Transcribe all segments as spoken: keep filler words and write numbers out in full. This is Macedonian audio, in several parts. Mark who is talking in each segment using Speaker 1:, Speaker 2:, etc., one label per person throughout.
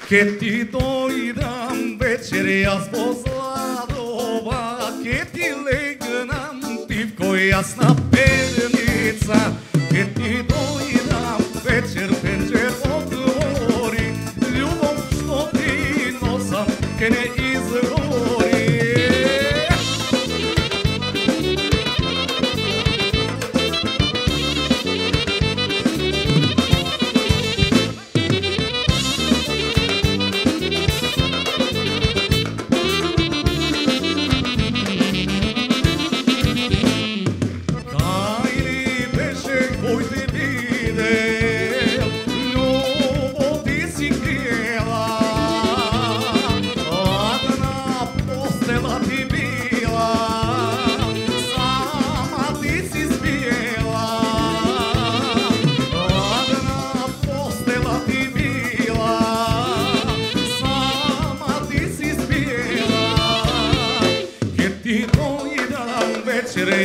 Speaker 1: Ке ти дојдам вечер јас во Зладова, ке ти легнам тивко јас на перница. Ке ти дојдам вечер пенџер отвори, љубов што ти носам ке не изгори.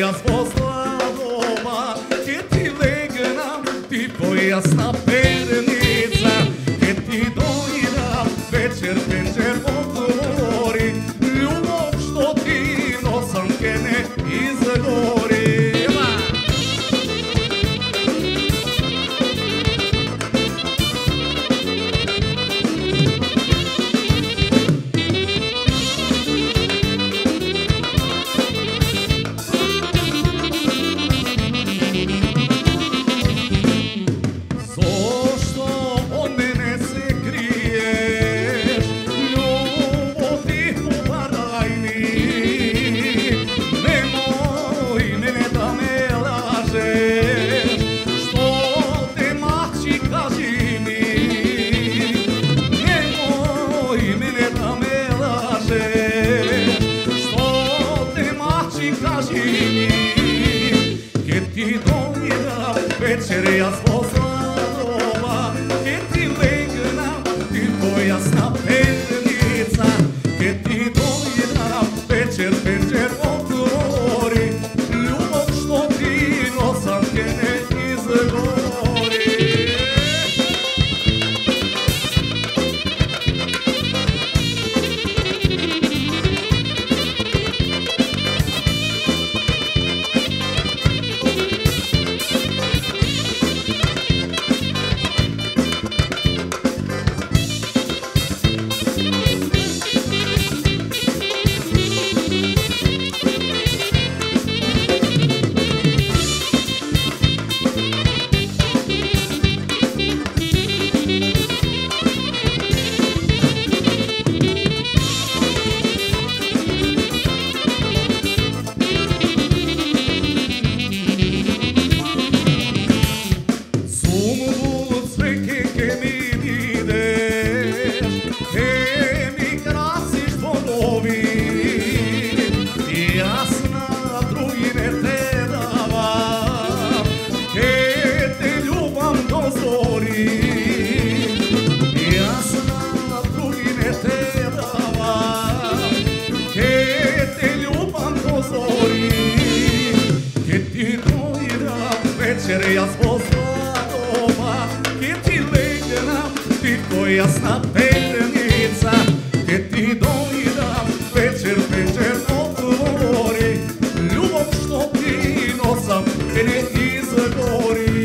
Speaker 1: Јас во Зладова, ке ти легнам тивко јас на перница. Ке ти дојдам вечер пенџер отвори, љубов што ти носам ке не изгори. Вечер јас во Зладова, ке ти легнам тивко јас на перница. Ке ти дојдам вечер пенџер отвори, љубов што ти носам ке не изгори. Вечер јас во Зладова, ке ти легнам тивко јас на перница. Ке ти дојдам вечер пенџер отвори, љубов што ти носам ке не изгори.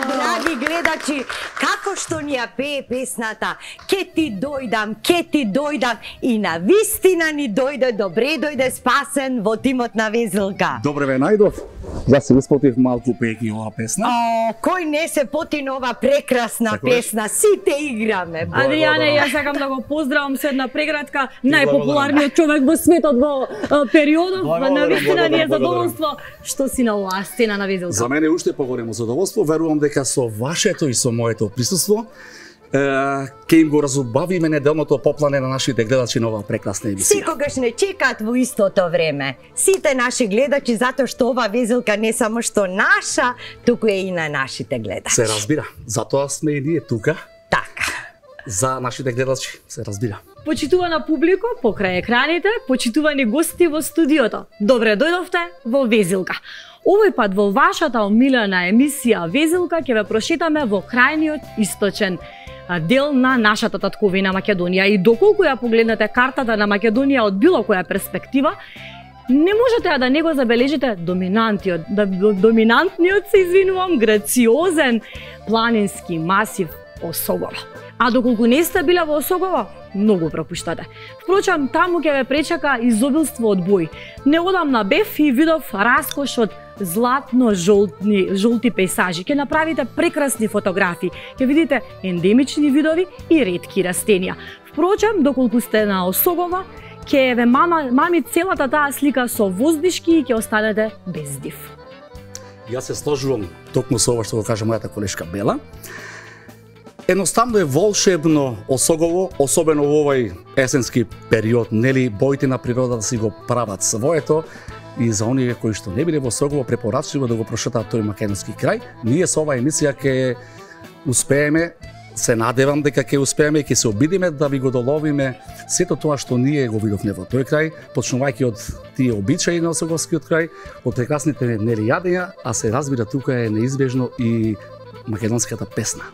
Speaker 2: Драги гледачи, како што ни ја пее песната Ке ти дојдам, ке ти дојдам, и на вистина ни дојде, добре дојде спасен во тимот на Везелка.
Speaker 3: Добре ве најдов.
Speaker 1: Јас се испотив малку пејќи ова песна.
Speaker 2: О, кој не се поти на ова прекрасна
Speaker 1: Така
Speaker 2: песна? Сите играме.
Speaker 3: Адријане, јас сакам да го поздравам со една прегратка, најпопуларниот човек во светот во периодов. Навистина ни е задоволство што си на оваа сцена на Везелка.
Speaker 1: За мене уште поголемо задоволство, верувам дека со вашето и со моето присуство ќе им го разубавиме неделното поплане на нашите гледачи на оваа прекрасна емисија.
Speaker 2: Секогаш не чекаат во истото време. Сите наши гледачи, затоа што ова Везелка не само што наша, туку е и на нашите гледачи.
Speaker 1: Се разбира, затоа сме и ние тука.
Speaker 2: Така.
Speaker 1: За нашите гледачи, се разбира.
Speaker 3: Почитувана публико покрај екраните, почитувани гости во студиото. Добре дојдовте во Везелка. Овој пат во вашата омилена емисија Везелка ќе ве прошетаме во крајниот источен дел на нашата татковина Македонија. И доколку ја погледнете картата на Македонија од било која перспектива, не можете да не го забележите доминантиот, да, доминантниот, се извинувам, грациозен планински масив Осогово. А доколку не сте биле во Осогово, многу пропуштате. Впрочем, таму ќе ве пречака изобилство од бои. Неодамна бев и видов раскош од златно-жолтни жолти пейсажи. Ќе направите прекрасни фотографии, ќе видите ендемични видови и ретки растенија. Впрочем, доколку сте на Осогово, ќе ве мама, мами целата таа слика со воздишки и ќе останете без див.
Speaker 1: Јас се сложувам токму со ова што го кажа мојата колешка Бела. Едноставно е волшебно Осогово, особено во овој есенски период, нели, боите на природата си го прават своето. И за оние кои што не биле во Осогово, препорачливо да го прошетаат тој македонски крај. Ние со оваа емисија ќе успееме, се надевам дека ќе успееме и ќе се обидиме да ви го доловиме сето тоа што ние го видовме во тој крај, почнувајќи од тие обичаи на Осоговскиот крај, од прекрасните нели јадења, а се разбира тука е неизбежно и македонската песна.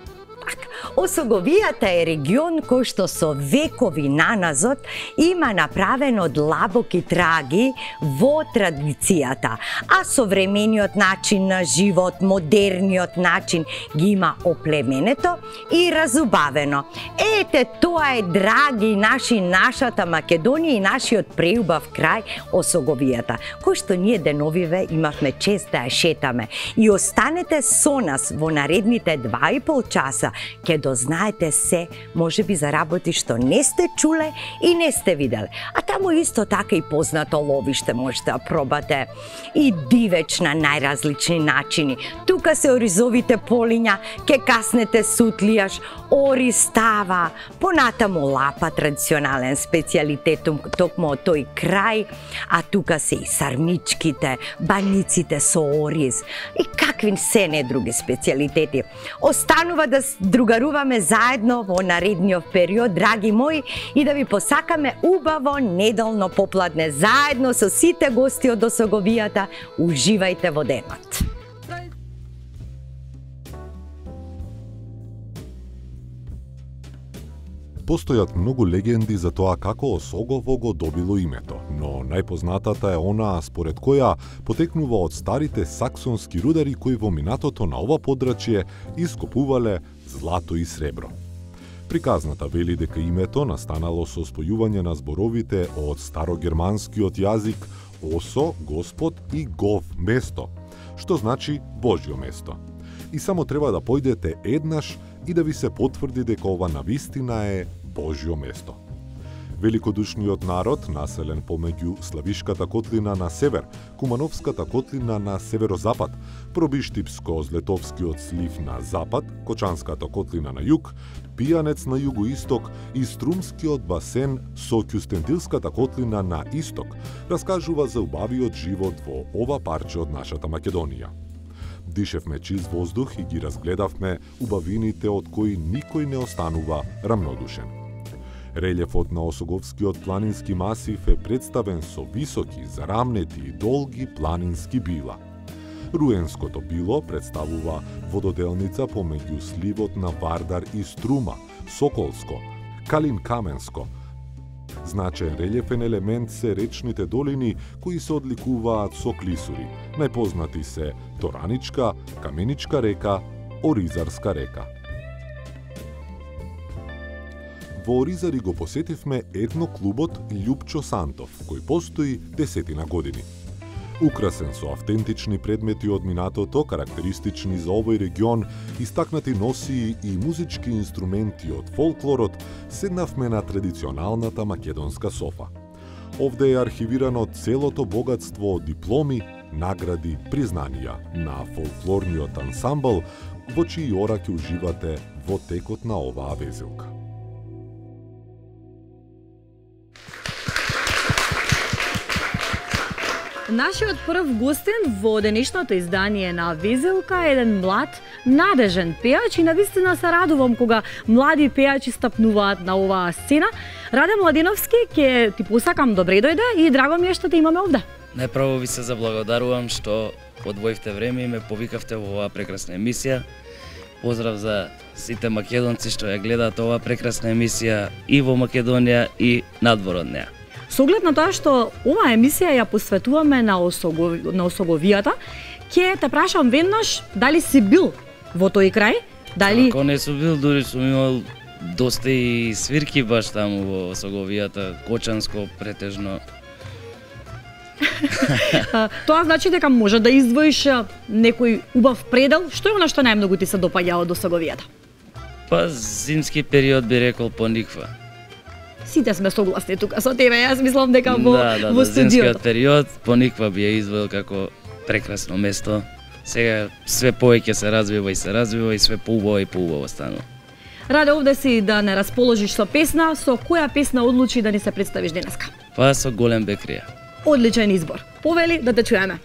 Speaker 2: Осоговијата е регион кој што со векови наназад има направено длабоки траги во традицијата, а современиот начин на живот, модерниот начин ги има оплеменето и разубавено. Ете, тоа е, драги наши, нашата Македонија и нашиот преубав крај Осоговијата, кој што ние деновиве имавме чест да ја шетаме. И останете со нас во наредните два и пол часа, ќе дознаете се, може би за работи што не сте чуле и не сте виделе. А таму исто така и познато ловиште можете да пробате. И дивеч на најразлични начини. Тука се оризовите полиња, ке каснете сутлијаш, ори става, понатаму лапа, традиционален специјалитет токму од тој крај, а тука се и сармичките, баниците со ориз и какви се не други специјалитети. Останува да другаруваме заедно во наредниот период, драги мои, и да ви посакаме убаво неделно попладне заедно со сите гости од Осоговијата. Уживајте во денот.
Speaker 4: Постојат многу легенди за тоа како Осогово го добило името, но најпознатата е онаа според која потекнува од старите саксонски рудари кои во минатото на ова подрачје ископувале злато и сребро. Приказната вели дека името настанало со спојување на зборовите од старогерманскиот јазик осо, господ и гов, место, што значи Божјо место. И само треба да појдете еднаш и да ви се потврди дека ова навистина е Божјо место. Великодушниот народ, населен помеѓу Славишката котлина на север, Кумановската котлина на северозапад, Пробиштипско-Злетовскиот слив на запад, Кочанската котлина на југ, Пијанец на југоисток и Струмскиот басен со Кјустендилската котлина на исток, раскажува за убавиот живот во ова парче од нашата Македонија. Дишевме чист воздух и ги разгледавме убавините од кои никој не останува рамнодушен. Релјефот на Осоговскиот планински масив е представен со високи, зарамнети и долги планински била. Руенското било представува вододелница помеѓу сливот на Вардар и Струма, Соколско, Калин-Каменско. Значаен релјефен елемент се речните долини кои се одликуваат со клисури. Најпознати се Тораничка, Каменичка река, Оризарска река. Во Оризари го посетивме етноклубот Љупчо Сантов, кој постои десетина години. Украсен со автентични предмети од минатото, карактеристични за овој регион, истакнати носии и музички инструменти од фолклорот, седнавме на традиционалната македонска софа. Овде е архивирано целото богатство од дипломи, награди, признанија на фолклорниот ансамбл, во чии ора ќе уживате во текот на оваа везилка.
Speaker 3: Нашиот прв гостин во денешното издание на Везилка е еден млад, надежен пејач и навистина се радувам кога млади пејачи стапнуваат на оваа сцена. Раде Младеновски, ќе ти посакам добре дојде и драго ми е што те имаме овде.
Speaker 5: Најпрво ви се заблагодарувам што одвоивте време и ме повикавте во оваа прекрасна емисија. Поздрав за сите македонци што ја гледаат оваа прекрасна емисија и во Македонија и надвор од неа.
Speaker 3: Со оглед на тоа што оваа емисија ја посветуваме на, осогови, на осоговијата, ќе те прашам веднаш дали си бил во тој крај? Дали...
Speaker 5: Ако не сум бил, дури сум имал доста и свирки баш таму во осоговијата, Кочанско претежно.
Speaker 3: Тоа значи дека може да издвоиш некој убав предел. Што е она што најмногу ти се допаѓа од осоговијата?
Speaker 5: Па зимски период би рекол Пониква.
Speaker 3: Сите сме согласни тука со тебе, јас мислам дека во,
Speaker 5: да, да,
Speaker 3: во
Speaker 5: да,
Speaker 3: студиото.
Speaker 5: Зимскиот период Пониква би ја извоил како прекрасно место. Сега све повеќе се развива и се развива и све поубаво и поубаво станува.
Speaker 3: Раде овде си да не расположиш со песна, со која песна одлучи да ни се представиш денеска?
Speaker 5: Па со Голем Бекрија.
Speaker 3: Одличен избор. Повели да те чуеме.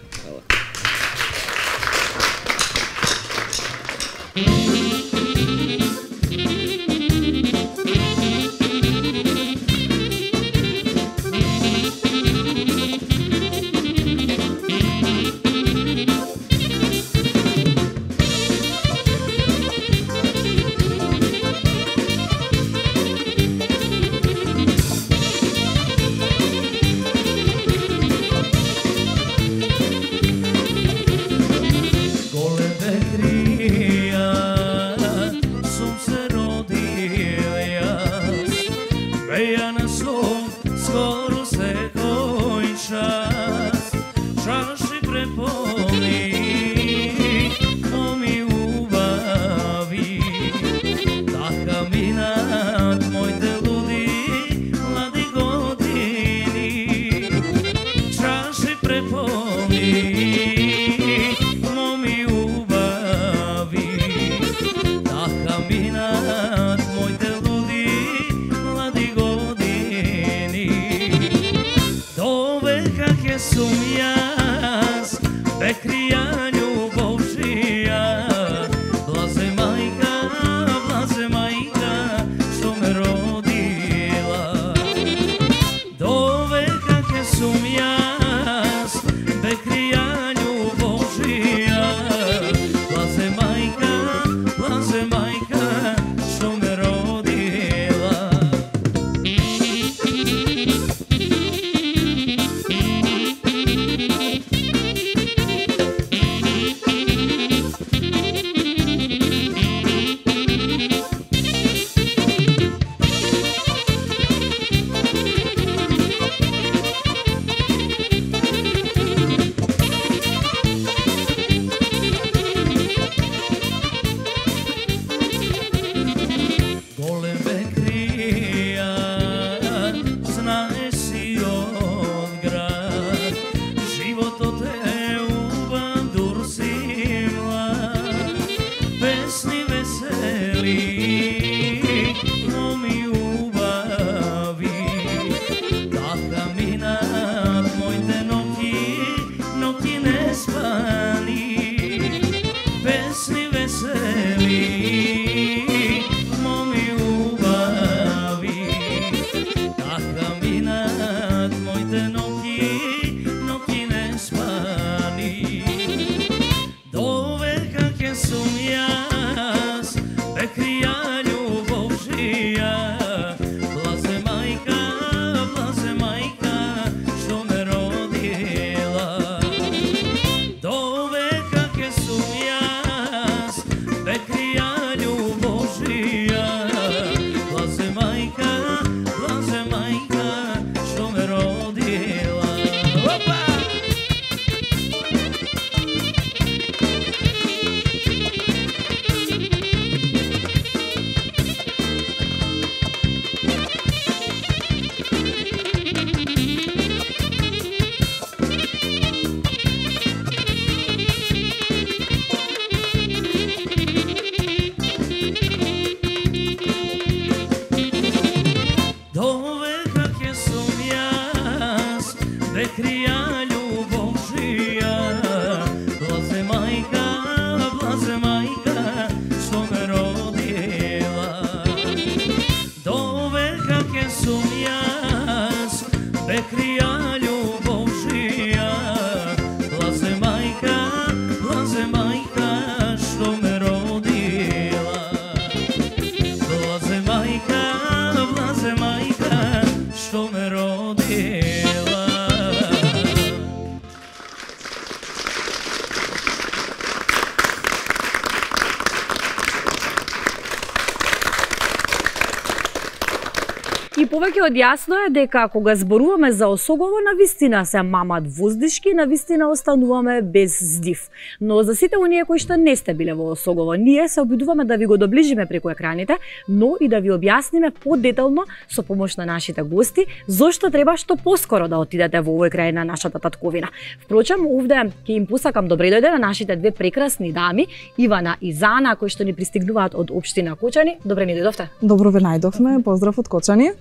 Speaker 3: повеќе од јасно е дека кога зборуваме за Осогово, навистина се мамат воздишки, навистина остануваме без здив. Но за сите оние кои што не сте биле во Осогово, ние се обидуваме да ви го доближиме преку екраните, но и да ви објасниме подетално со помош на нашите гости зошто треба што поскоро да отидете во овој крај на нашата татковина. Впрочем, овде ќе им посакам добре дојде на нашите две прекрасни дами, Ивана и Зана, кои што ни пристигнуваат од општина Кочани. Добре ни дојдовте.
Speaker 6: Добро ве најдовме, поздрав од Кочани.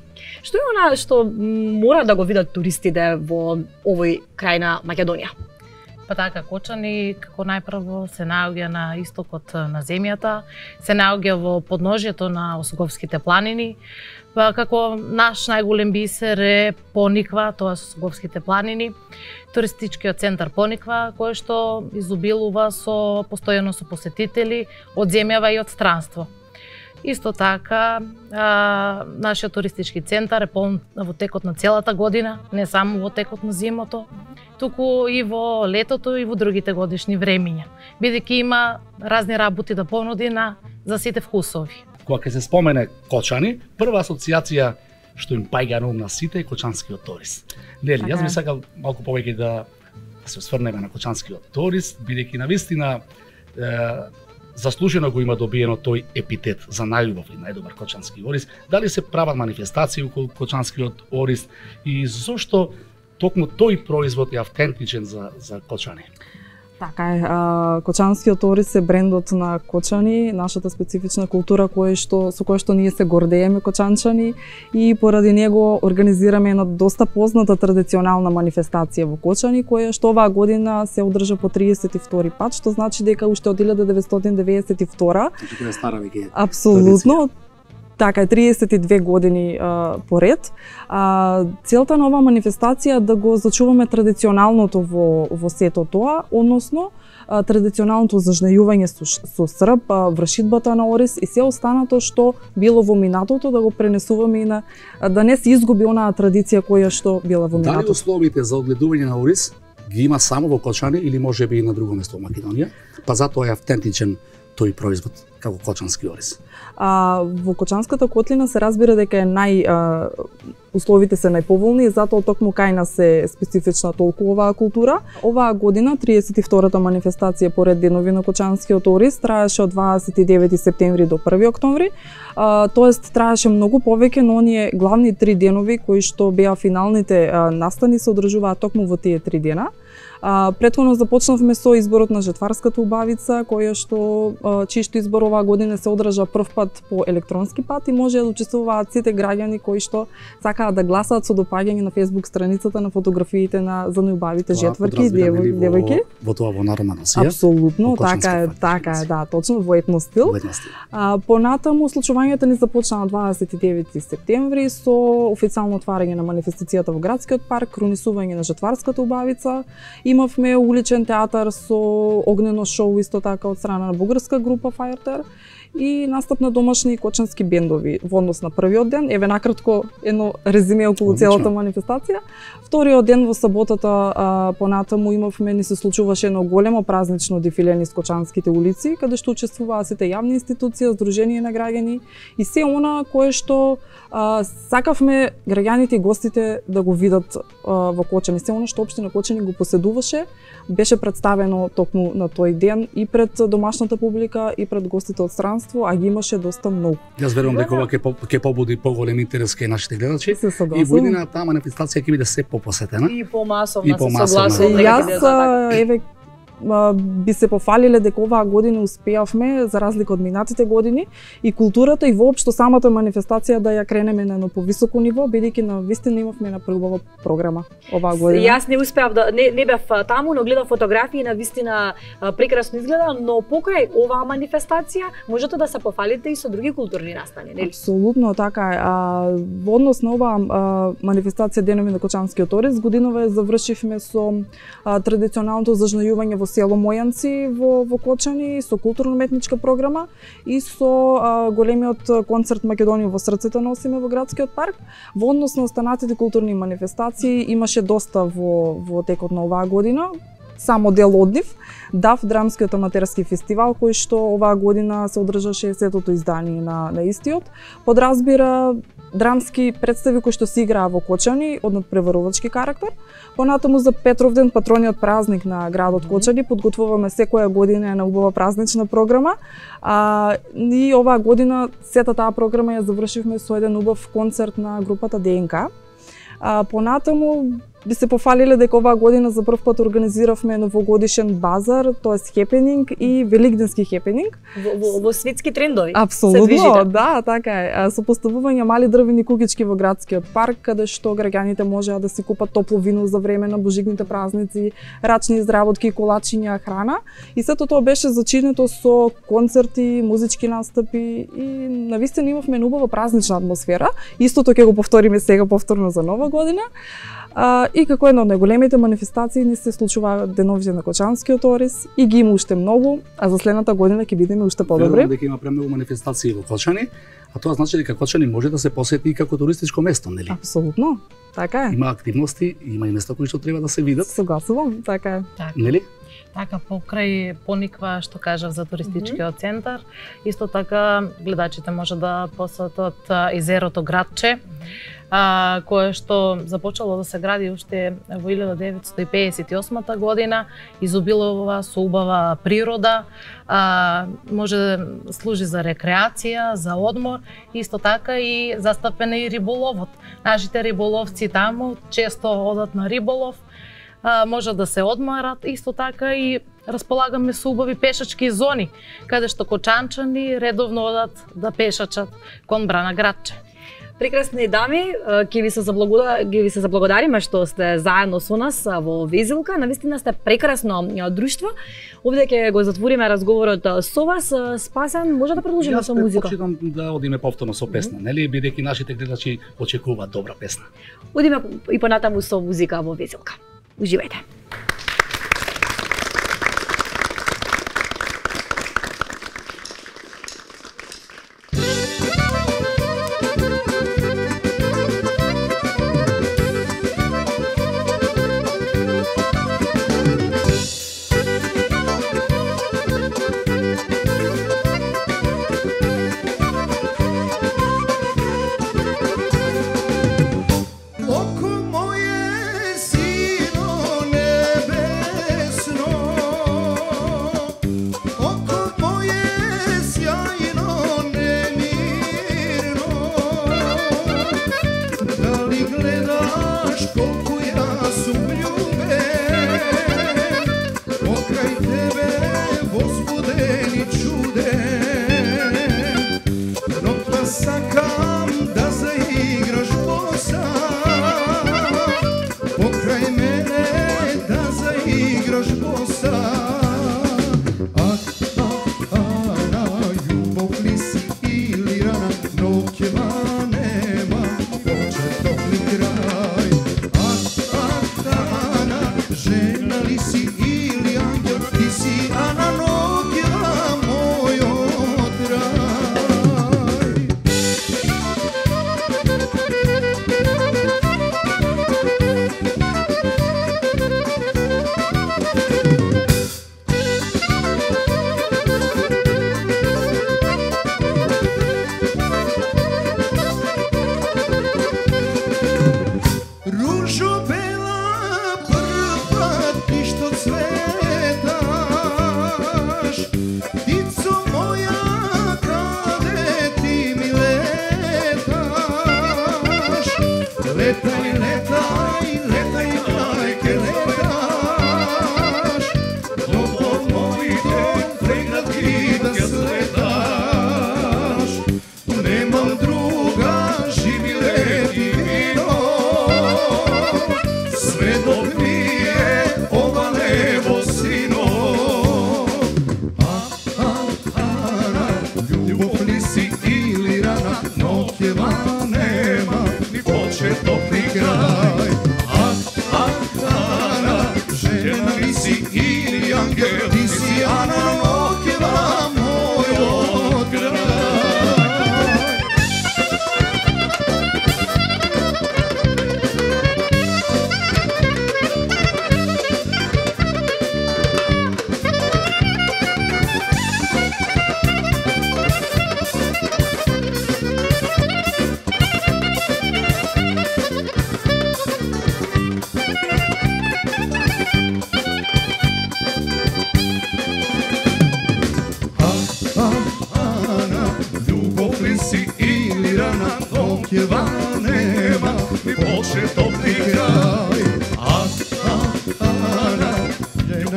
Speaker 3: Што е она што мора да го видат туристите во овој крај на Македонија?
Speaker 7: Па така, Кочани како најпрво се наоѓа на истокот на земјата, се наоѓа во подножјето на Осоговските планини, па како наш најголем бисер е Пониква, тоа се Осоговските планини, туристичкиот центар Пониква, кој што изобилува со постојано со посетители од земјава и од странство. Исто така, а, нашиот туристички центар е полн во текот на целата година, не само во текот на зимото, туку и во летото и во другите годишни времиња, бидејќи има разни работи да понуди на за сите вкусови.
Speaker 1: Кога ќе се спомене Кочани, прва асоциација што им паѓа на ум на сите е кочанскиот торист. Нели, јас би сакал малку повеќе да, да се осврнеме на кочанскиот торист, бидејќи навистина е, заслужено го има добиено тој епитет за најубав и најдобар кочански ориз. Дали се прават манифестации околу кочанскиот ориз и зошто токму тој производ е автентичен за за Кочани?
Speaker 6: Така е, а, кочанскиот ориз е брендот на Кочани, нашата специфична култура кој што со која што ние се гордееме кочанчани и поради него организираме една доста позната традиционална манифестација во Кочани која што оваа година се одржа по триесет и втори пат, што значи дека уште од илјада деветстотини деветдесет и втора.
Speaker 1: Значи тоа е стара веќе.
Speaker 6: Апсолутно. Така е, триесет и две години а, поред. А, целта на оваа манифестација е да го зачуваме традиционалното во, во сето тоа, односно а, традиционалното зажнејување со, со срп, а, вршидбата на ориз и се останато што било во минатото да го пренесуваме и на да не се изгуби онаа традиција која што била во минатото.
Speaker 1: Дали условите за одгледување на ориз ги има само во Кочани или можеби и на друго место во Македонија? Па затоа е автентичен тој производ како кочански ориз.
Speaker 6: А, во Кочанската котлина се разбира дека е нај а, условите се најповолни и затоа токму кај нас е специфична толку оваа култура. Оваа година триесет и втората манифестација поред денови на кочанскиот ориз траеше од дваесет и девети септември до први октомври. А, тоест траеше многу повеќе, но оние главни три денови кои што беа финалните а, настани се одржуваат токму во тие три дена. А, претходно започнавме со изборот на жетварската убавица, која што чиј избор оваа година се одржа прв пат по електронски пат и може да учествуваат сите граѓани кои што сакаат да гласаат со допаѓање на Facebook страницата на фотографиите на за најубавите жетварки и девојки.
Speaker 1: Во, во тоа во народна носија.
Speaker 6: Апсолутно, така е, така е, да, точно во етно стил.
Speaker 1: Во етно стил.
Speaker 6: А, понатаму случувањето ни започна на дваесет и девети септември со официјално отварање на манифестацијата во градскиот парк, кронисување на жетварската убавица. Имавме уличен театар со огнено шоу исто така од страна на бугарска група Fireter и настап на домашни кочански бендови во однос на првиот ден. Еве накратко едно резиме околу Одлично. Целата манифестација. Вториот ден во саботата а, понатаму имавме ни се случуваше едно големо празнично дефиле низ кочанските улици, каде што учествуваа сите јавни институции, здруженија на граѓани и се она кое што а, сакавме граѓаните и гостите да го видат а, во Кочани. Се она што општина Кочани го поседуваше беше представено токму на тој ден и пред домашната публика и пред гостите од странство, а ги имаше доста многу.
Speaker 1: Јас верувам дека ова ќе ќе побуди поголем интерес кај нашите гледачи и во иднина таа манифестација ќе биде се попосетена
Speaker 3: и помасовна,
Speaker 1: и помасовна.
Speaker 3: се согласувам.
Speaker 6: Јас еве би се пофалиле дека оваа година успеавме за разлика од минатите години и културата и воопшто самата манифестација да ја кренеме на едно повисоко ниво, бидејќи на вистина имавме една преубава програма оваа година.
Speaker 3: Јас не успеав да не, не бев таму, но гледав фотографии и на вистина прекрасно изгледа, но покрај оваа манифестација можете да се пофалите и со други културни настани, нели?
Speaker 6: Апсолутно така е. А, во однос на оваа манифестација Денови на кочанскиот ориз, годинова завршивме со а, традиционалното зажнејување во село Мојанци во, во Кочани со културно-уметничка програма и со а, големиот концерт Македонија во срцето носиме во градскиот парк. Во однос на останатите културни манифестации имаше доста во, во текот на оваа година. Само дел од нив, ДАФ, Драмскиот аматерски фестивал, кој што оваа година се одржа шеесеттото издание на, на истиот. Подразбира драмски представи кои што се играа во Кочани од надпреварувачки карактер. Понатаму за Петровден, патрониот празник на градот Кочани, подготвуваме секоја година една убава празнична програма. А, и оваа година сета таа програма ја завршивме со еден убав концерт на групата ДНК. А, понатаму би се пофалиле дека оваа година за прв пат организиравме новогодишен базар, тоест хепенинг и великденски хепенинг.
Speaker 3: Во, во, во светски трендови.
Speaker 6: Апсолутно, да, така е. Со поставување мали дрвени куќички во градскиот парк, каде што граѓаните можеа да си купат топло вино за време на божигните празници, рачни изработки, колачиња, храна. И сето тоа беше зачинето со концерти, музички настапи и навистина имавме убава празнична атмосфера. Истото ќе го повториме сега повторно за нова година. А, и како една од најголемите манифестации ни се случува деновите на Кочанскиот Орис и ги има уште многу, а за следната година ќе бидеме уште подобри.
Speaker 1: Верувам дека има премногу манифестации во Кочани, а тоа значи дека Кочани може да се посети и како туристичко место, нели?
Speaker 6: Апсолутно, така е.
Speaker 1: Има активности, има и места кои што треба да се видат.
Speaker 6: Согласувам, така е.
Speaker 7: Така.
Speaker 1: Нели?
Speaker 7: Така, покрај Пониква, што кажав за туристичкиот центар, исто така гледачите може да посетат езерото Градче, а, кое што започало да се гради уште во илјада деветстотини педесет и осма година, изобилува со убава природа, а, може да служи за рекреација, за одмор, исто така и застапен е и риболовот. Нашите риболовци таму често одат на риболов, а, може да се одморат, исто така и располагаме со убави пешачки зони, каде што кочанчани редовно одат да пешачат кон Брана Градче.
Speaker 3: Прекрасни дами, ќе ви се заблагодариме, ќе ви се заблагодариме што сте заедно со нас во Везилка. Навистина сте прекрасно друштво. Овде ќе го затвориме разговорот со вас. Спасен, може да продолжиме со музика?
Speaker 1: Јас предпочитам да одиме повторно со песна, нели, бидејќи нашите гледачи очекуваат добра песна.
Speaker 3: Одиме и понатаму со музика во Везилка. Уживајте.
Speaker 8: Oku moje sino ne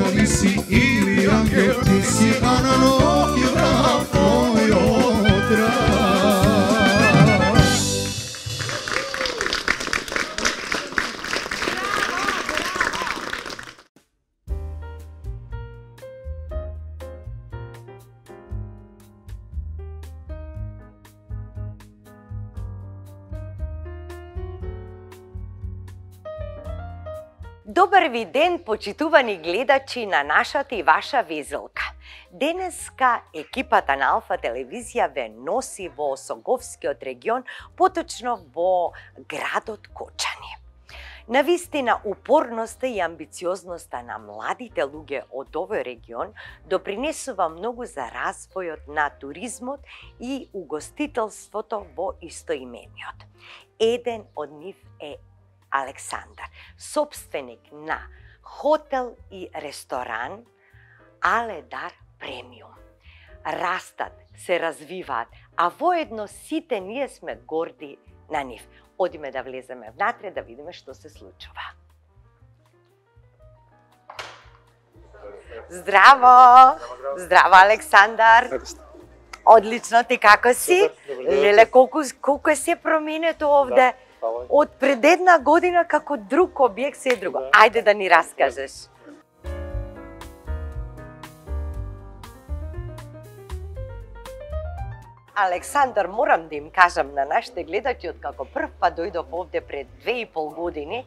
Speaker 8: дали си или ангел, ти си Ананов и враг мојот рад.
Speaker 2: Добар ви ден, почитувани гледачи на нашата и ваша Везелка. Денеска екипата на Алфа телевизија ве носи во Осоговскиот регион, поточно во градот Кочани. Навистина, упорноста и амбициозноста на младите луѓе од овој регион допринесува многу за развојот на туризмот и угостителството во истоимениот. Еден од нив е Александар, собственик на хотел и ресторан Аледар Премиум. Растат, се развиваат, а воедно сите ние сме горди на нив. Одиме да влеземе внатре да видиме што се случува. Здраво! Здраво, Александар! Одлично, ти како си? Леле, колку, колку е се променето овде? Од пред една година како друг објект се е друго. Ајде да ни раскажеш. Александар, морам да им кажам на нашите гледачи, од како прв пат дојдов овде пред две и пол години,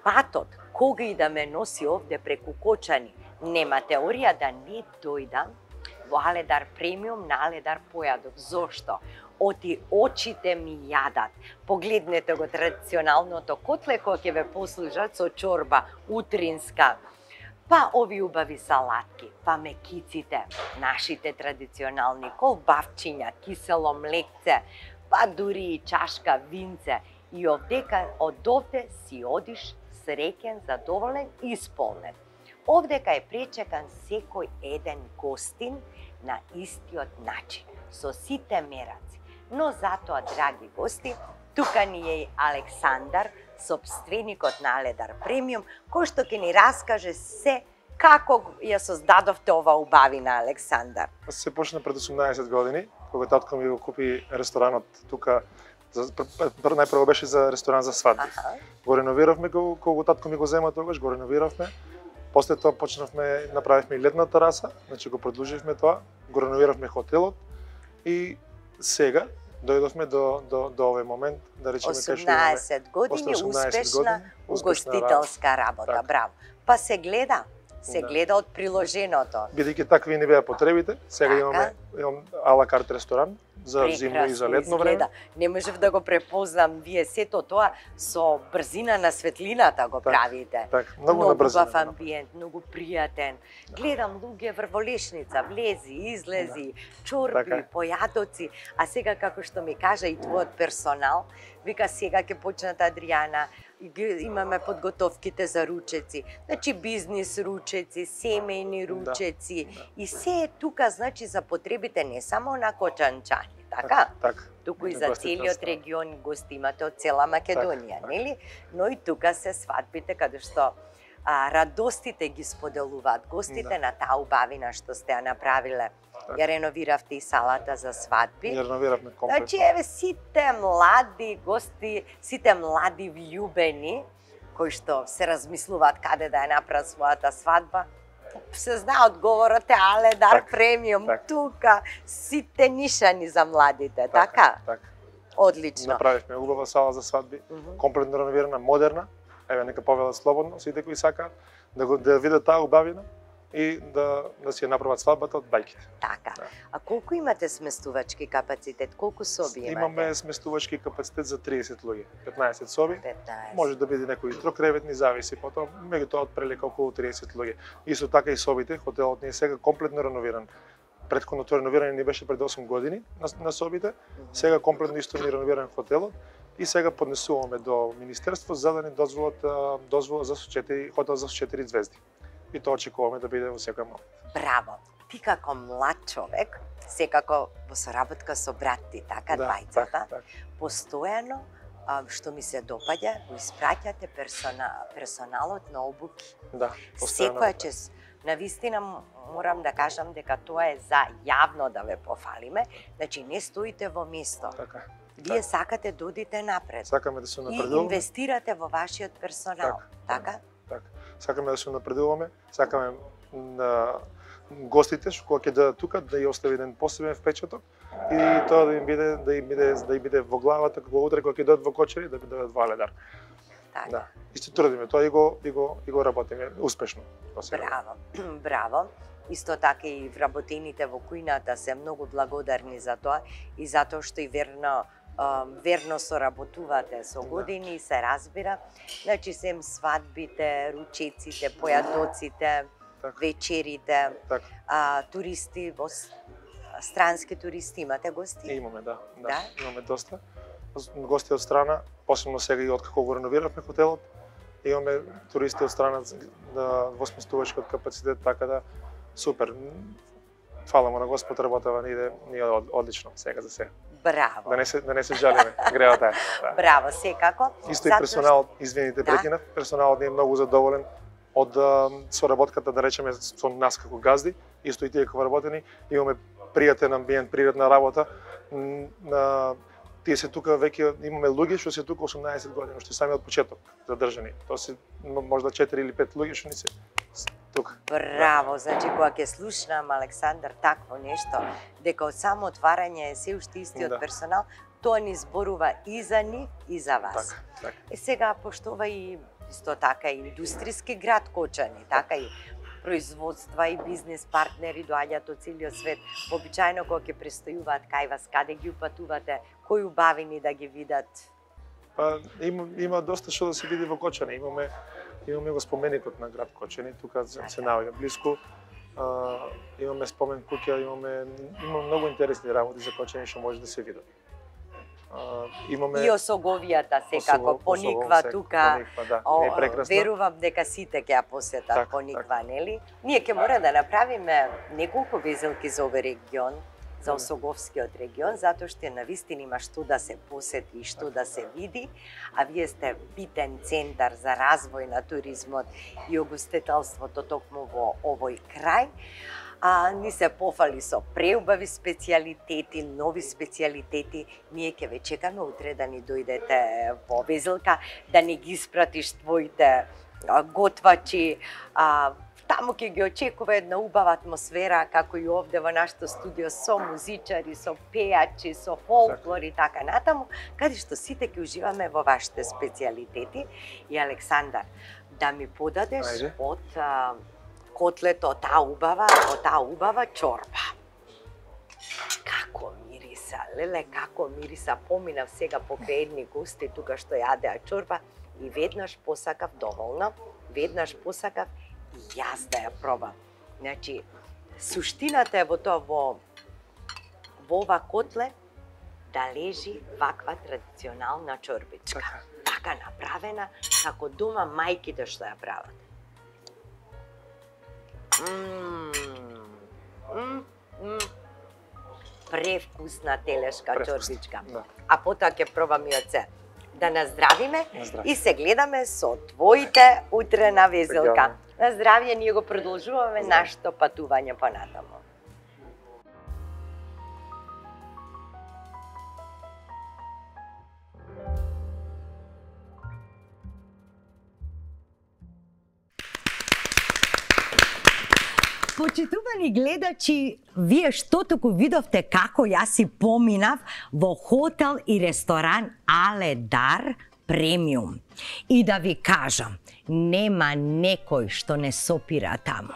Speaker 2: патот, кога и да ме носи овде преку Кочани, нема теорија да не дојдам во Аледар Премиум на Аледар Појадов. Зошто? Оти очите ми јадат. Погледнете го традиционалното котле кој ќе ве послужат со чорба утринска, па ови убави салатки, па мекиците, нашите традиционални колбавчиња, кисело млекце, па дури и чашка винце. И овдека од овде си одиш среќен, задоволен и исполнет. Овдека е пречекан секој еден гостин на истиот начин, со сите мераци. Но затоа, драги гости, тука ни е Александар, собственикот на Аледар Премиум, кој што ќе ни раскаже се како ја создадовте ова убавина, Александар.
Speaker 9: Се почна пред осумнаесет години, кога татко ми го купи ресторанот тука. Најпрво беше за ресторан за свадби. Аха. Го реновиравме го, кога татко ми го зема тогаш, го реновиравме. После тоа почнавме, направивме и летна тераса, значи го продолживме тоа, го реновиравме хотелот и сега дојдовме до до до овој момент, да речеме кај што имаме
Speaker 2: осумнаесет години успешна угостителска работа. Так. Браво. Па се гледа, се да. гледа од приложеното.
Speaker 9: Бидејќи такви ни беа потребите, сега така. имаме имам ала карт ресторан за зимно и за летно време.
Speaker 2: Не можев да го препознам, вие сето тоа со брзина на светлината го
Speaker 9: так,
Speaker 2: правите.
Speaker 9: Так, многу на брзина.
Speaker 2: Многу амбиент, многу пријатен. Гледам луѓе врволешница, влези, излези, да. чорби, така. појадоци, а сега како што ми кажа и твојот персонал, вика сега ќе почнат Адријана, имаме подготовките за ручеци, значи бизнис ручеци, семејни ручеци, да, да. и се е тука, значи за потребите не само на кочанчани, така?
Speaker 9: Так,
Speaker 2: туку и за целиот регион гости имате од цела Македонија, так, нели? Но и тука се свадбите каде што а, радостите ги споделуваат гостите да. на таа убавина што сте ја направиле. Так. Ја реновиравте и салата за свадби.
Speaker 9: Ја реновиравме комплет.
Speaker 2: Значи, еве, сите млади гости, сите млади влюбени, кои што се размислуваат каде да ја направат својата свадба, се знае одговорот е Аледар так, Премиум, так. тука, сите нишани за младите, така?
Speaker 9: така? така.
Speaker 2: Одлично.
Speaker 9: Направивме убава сала за свадби, mm -hmm. комплетно реновирана, модерна, еве, нека повелат слободно, сите кои сакаат, да, го, да видат таа убавина, и да, да си ја направат свадбата од бајките.
Speaker 2: Така.
Speaker 9: Да.
Speaker 2: А колку имате сместувачки капацитет? Колку соби имате?
Speaker 9: Имаме сместувачки капацитет за триесет луѓе. петнаесет соби.
Speaker 2: петнаесет.
Speaker 9: Може да биде некои трокреветни, зависи потоа, меѓутоа од прелека околу триесет луѓе. Исто така и собите, хотелот ни е сега комплетно реновиран. Претходното реновирање ни беше пред осум години на, на собите, сега комплетно исто ни реновиран хотелот и сега поднесуваме до Министерство за да ни дозволат дозвола за четири хотел за четири звезди. И тоа очекуваме да биде во секој момент.
Speaker 2: Браво! Ти како млад човек, секако во соработка со брат ти, така,
Speaker 9: да,
Speaker 2: двајцата,
Speaker 9: так, так.
Speaker 2: постојано, што ми се допаѓа, го испраќате персона, персоналот на обуки.
Speaker 9: Да, постојано.
Speaker 2: Секоја чест навистина морам да кажам дека тоа е за јавно да ве пофалиме, значи не стоите во место.
Speaker 9: Така.
Speaker 2: Вие сакате да одите напред.
Speaker 9: Сакаме да се
Speaker 2: И
Speaker 9: напредуваме.
Speaker 2: инвестирате во вашиот персонал, така?
Speaker 9: Така. Сакаме да се напредуваме, сакаме на гостите што кога ќе дадат тука да ја остави еден посебен впечаток и тоа да им биде да им биде да им биде во главата кога утре кога ќе дадат во Кочани да бидат во Аледар.
Speaker 2: Така.
Speaker 9: Да. Исто трудиме тоа и го и го и го работиме успешно.
Speaker 2: Браво. Браво. Исто така и вработените во кујната се многу благодарни за тоа и затоа што и верно верно соработувате со години, се разбира. Значи сем свадбите, ручеците, појадоците,
Speaker 9: так.
Speaker 2: вечерите,
Speaker 9: так.
Speaker 2: а, туристи, во странски туристи имате гости?
Speaker 9: Имаме, да, да.
Speaker 2: да?
Speaker 9: Имаме доста. Гости од страна, посебно сега и откако го реновиравме хотелот, имаме туристи од страна да восместувачкиот капацитет, така да супер. Фала му на Господ, работава ни иде ни од, одлично сега за сега.
Speaker 2: Браво.
Speaker 9: Да не се да не се жалиме, греата е. Да.
Speaker 2: Браво, секако.
Speaker 9: Исто и персоналот, извините, да? прекинав, персоналот не е многу задоволен од соработката, да речеме, со нас како газди, исто и тие како работени, имаме пријатен амбиент, пријатна работа. На тие се тука веќе имаме луѓе што се тука осумнаесет години, што сами од почеток задржани. Тоа се можда четири или пет луѓе што ни се тука.
Speaker 2: Браво, значи кога ќе слушнам Александар такво нешто, дека од само отварање е се уште истиот да. персонал, тоа ни зборува и за нив и за вас.
Speaker 9: Така, така.
Speaker 2: И сега поштова и исто така и индустријски град Кочани, така и производства и бизнес партнери доаѓаат од целиот свет. Обичајно кога ќе престојуваат кај вас, каде ги упатувате, кои убавини да ги видат?
Speaker 9: Па има има доста што да се види во Кочани. Имаме имаме го споменикот на град Кочани, тука се, се наоѓа блиску. А, имаме спомен куќа, имаме има многу интересни работи за Кочани што може да се видат. Uh, имаме
Speaker 2: и Осоговијата секако Осогов, пониква Осогов, тука.
Speaker 9: Пониква, да,
Speaker 2: О,
Speaker 9: е прекрасна.
Speaker 2: Верувам дека сите ќе ја посетат
Speaker 9: так,
Speaker 2: пониква,
Speaker 9: так.
Speaker 2: нели? Ние ќе мора да направиме неколку везелки за овој регион, за Осоговскиот регион, затоа што навистина има што да се посети и што да се види, а вие сте битен центар за развој на туризмот и угостителството токму во овој крај. А ни се пофали со преубави специјалитети, нови специјалитети. Ние ќе ве чекаме утре да ни дојдете во Везелка, да ни ги испратиш твоите а, готвачи. А, таму ќе ги очекува една убава атмосфера, како и овде во нашето студио, со музичари, со пејачи, со фолклор и така натаму, каде што сите ќе уживаме во вашите специјалитети. И Александар, да ми подадеш Ајде. од а, котлето, од таа убава, од таа убава чорба. Како мириса, леле, како мириса. Поминав сега покрај едни гости тука што јадеа чорба и веднаш посакав доволно, веднаш посакав и јас да ја пробам. Значи, суштината е во тоа, во, во ова котле да лежи ваква традиционална чорбичка. Така, така направена, како дома мајките што ја прават. Мм, мм, мм. Превкусна телешка чорбичка. Да. А потоа ќе пробам и од се. Да наздравиме Наздрави. И се гледаме со твоите утре на Везелка. На здравје, ние го продолжуваме нашето патување понатаму. Почитувани гледачи, вие што току видовте како јас си поминав во хотел и ресторан Аледар Премиум. И да ви кажам, нема некој што не сопира таму.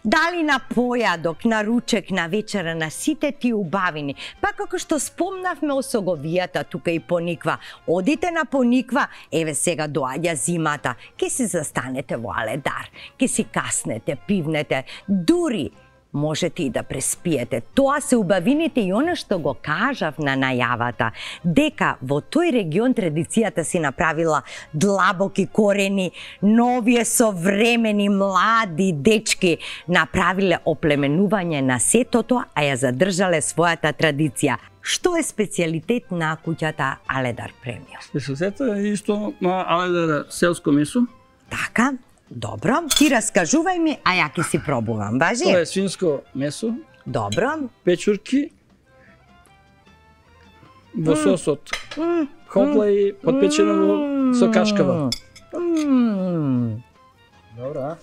Speaker 2: Дали на појадок, на ручек, на вечера, на сите ти убавини. Па како што спомнавме Осоговијата тука и Пониква. Одите на Пониква, еве сега доаѓа зимата, ке си застанете во Аледар, ке си каснете, пивнете, дури можете и да преспиете. Тоа се убавините и она што го кажав на најавата, дека во тој регион традицијата си направила длабоки корени, новие современи млади дечки направиле оплеменување на сето тоа, а ја задржале својата традиција. Што е специјалитет на куќата Аледар Премиум?
Speaker 10: Специјалитетот е исто на Аледар селско месо.
Speaker 2: Така. Добро, ти раскажувај ми, а ја ќе си пробувам, важи?
Speaker 10: Тоа е свинско месо,
Speaker 2: Добро.
Speaker 10: печурки во
Speaker 2: М.
Speaker 10: сосот.
Speaker 2: М,
Speaker 10: Хопла и подпечено во со кашкава.
Speaker 2: м.
Speaker 10: Добро, а?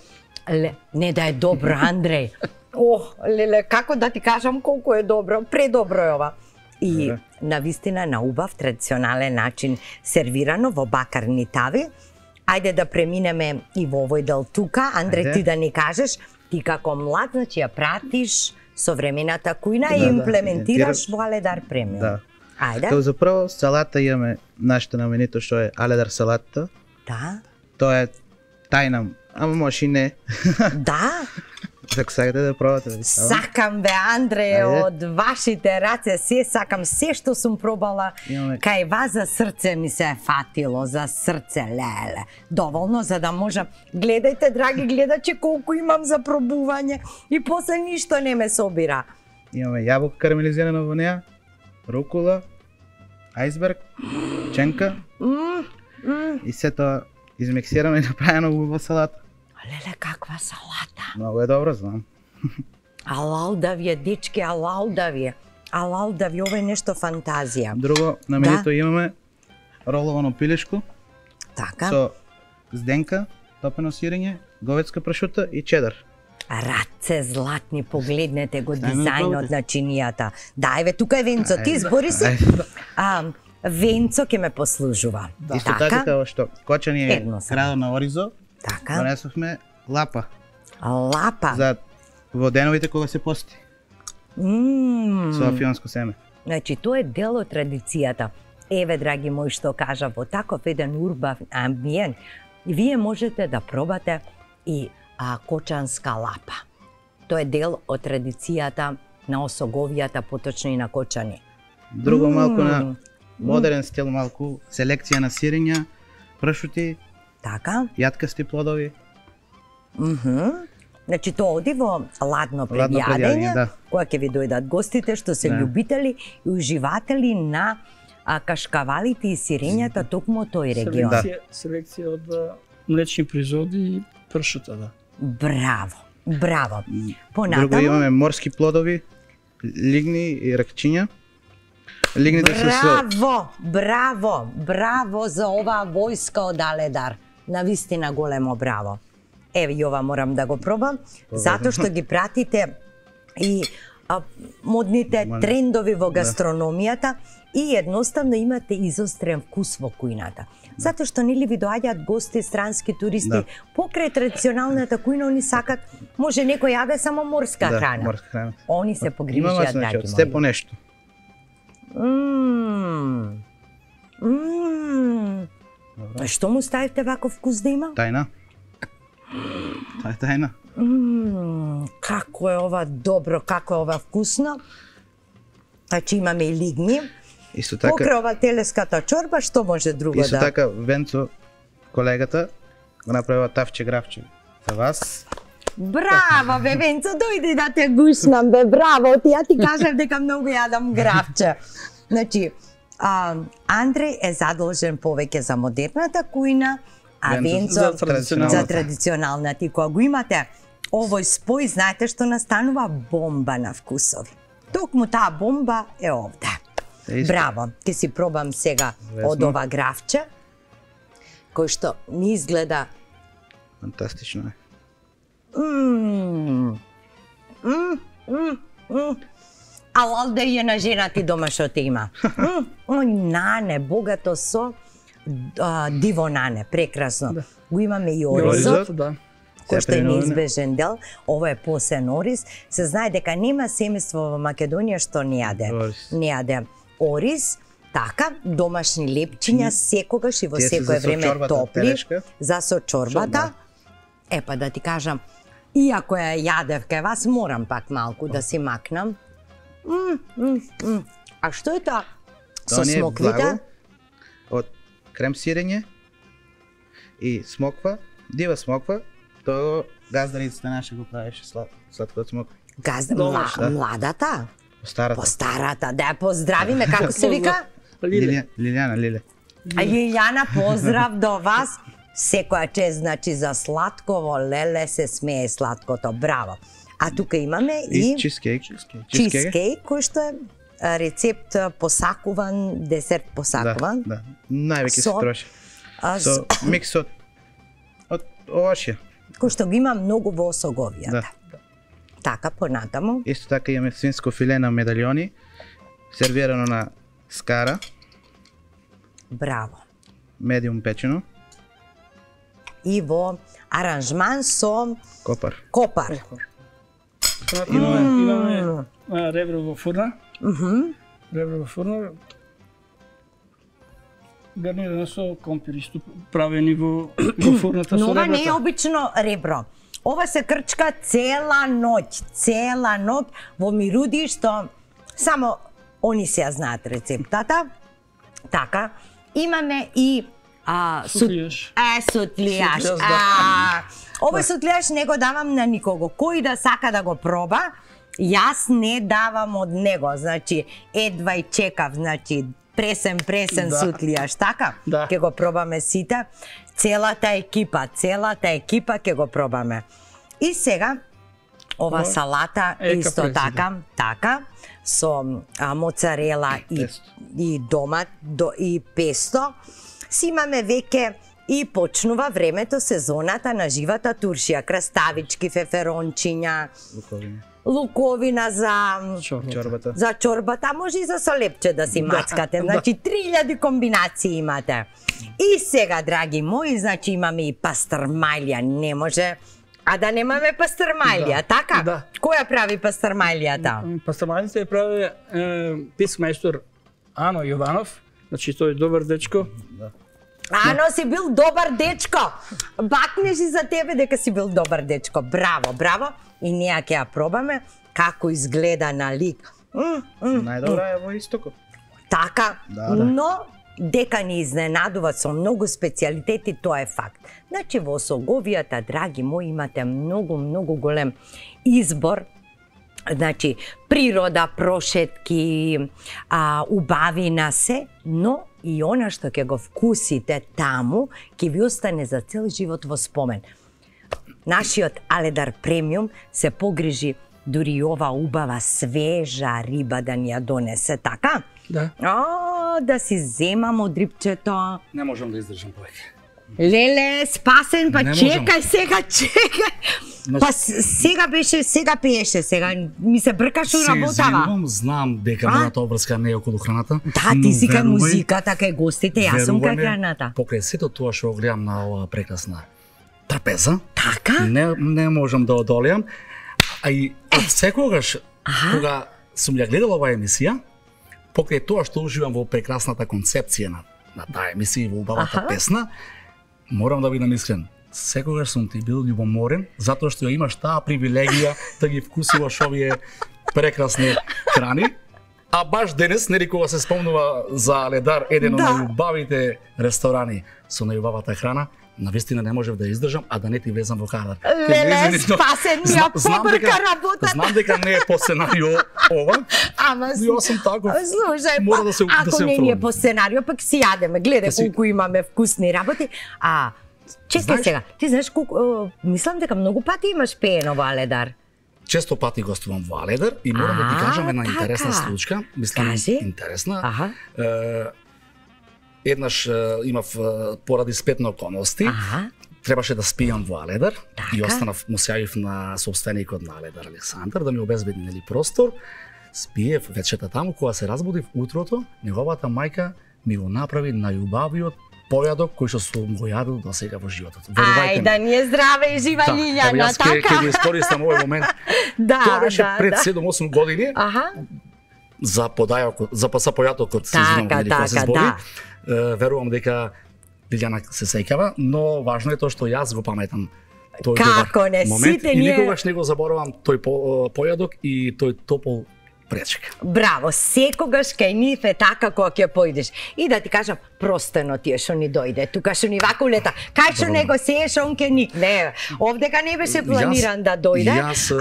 Speaker 2: Ле, не да е добро, Андреј. Ох, леле, како да ти кажам колку е добро, предобро е ова. И
Speaker 11: Добре.
Speaker 2: навистина на убав традиционален начин сервирано во бакарни тави. Ајде да преминеме и во овој дел тука. Андре,
Speaker 11: Ајде.
Speaker 2: ти да ни кажеш, ти како млад, значи ја пратиш современата кујна
Speaker 11: Да,
Speaker 2: и
Speaker 11: да,
Speaker 2: имплементираш
Speaker 11: имплементираш.
Speaker 2: во Аледар премиум.
Speaker 11: Да.
Speaker 2: Ајде.
Speaker 11: Како за прво салата имаме нашето наменито што е Аледар салата.
Speaker 2: Да.
Speaker 11: Тоа е тајна, ама може и не.
Speaker 2: Да.
Speaker 11: Ако сакате да пробате да ви ставам.
Speaker 2: Сакам бе, Андре,
Speaker 11: Ајде.
Speaker 2: од вашите раце се сакам, се што сум пробала.
Speaker 11: Имаме-
Speaker 2: Кај вас за срце ми се е фатило, за срце, леле. Доволно за да можам. Гледајте, драги гледачи, колку имам за пробување и после ништо не ме собира.
Speaker 11: Имаме јаболка карамелизирано во неа, рукула, ајсберг, ченка
Speaker 2: М, м.
Speaker 11: и се тоа измиксирано и направено во салата.
Speaker 2: Леле, каква салата.
Speaker 11: Многу е добро, знам.
Speaker 2: Алал да ви е, дечки, алал да ви е. Алал да ви, ова е нешто фантазија.
Speaker 11: Друго на менито
Speaker 2: Да.
Speaker 11: имаме роловано пилешко
Speaker 2: Така,
Speaker 11: со зденка, топено сирење, говедска прашута и чедар.
Speaker 2: раце златни, погледнете го
Speaker 11: Дај ме
Speaker 2: дизајнот
Speaker 11: пробате.
Speaker 2: на чинијата. Да, еве, тука е Венцо, ти избори се.
Speaker 11: Ајде.
Speaker 2: А, Венцо ќе ме послужува.
Speaker 11: Исто така како што Кочани е
Speaker 2: Едно само.
Speaker 11: градот на Оризо,
Speaker 2: Така.
Speaker 11: донесовме лапа
Speaker 2: Лапа.
Speaker 11: за во деновите кога се пости
Speaker 2: Мм.
Speaker 11: со афионско семе.
Speaker 2: Значи, тоа е дел од традицијата. Еве, драги мои, што кажа, во таков еден урбан амбиент, вие можете да пробате и а, кочанска лапа. Тоа е дел од традицијата на Осоговијата, поточно и на Кочани.
Speaker 11: Друго малку на
Speaker 2: Мм.
Speaker 11: модерен стил, малку селекција на сирења, прашути,
Speaker 2: Така?
Speaker 11: јаткасти плодови.
Speaker 2: Мгм. Значи, тоа оди во ладно
Speaker 11: Ладно
Speaker 2: предјадење,
Speaker 11: предјадење, да.
Speaker 2: кога ќе ви дојдат гостите што се
Speaker 11: Да.
Speaker 2: љубители и уживатели на а, кашкавалите и сирењата токму од тој регион.
Speaker 10: Селекција, селекција од а, млечни производи и пршута, да.
Speaker 2: Браво, браво.
Speaker 11: Друго
Speaker 2: Понатаму,
Speaker 11: имаме морски плодови, лигни и ракчиња. Лигните се со
Speaker 2: браво, браво, браво за оваа војска од Аледар. Навистина големо браво. Еве, и ова морам да го пробам, затоа што ги пратите и а, модните
Speaker 11: Модни.
Speaker 2: трендови во
Speaker 11: Да.
Speaker 2: гастрономијата и едноставно имате изострен вкус во кујната. Затоа што нели ви доаѓаат гости, странски туристи,
Speaker 11: Да.
Speaker 2: покрај традиционалната кујна, они сакат, може некој јаде само морска
Speaker 11: да,
Speaker 2: храна.
Speaker 11: морска храна.
Speaker 2: Они се
Speaker 11: Имаме
Speaker 2: погрижија,
Speaker 11: значи
Speaker 2: драги
Speaker 11: од сте по
Speaker 2: мои.
Speaker 11: нешто.
Speaker 2: Мм. Мм. А што му ставивте вако вкус да има?
Speaker 11: Тајна. Тоа е тајна.
Speaker 2: Мм, како е ова добро, како е ова вкусно. Значи имаме и лигни.
Speaker 11: Исто така,
Speaker 2: Покрај ова телеската чорба, што може друго
Speaker 11: исто
Speaker 2: да...
Speaker 11: така Венцо, колегата, го направила тавче графче за вас.
Speaker 2: Браво, бе, Венцо, дојди да те гушнам, бе, браво. Ти ја ти кажав дека многу јадам графче. Значи, а, Андреј е задолжен повеќе за модерната кујна, а
Speaker 11: Венцо
Speaker 2: Венцо
Speaker 10: за традиционалната.
Speaker 2: за традиционалната. И кога го имате овој спој, знаете што настанува? Бомба на вкусови. Токму таа бомба е овде.
Speaker 11: Е, исто.
Speaker 2: Браво, ќе си пробам сега
Speaker 11: Лесно.
Speaker 2: од ова графче, кој што ми изгледа
Speaker 11: Фантастично е.
Speaker 2: Мм. Мм, мм, мм. Алал да е на жена ти дома што те има. Мм, ој нане, богато со а, диво нане, прекрасно.
Speaker 10: Да.
Speaker 2: Го имаме и
Speaker 11: Оризот.
Speaker 2: оризот,
Speaker 10: да.
Speaker 2: кој што е
Speaker 11: Сеприноване.
Speaker 2: неизбежен дел. Ова е посен ориз. Се знае дека нема семејство во Македонија што не јаде.
Speaker 11: Ориз.
Speaker 2: Не јаде ориз. Така, домашни лепчиња секогаш и во
Speaker 11: Тие се
Speaker 2: секое
Speaker 11: за
Speaker 2: време
Speaker 11: сочорбата,
Speaker 2: топли.
Speaker 11: телешка.
Speaker 2: За сочорбата. Е, па да ти кажам, иако ја јадев кај вас, морам пак малку да си макнам. М, м, м. А што е тоа? Со
Speaker 11: Тоа не е
Speaker 2: смоквите?
Speaker 11: благо од крем сирење и смоква, дива смоква, тоа газдарицата наша го правеше слад, сладко од смоква.
Speaker 2: Газда,
Speaker 10: Добро,
Speaker 2: мла,
Speaker 11: да.
Speaker 2: младата?
Speaker 11: По старата.
Speaker 2: По старата, да ја поздравиме, како се вика?
Speaker 10: Лиле.
Speaker 11: Лилија, Лилијана, Лиле.
Speaker 2: А Јељана, поздрав до вас. секоја чест, значи за сладково, леле се смее сладкото, браво. А тука имаме и,
Speaker 11: И чизкейк.
Speaker 2: чизкейк, кој што е а, рецепт а, посакуван, десерт посакуван.
Speaker 11: Да, да. Највеќе се
Speaker 2: Со-
Speaker 11: троши.
Speaker 2: а,
Speaker 11: Со
Speaker 2: с-
Speaker 11: микс од од овошје.
Speaker 2: кој што го има многу во осоговијата.
Speaker 11: Да.
Speaker 2: Така, понатаму.
Speaker 11: Исто така имаме свинско филе на медалјони, сервирано на скара,
Speaker 2: Браво.
Speaker 11: медиум печено,
Speaker 2: И во аранжман со
Speaker 11: копар.
Speaker 2: копар.
Speaker 10: Понатаму имаме, имаме а, ребро во фурна.
Speaker 2: Мгм.
Speaker 10: Ребро во фурна. Гарнирано со компир исто правени во, во фурната
Speaker 2: Но
Speaker 10: со
Speaker 2: ова не е
Speaker 10: ребрата.
Speaker 2: обично ребро. Ова се крчка цела ноќ, цела ноќ во мируди што само они се ја знаат рецептата. Така, имаме и а, сут-
Speaker 10: Сутлијаш.
Speaker 2: Е, сутлијаш.
Speaker 10: Сутлијаш, да.
Speaker 2: А, овој сутлијаш не го давам на никого. Кој да сака да го проба, јас не давам од него. Значи, едва и чекав, значи, пресен, пресен
Speaker 10: Да.
Speaker 2: сутлијаш, така?
Speaker 10: Да.
Speaker 2: Ке го пробаме сите. Целата екипа, целата екипа ќе го пробаме. И сега, ова
Speaker 10: Ова
Speaker 2: салата
Speaker 10: е
Speaker 2: исто
Speaker 10: капрезе,
Speaker 2: така, така, со а, моцарела и,
Speaker 11: Песто.
Speaker 2: и домат до, и песто. Си имаме веќе и почнува времето, сезоната на живата туршија, краставички, феферончиња,
Speaker 11: Луковина.
Speaker 2: луковина за
Speaker 11: Чорбата.
Speaker 2: за чорбата, а може и за солепче да си мацкате. Значи три илјади комбинации имате. И сега, драги мои, значи имаме и пастрмајлија, не може а да немаме пастрмајлија,
Speaker 10: Да.
Speaker 2: така?
Speaker 10: Да.
Speaker 2: Кој ја прави пастрмајлијата?
Speaker 10: Пастрамајлица ја прави е, писмајстор Ано Јованов, значи тој е добар дечко.
Speaker 2: Ано, си бил добар дечко. Бакнеш и за тебе дека си бил добар дечко. Браво, браво. И ние ќе ја пробаме како изгледа на лик. М, м,
Speaker 11: Најдобра е во истокот.
Speaker 2: Така,
Speaker 11: Да, да.
Speaker 2: но дека ни изненадува со многу специјалитети, тоа е факт. Значи во Осоговијата, драги мои, имате многу, многу голем избор. Значи, природа, прошетки, а, убавина се, но и она што ќе го вкусите таму, ќе ви остане за цел живот во спомен. Нашиот Аледар премиум се погрижи дури и ова убава свежа риба да ни ја донесе, така?
Speaker 10: Да.
Speaker 2: О, да си земам од рибчето.
Speaker 1: Не можам да издржам повеќе.
Speaker 2: Леле, спасен, па
Speaker 1: Не можам.
Speaker 2: чекај сега, чекај.
Speaker 1: Значи-
Speaker 2: Па с- сега беше, сега пееше, сега ми се бркаш у
Speaker 1: Се
Speaker 2: работава.
Speaker 1: извинувам, знам дека
Speaker 2: А?
Speaker 1: мојата обврска не е околу храната.
Speaker 2: Да,
Speaker 1: но
Speaker 2: ти си кај
Speaker 1: верувај-
Speaker 2: музиката, кај гостите, јас сум кај
Speaker 1: верувај ме,
Speaker 2: храната.
Speaker 1: Покрај сето тоа што го гледам на оваа прекрасна трапеза,
Speaker 2: Така?
Speaker 1: не не можам да одолеам. А и од секогаш
Speaker 2: Аха.
Speaker 1: кога сум ја гледал оваа емисија, покрај тоа што уживам во прекрасната концепција на на таа емисија и во убавата
Speaker 2: Аха.
Speaker 1: песна, морам да бидам искрен. Секогаш сум ти бил љубоморен затоа што ја имаш таа привилегија да ги вкусуваш овие прекрасни храни. А баш денес, нели кога се спомнува за Ледар, еден од
Speaker 2: Да.
Speaker 1: најубавите ресторани со најубавата храна, навистина не можев да издржам, а да не ти влезам во кадар. Ке
Speaker 2: Леле,
Speaker 1: влезе нешто-
Speaker 2: спасен ми ја
Speaker 1: Зна- знам
Speaker 2: побрка
Speaker 1: дека-
Speaker 2: работата.
Speaker 1: Знам дека не е по сценарио ова,
Speaker 2: Ама
Speaker 1: но јас сум таков.
Speaker 2: Слушај,
Speaker 1: Мора
Speaker 2: па,
Speaker 1: да се- да
Speaker 2: ако
Speaker 1: се
Speaker 2: не ни е
Speaker 1: оформам.
Speaker 2: по сценарио, пак си јадеме. Гледај
Speaker 1: Да си-
Speaker 2: колку имаме вкусни работи. А, чекај
Speaker 1: Знаеш-
Speaker 2: сега, ти знаеш колку, о, мислам дека многу пати имаш пеено во Аледар.
Speaker 1: Често пати гостувам во Аледар и морам да ти
Speaker 2: А,
Speaker 1: кажам една
Speaker 2: така.
Speaker 1: интересна случка, мислам
Speaker 2: Кажи.
Speaker 1: интересна.
Speaker 2: Аха.
Speaker 1: Е, еднаш е, имав е, поради спетни околности,
Speaker 2: Аха.
Speaker 1: требаше да спијам во Аледар и
Speaker 2: Така.
Speaker 1: останав, му се јавив на собственикот на Аледар Александар да ми обезбеди нели простор. Спиев вечерта таму, кога се разбудив утрото, неговата мајка ми го направи најубавиот појадок кој што сум го јадел до сега во животот.
Speaker 2: Ај, да ни е здраве и жива
Speaker 1: Да, ево
Speaker 2: Лиљана,
Speaker 1: јас ќе ќе
Speaker 2: така?
Speaker 1: го искористам овој момент.
Speaker 2: Да,
Speaker 1: Тоа беше
Speaker 2: да,
Speaker 1: пред
Speaker 2: да.
Speaker 1: седум-осум години
Speaker 2: Аха.
Speaker 1: за подајокот, за па- за појатокот се извинувам
Speaker 2: Така,
Speaker 1: нели кога се
Speaker 2: така,
Speaker 1: збори.
Speaker 2: да.
Speaker 1: Е, верувам дека Лиљана се сеќава, но важно е тоа што јас го паметам тој
Speaker 2: Како
Speaker 1: добар
Speaker 2: не,
Speaker 1: момент
Speaker 2: сите
Speaker 1: и
Speaker 2: ние-
Speaker 1: никогаш не го заборавам тој по, појадок и тој топол пречка.
Speaker 2: Браво, секогаш кај нив е така кога ќе појдеш. И да ти кажам, простено ти е што ни дојде. Тука што ни вака улета. Кај што него сееш, он ке никне. Овдека не беше планиран да дојде,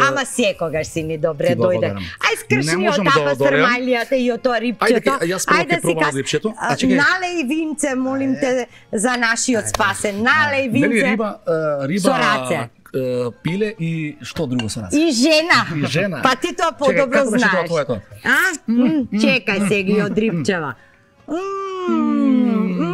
Speaker 2: ама секогаш си ни добре дојде. Ај скршни од таа пастермалијата и од тоа рипчето.
Speaker 1: Ајде си пробам.
Speaker 2: Налеј винце, молим те, за нашиот спасен. Налеј винце.
Speaker 1: Риба, риба, пиле и што друго со раце?
Speaker 2: И жена.
Speaker 1: И жена.
Speaker 2: Па ти тоа подобро знаеш. А? Чекај сега и од рипчева.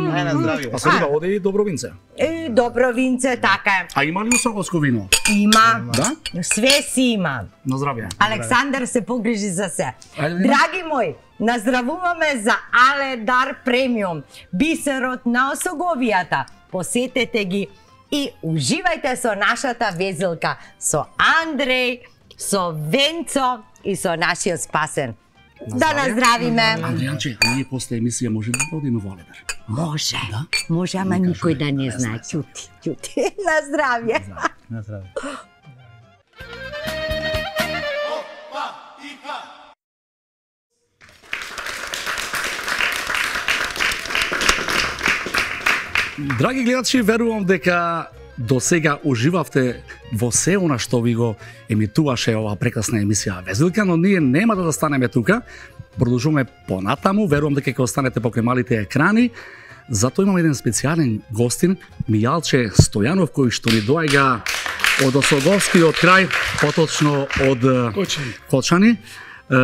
Speaker 11: Ај на здравје.
Speaker 1: Па се риба оде и добро винце.
Speaker 2: И добро винце, така е.
Speaker 1: А има ли осоговско вино?
Speaker 2: Има.
Speaker 1: Да?
Speaker 2: Све си има.
Speaker 1: На здравје.
Speaker 2: Александар се погрижи за се. Драги мои, наздравуваме за Аледар премиум, бисерот на осоговијата. Посетете ги и уживајте со нашата везелка, со Андреј, со Венцо и со нашиот спасен. Да наздравиме.
Speaker 1: Андријанче, ние после емисија може да одиме во Аледар?
Speaker 2: Може. Да? Може, ама никој да не знае. Ќути, ќути. На здравје.
Speaker 11: На здравје.
Speaker 1: Драги гледачи, верувам дека до сега уживавте во се она што ви го емитуваше оваа прекрасна емисија Везилка, но ние нема да застанеме тука. Продолжуваме понатаму, верувам дека ќе останете покрај малите екрани. Затоа имам еден специјален гостин, Мијалче Стојанов, кој што ни доаѓа од Осоговскиот крај, поточно од Кочани. Кочани. Е,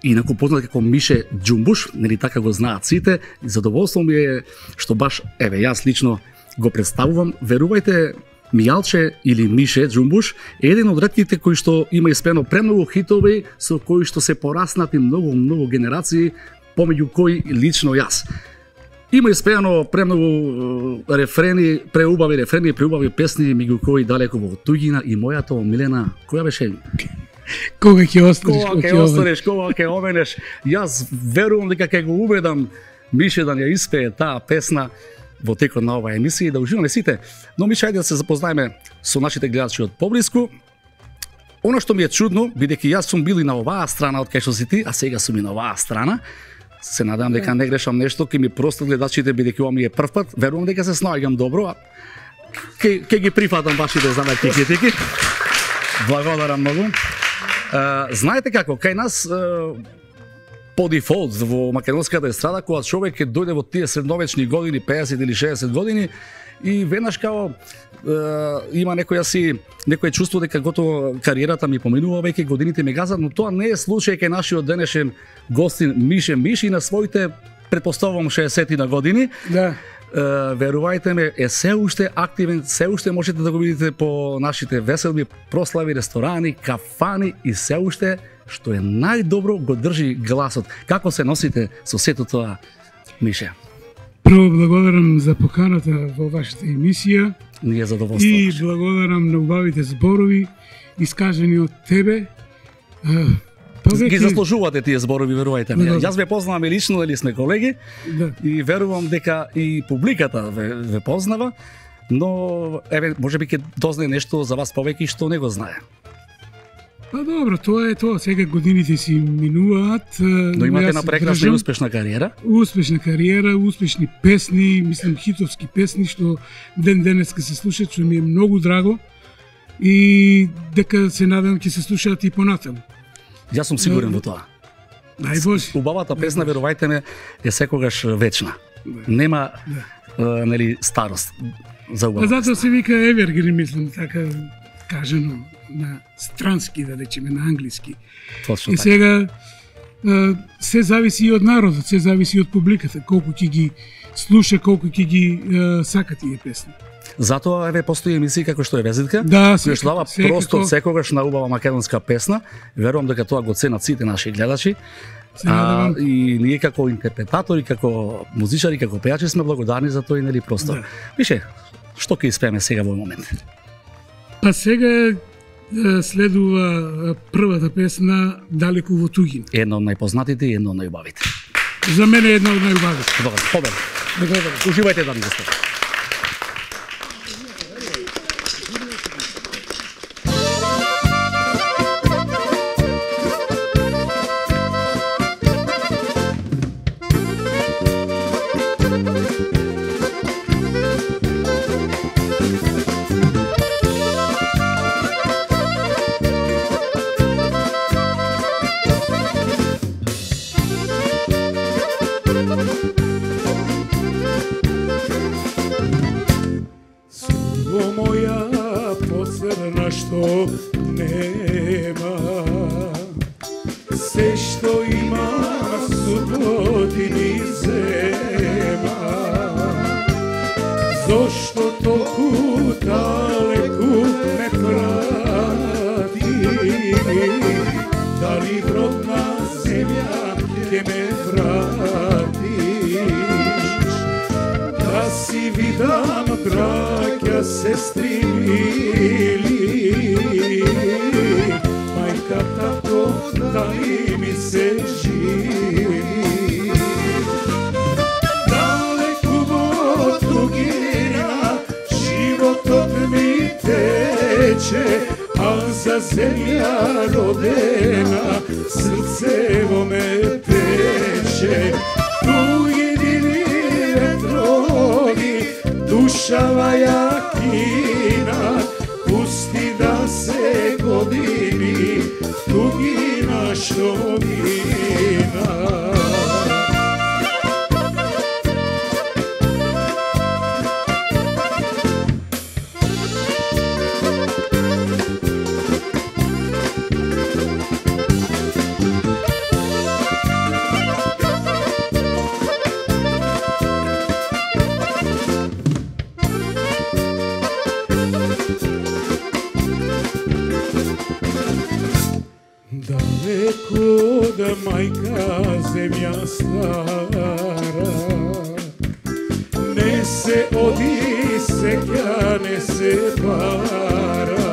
Speaker 1: инаку познат како Мише Џумбуш, нели така го знаат сите. И задоволство ми е што баш, еве, јас лично го представувам. Верувајте, Мијалче или Мише Џумбуш е еден од ретките кои што има испеено премногу хитови со кои што се пораснати многу, многу генерации, помеѓу кои лично јас. Има испеано премногу рефрени, преубави рефрени, преубави песни, меѓу кои далеко во туѓина и мојата омилена, која беше?
Speaker 12: Кога ќе останеш,
Speaker 1: кога ќе останеш, кога ќе оменеш. Јас верувам дека ќе го убедам Мише да ја испее таа песна во текот на оваа емисија и да уживаме сите. Но Мише, ајде да се запознаеме со нашите гледачи од поблиску. Оно што ми е чудно, бидејќи јас сум бил и на оваа страна од кај што си ти, а сега сум и на оваа страна. Се надевам дека не грешам нешто, ќе ми простат гледачите бидејќи ова ми е прв пат. Верувам дека се снаоѓам добро, а ќе ќе ги прифатам вашите замерки и критики. Благодарам многу. Uh, знаете како, кај нас uh, по дефолт во македонската естрада, кога човек ќе дојде во тие средновечни години, пеесет или шеесет години, и веднаш као uh, има некоја си некој чувство дека готово кариерата ми поминува, веќе годините ми газат, но тоа не е случај кај нашиот денешен гостин Мише Миши на своите, претпоставувам, шеесет на години.
Speaker 12: Да.
Speaker 1: Uh, верувајте ме, е се уште активен, се уште можете да го видите по нашите веселби, прослави, ресторани, кафани и се уште, што е најдобро, го држи гласот. Како се носите со сето тоа, Мише?
Speaker 12: Прво благодарам за поканата во вашата емисија.
Speaker 1: Ние задоволство.
Speaker 12: И благодарам на убавите зборови, искажани од тебе.
Speaker 1: Повеќе... Ги заслужувате тие зборови, верувајте ме. Да. Јас ве познавам и лично, дали сме колеги, да. И верувам дека и публиката ве, ве познава, но еве можеби ќе дознае нешто за вас повеќе што не го знае.
Speaker 12: Па добро, тоа е тоа. Сега годините си минуваат.
Speaker 1: Но имате на прекрасна и успешна кариера.
Speaker 12: Успешна кариера, успешни песни, мислам хитовски песни што ден денеска се слушаат, што ми е многу драго и дека се надам ќе се слушаат и понатаму.
Speaker 1: Јас сум сигурен во тоа.
Speaker 12: Дај Боже.
Speaker 1: Убавата песна, верувајте ме, е секогаш вечна. Да. Нема да. Е, нели старост за убава.
Speaker 12: Затоа се вика evergreen, мислам, така кажано на странски, да речеме, на англиски.
Speaker 1: Точно
Speaker 12: и
Speaker 1: така.
Speaker 12: Сега се зависи и од народот, се зависи и од публиката, колку ќе ги слуша, колку ќе ги е, сака тие песни.
Speaker 1: Затоа еве постои емисија како што е Везитка,
Speaker 12: да,
Speaker 1: која што дава простор секогаш на убава македонска песна. Верувам дека тоа го ценат сите наши гледачи. А, и ние како интерпретатори, како музичари, како пејачи сме благодарни за тој нели простор. Да. Више, што ќе испееме сега во момент?
Speaker 12: Па сега следува првата песна Далеку во туѓина.
Speaker 1: Една од најпознатите и една од најубавите.
Speaker 12: За мене е една од најубавите.
Speaker 1: Добро, победа. Уживајте, дами и господа.
Speaker 8: и в родна земја ќе ме вратиш. Да си видам браќа, сестри мили, мајка, татко, дали ми се живи. Далеку во тугина животот ми тече, а за земја родена срцево ме пече. Туги диви ветрови, душава јакина, пусти да се години, тугина што мина. Далеко да мајка земја стара, не се оди сеќа, не се пара.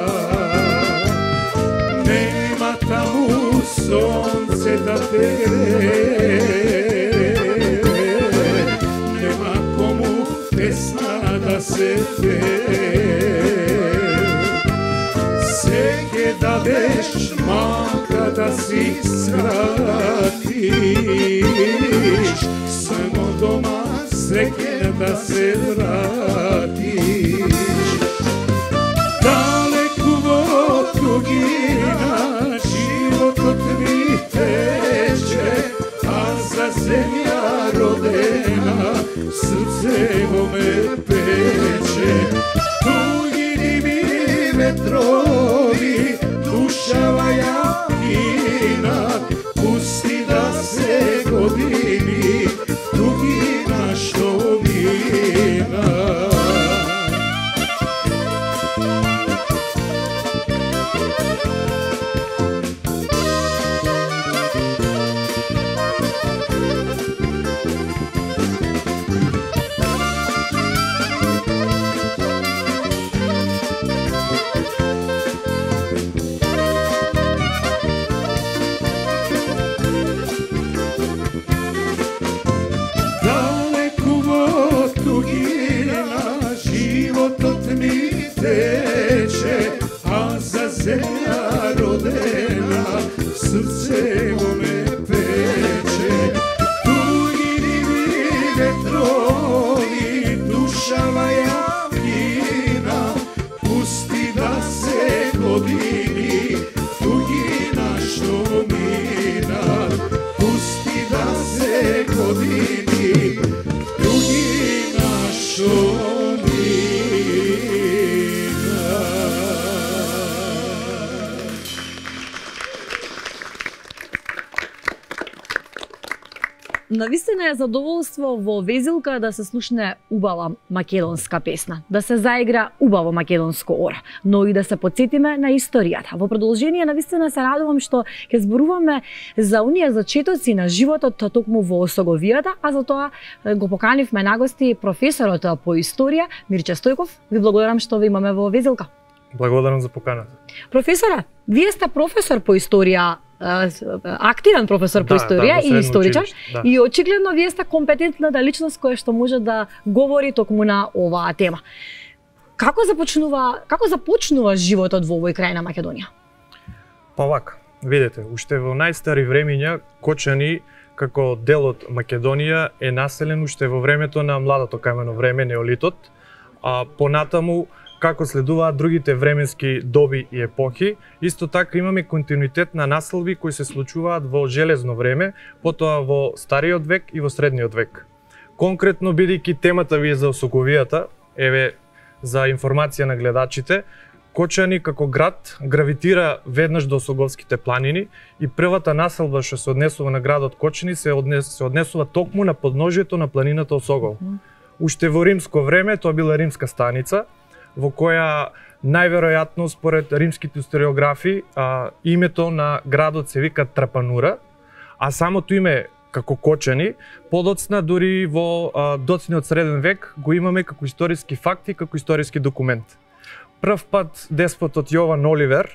Speaker 8: Нема таму сонце да те грее, нема кому песна да се пее. Се ќе дадеш малка да си скратиш, само дома среќен да се вратиш. Далеку во тугина животот ми тече, а за земја родена срцево ме пече. Туги диви ветрови, душава јакина, пусти да се години, тугина што мина. Земја родена, срцево ме пече. Туги диви ветрови, душава јакина, пусти да се години, тугина што мина. Пусти да се години, тугина што
Speaker 3: Навистина е задоволство во Везилка да се слушне убава македонска песна, да се заигра убаво македонско ора, но и да се подсетиме на историјата. Во продолжение навистина се радувам што ќе зборуваме за оние зачетоци на животот токму во Осоговијата, а за тоа го поканивме на гости професорот по историја Мирче Стојков. Ви благодарам што ви имаме во Везилка.
Speaker 13: Благодарам за поканата.
Speaker 3: Професоре, вие сте професор по историја, активен професор по историја да, да, и историчар, да. И очигледно вие сте компетентната личност која што може да говори токму на оваа тема. Како започнува, како започнува животот во овој крај на Македонија?
Speaker 13: Па вака, видете, уште во најстари времиња Кочани како дел од Македонија е населен уште во времето на младото камено време, неолитот, а понатаму како следуваат другите временски доби и епохи. Исто така имаме континуитет на населби кои се случуваат во железно време, потоа во стариот век и во средниот век. Конкретно, бидејќи темата ви е за Осоговијата, еве за информација на гледачите, Кочани како град гравитира веднаш до Осоговските планини и првата населба што се однесува на градот Кочани се, однес, се однесува токму на подножјето на планината Осогол. Уште во римско време тоа била римска станица, во која најверојатно според римските историографи а, името на градот се вика Трапанура, а самото име како Кочани, подоцна дури во а, доцниот среден век го имаме како историски факти, како историски документ. Прв пат деспотот Јован Оливер,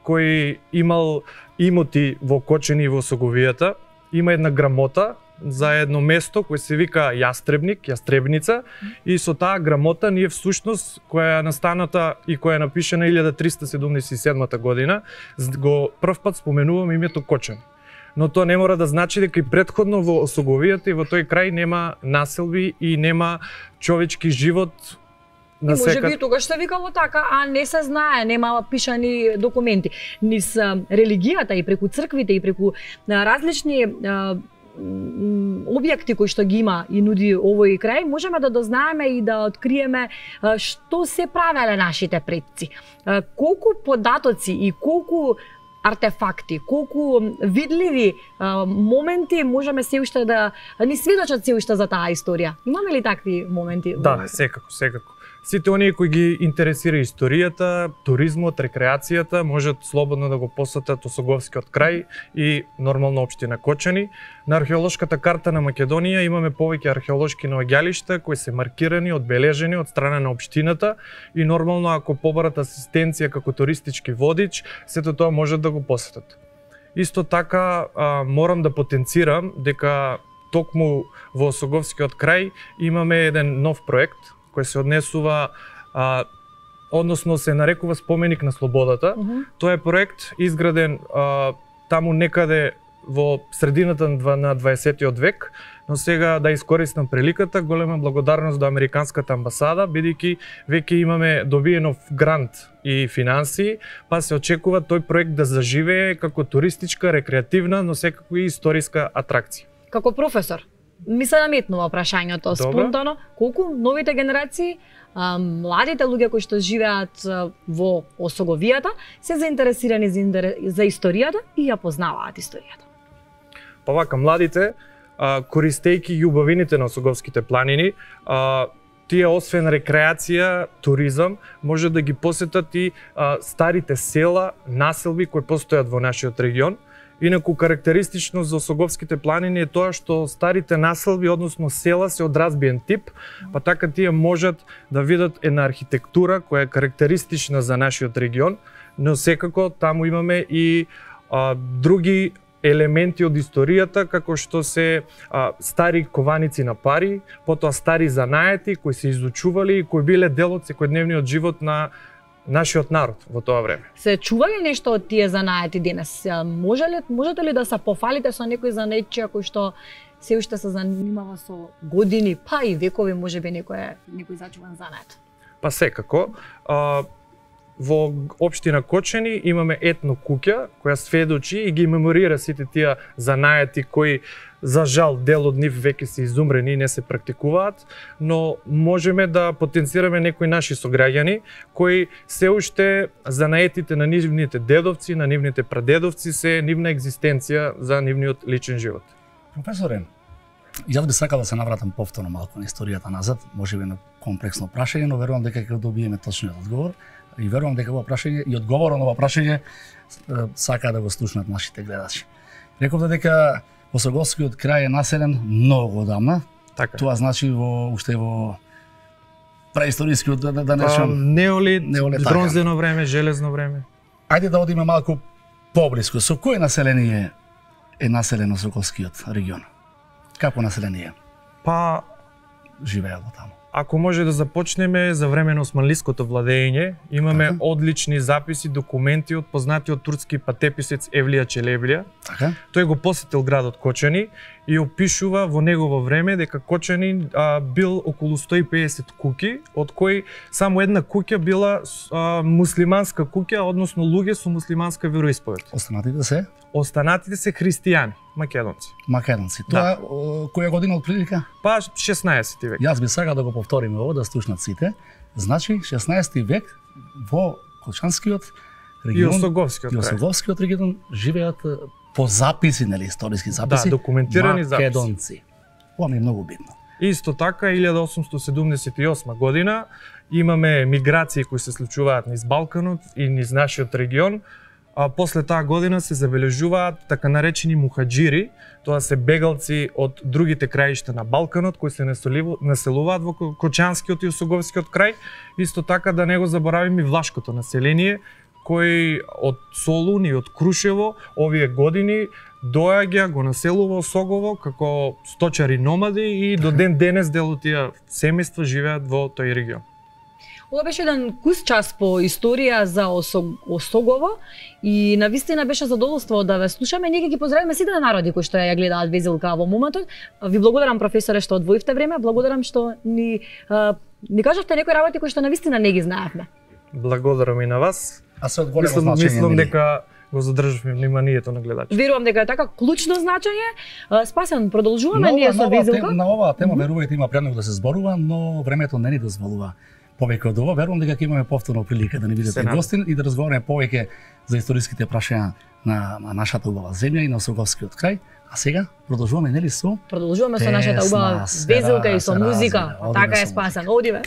Speaker 13: кој имал имоти во Кочани и во Соговијата, има една грамота за едно место кој се вика Јастребник, Јастребница, и со таа грамота ние всушност, која е настаната и која е напишана илјада триста седумдесет и седма година, го прв пат споменуваме името Кочани. Но тоа не мора да значи дека и претходно во Соговијата и во тој крај нема населби и нема човечки живот.
Speaker 3: И може би тогаш се викало така, а не се знае, нема пишани документи. Низ религијата и преку црквите и преку различни а, објекти кои што ги има и нуди овој крај, можеме да дознаеме и да откриеме а, што се правеле нашите предци. А, колку податоци и колку артефакти, колку видливи а, моменти можеме се уште да ни сведочат се уште за таа историја. Имаме ли такви моменти?
Speaker 13: Да, секако, секако. Сите оние кои ги интересира историјата, туризмот, рекреацијата, можат слободно да го посетат Осоговскиот крај и нормално општина Кочани. На археолошката карта на Македонија имаме повеќе археолошки наоѓалишта кои се маркирани, одбележени од страна на општината и нормално ако побарат асистенција како туристички водич, сето тоа можат да го посетат. Исто така а, морам да потенцирам дека токму во Осоговскиот крај имаме еден нов проект кој се однесува, а, односно се нарекува Споменик на слободата. Uh -huh. Тоа е проект изграден а, таму некаде во средината на дваесеттиот век, но сега да искористам приликата, голема благодарност до Американската амбасада, бидејќи веќе имаме добиено грант и финансии, па се очекува тој проект да заживее како туристичка, рекреативна, но секако и историска атракција.
Speaker 3: Како професор, ми се наметнува прашањето спонтано, колку новите генерации, а, младите луѓе кои што живеат а, во Осоговијата, се заинтересирани за, за историјата и ја познаваат историјата?
Speaker 13: Па вака, младите, а, користејќи љубавините на Осоговските планини, а, тие освен рекреација, туризам, може да ги посетат и а, старите села, населби кои постојат во нашиот регион. Инаку карактеристично за Осоговските планини е тоа што старите населби, односно села, се од разбиен тип, па така тие можат да видат една архитектура која е карактеристична за нашиот регион, но секако таму имаме и а, други елементи од историјата, како што се а, стари кованици на пари, потоа стари занаети кои се изучували и кои биле дел од секојдневниот живот на нашиот народ во тоа време.
Speaker 3: Се чува ли нешто од тие занаети денес? Може ли, можете ли да се пофалите со некој занаетчија кој што се уште се занимава со години, па и векови, можеби некој некој зачуван занает?
Speaker 13: Па секако, а, во општина Кочани имаме етно куќа која сведочи и ги меморира сите тие занаети кои за жал дел од нив веќе се изумрени и не се практикуваат, но можеме да потенцираме некои наши сограѓани кои се уште занаетите на нивните дедовци, на нивните прадедовци се нивна екзистенција за нивниот личен живот.
Speaker 1: Професоре, јас би сакал да се навратам повторно малку на историјата назад, можеби на комплексно прашање, но верувам дека ќе добиеме точниот одговор и верувам дека ова прашање и одговорот на ова прашање сака да го слушнат нашите гледачи. Рековте дека Осоговскиот крај е населен многу одамна.
Speaker 13: Така.
Speaker 1: Тоа значи во уште во преисторискиот да, да не речам
Speaker 13: неолит, неолит бронзено време, железно време.
Speaker 1: Ајде да одиме малку поблиску. Со кој население е населен Осоговскиот регион? Како население?
Speaker 13: Па
Speaker 1: живеело таму.
Speaker 13: Ако може да започнеме за време на османлиското владење, имаме
Speaker 1: така.
Speaker 13: Одлични записи, документи од познатиот турски патеписец Евлија Челебља.
Speaker 1: Така.
Speaker 13: Тој го посетил градот Кочани и опишува во негово време дека Кочани а, бил околу сто и педесет куќи, од кои само една куќа била а, муслиманска куќа, односно луѓе со муслиманска вероисповед.
Speaker 1: Останатите се?
Speaker 13: Останатите се христијани, македонци.
Speaker 1: Македонци. Тоа
Speaker 13: да.
Speaker 1: која година од прилика?
Speaker 13: Па шеснаесети век.
Speaker 1: Јас би сакал да го повториме ово, да слушнат сите. Значи шеснаесети век во Кочанскиот регион
Speaker 13: и Осоговскиот,
Speaker 1: и Осоговскиот регион живеат по записи, нели, историски записи.
Speaker 13: Да, документирани
Speaker 1: македонци. Ова ми е многу битно.
Speaker 13: Исто така, илјада осумстотини седумдесет и осма година имаме миграции кои се случуваат низ Балканот и низ нашиот регион. А после таа година се забележуваат така наречени мухаџири, тоа се бегалци од другите краишта на Балканот кои се населуваат во Кочанскиот и Осоговскиот крај. Исто така да не го заборавиме и влашкото население кој од Солун и од Крушево овие години доаѓа, го населува Осогово како сточари номади и до ден денес дел од тие семејства живеат во тој регион.
Speaker 3: Ова беше еден кус час по историја за Осогово и навистина беше задоволство да ве слушаме. Ние ги поздравиме сите народи кои што ја гледаат Везилка во моментот. Ви благодарам, професоре, што одвоивте време, благодарам што ни а, ни кажавте некои работи кои што навистина не ги знаевме.
Speaker 13: Благодарам и на вас.
Speaker 1: А се од големо
Speaker 13: мислам,
Speaker 1: значење.
Speaker 13: Мислам дека го задржавме вниманието на гледачите.
Speaker 3: Верувам дека е така клучно значење. Спасен, продолжуваме
Speaker 1: на
Speaker 3: ние со Везилка.
Speaker 1: Тем, на оваа тема, верувајте, има премногу да се зборува, но времето не ни дозволува повеќе од ова. Верувам дека ќе имаме повторно прилика да ни видите гостин и да разговараме повеќе за историските прашања на нашата убава земја и на Осоговскиот крај. А сега продолжуваме, нели, со
Speaker 3: Продолжуваме со нашата убава Везилка и со музика. Така е, Спасен. Одиме.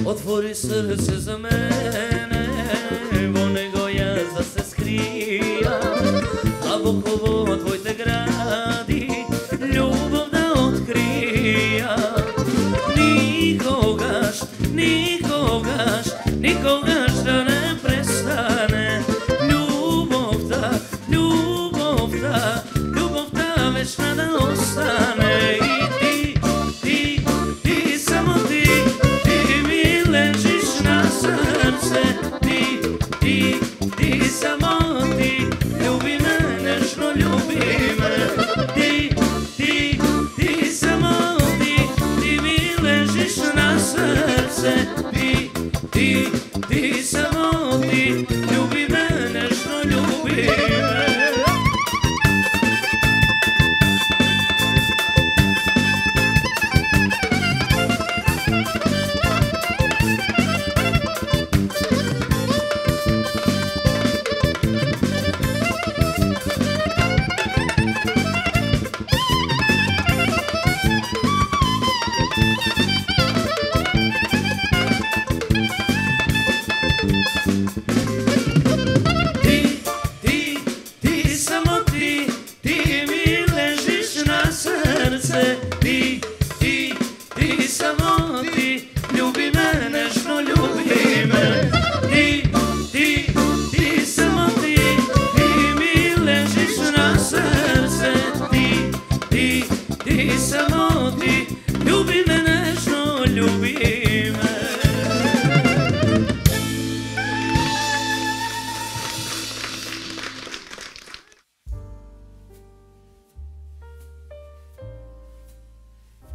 Speaker 14: Otvori srce za mene, vo него јас да се скријам, а во ково твоите гради, љубов да откријам. Никогаш, никогаш, никогаш да не престане љубовта, љубовта, љубовта вечна да остане. И ти, ти, ти, само ти, srce, ti, ti, ti, samo ti, ljubi me, nežno ljubi me. Ti, ti, ti, samo ti, ti mi ležiš na srce. Ti, ti, ti, samo ti, ljubi me, nežno ljubi me.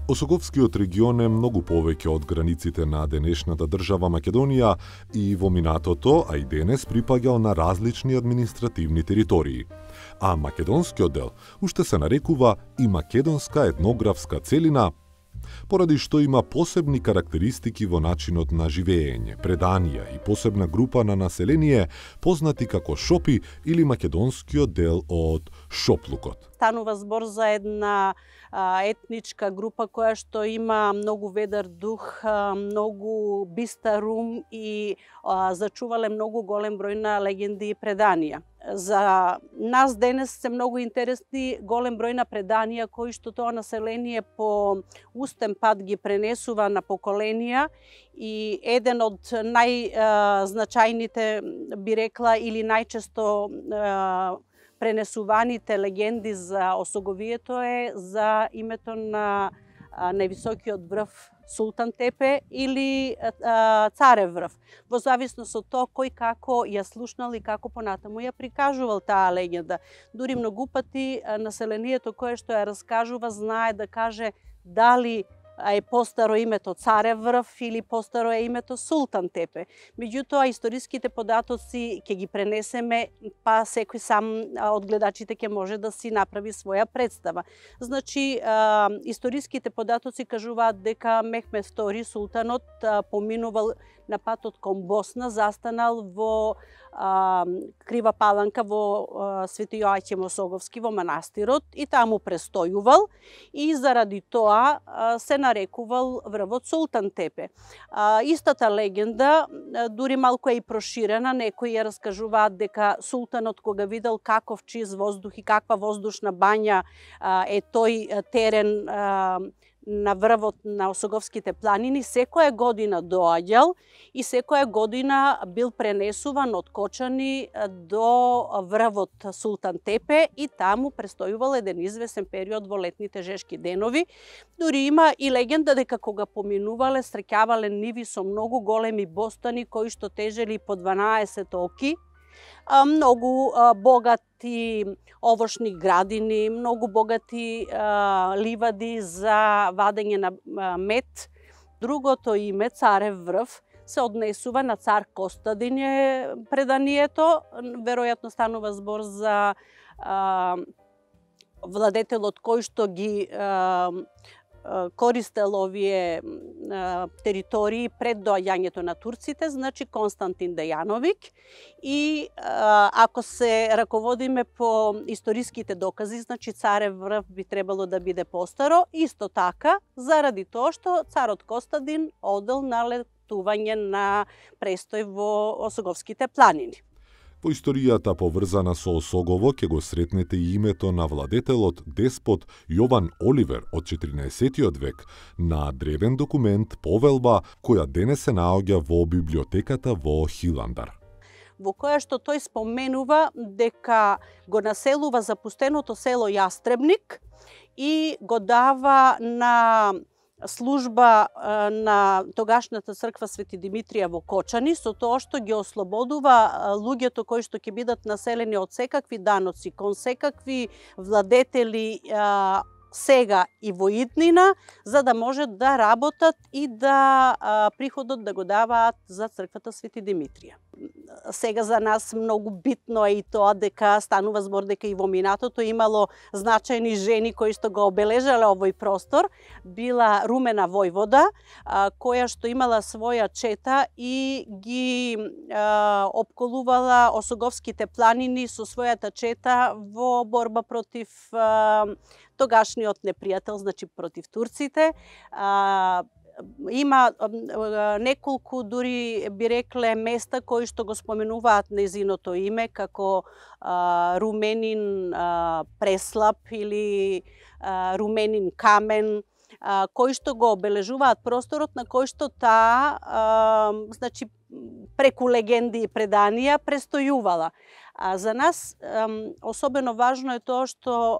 Speaker 4: Осоговскиот регион е многу повеќе од границите на денешната држава Македонија и во минатото, а и денес припаѓал на различни административни територии. А македонскиот дел уште се нарекува и македонска етнографска целина, поради што има посебни карактеристики во начинот на живеење, преданија и посебна група на население познати како шопи или македонскиот дел од шоплукот.
Speaker 15: Станува збор за една а, етничка група која што има многу ведар дух, а, многу бистар ум и а, зачувале многу голем број на легенди и преданија. За нас денес се многу интересни голем број на преданија кои што тоа население по устен пат ги пренесува на поколенија и еден од најзначајните би рекла или најчесто пренесуваните легенди за Осоговието е за името на највисокиот врв Султан Тепе или а, Царев врв, во зависност од тоа кој како ја слушнал и како понатаму ја прикажувал таа легенда. Дури многу пати населението кое што ја раскажува знае да каже дали е постаро името Царев врв или постаро е името Султан Тепе. Меѓутоа, историските податоци ќе ги пренесеме, па секој сам од гледачите ќе може да си направи своја представа. Значи, а, историските податоци кажуваат дека Мехмед втори, султанот, а, поминувал на патот кон Босна, застанал во а, Крива Паланка во а, Свети Јоаќим Осоговски во манастирот и таму престојувал и заради тоа а, се нарекувал врвот Султан Тепе. А, истата легенда, а, дури малку е и проширена, некои ја раскажуваат дека султанот кога видел каков чист воздух и каква воздушна бања а, е тој терен а, на врвот на Осоговските планини, секоја година доаѓал и секоја година бил пренесуван од Кочани до врвот Султан Тепе и таму престојувал еден извесен период во летните жешки денови. Дури има и легенда дека кога поминувале, среќавале ниви со многу големи бостани кои што тежели по дванаесет оки, многу богати овошни градини, многу богати а, ливади за вадење на мед. Другото име, Царев врв, се однесува на цар Костадин е преданието. Веројатно станува збор за а, владетелот кој што ги а, користел овие а, територии пред доаѓањето на турците, значи Константин Дејановик. И а, ако се раководиме по историските докази, значи Царев врв би требало да биде постаро, исто така заради тоа што царот Костадин одел на летување на престој во Осоговските планини.
Speaker 4: Во историјата поврзана со Осогово ќе го сретнете и името на владетелот деспот Јован Оливер од четиринаесеттиот век на древен документ повелба која денес се наоѓа во библиотеката во Хиландар,
Speaker 15: во која што тој споменува дека го населува запустеното село Јастребник и го дава на служба на тогашната црква Свети Димитрија во Кочани, со тоа што ги ослободува луѓето кои што ќе бидат населени од секакви даноци, кон секакви владетели сега и во иднина, за да можат да работат и да а, приходот да го даваат за црквата Свети Димитрија. Сега за нас многу битно е и тоа дека станува збор дека и во минатото имало значајни жени кои што го обележале овој простор. Била Румена војвода, а, која што имала своја чета и ги а, опколувала Осоговските планини со својата чета во борба против а, тогашниот непријател, значи против турците. А, има неколку, дури би рекле, места кои што го споменуваат нејзиното име, како а, Руменин а, Преслап или а, Руменин Камен, а, кои што го обележуваат просторот на кој што таа, а, значи, преку легенди и преданија престојувала. А за нас особено важно е тоа што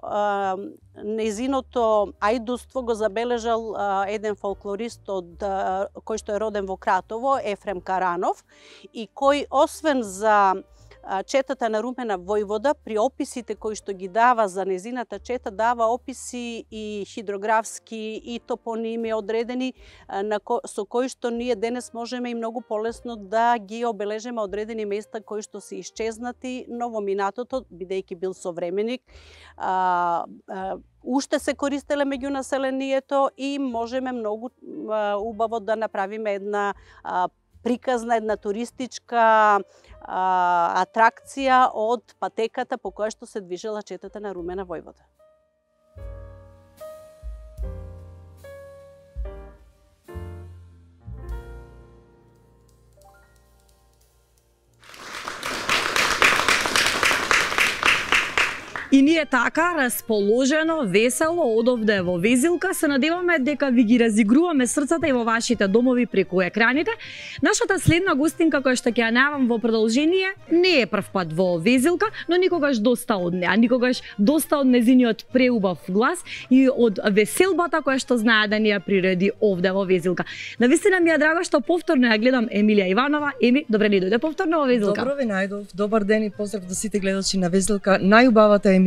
Speaker 15: нејзиното ајдуство го забележал еден фолклорист од кој што е роден во Кратово, Ефрем Каранов, и кој освен за четата на Румена војвода, при описите кои што ги дава за незината чета, дава описи и хидрографски и топоними одредени на ко, со кои што ние денес можеме и многу полесно да ги обележиме одредени места кои што се исчезнати, но во минатото, бидејќи бил современик, а, а, уште се користеле меѓу населението и можеме многу а, убаво да направиме една а, приказна, една туристичка а, атракција од патеката по која што се движела четата на Румена војвода.
Speaker 3: И ние така, расположено, весело, одовде во Везилка, се надеваме дека ви ги разигруваме срцата и во вашите домови преку екраните. Нашата следна гостинка, која што ќе ја најавам во продолжение, не е прв пат во Везилка, но никогаш доста од неа, никогаш доста од незиниот преубав глас и од веселбата која што знае да ни ја приреди овде во Везилка. Навистина ми е драго што повторно ја гледам Емилија Иванова. Еми, добре ли дојде повторно во Везилка?
Speaker 16: Добро ве најдов. Добар ден и поздрав до сите гледачи на Везилка, најубавата емисија.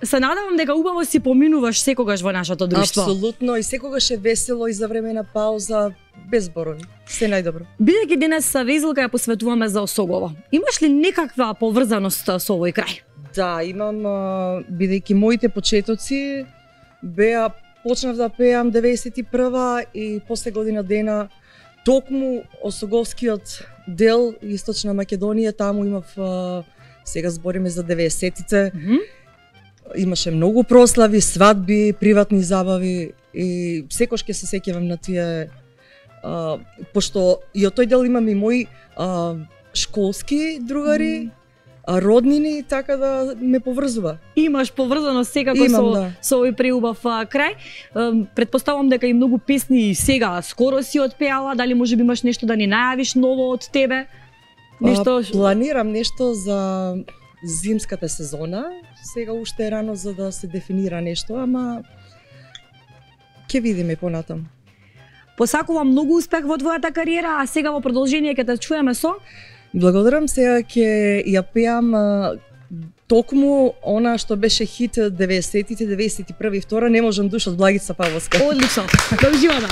Speaker 3: Се надевам дека убаво си поминуваш секогаш во нашето друштво.
Speaker 16: Апсолутно, и секогаш е весело и за време на пауза, без зборови. Се најдобро.
Speaker 3: Бидејќи денес Везилка ја посветуваме за Осогово, имаш ли некаква поврзаност со овој крај?
Speaker 16: Да, имам, бидејќи моите почетоци беа, почнав да пеам деветдесет и прва и после година дена токму Осоговскиот дел Источна Македонија, таму имав, сега збориме за деветдесетите, mm -hmm. имаше многу прослави, свадби, приватни забави и секош ќе се сеќавам на тие, а, пошто и од тој дел имам и мои а, школски другари, mm -hmm. роднини, така да ме поврзува.
Speaker 3: Имаш поврзано секако
Speaker 16: Имам,
Speaker 3: со,
Speaker 16: да.
Speaker 3: со овој преубав крај. Предпоставувам дека и многу песни сега скоро си отпеала, дали можеби имаш нешто да ни најавиш ново од тебе?
Speaker 16: Нешто... А, планирам нешто за зимската сезона. Сега уште е рано за да се дефинира нешто, ама ќе видиме понатам.
Speaker 3: Посакувам многу успех во твојата кариера, а сега во продолжение ќе те чуеме со...
Speaker 16: Благодарам, сега ќе ја пеам а, токму она што беше хит деветдесетите, деветдесет и прва и втора, Не можам душа од Благица Павловска.
Speaker 3: Одлично, да уживаме.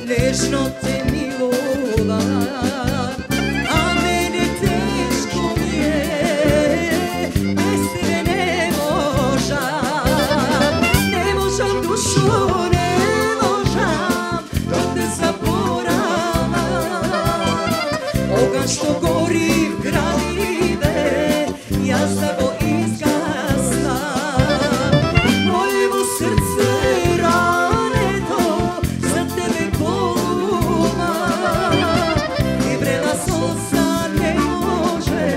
Speaker 14: Вечно те милова, а мене тешко ми јас да го изгаснам. Мојево срце рането за тебе болува и врела солза не може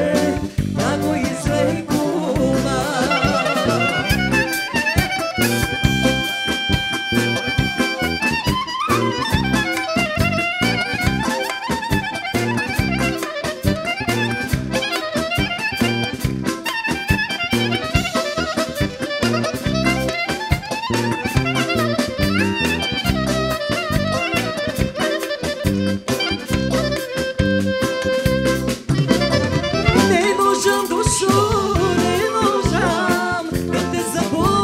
Speaker 14: да го излекува. Не можам душо, не можам да те заборавам.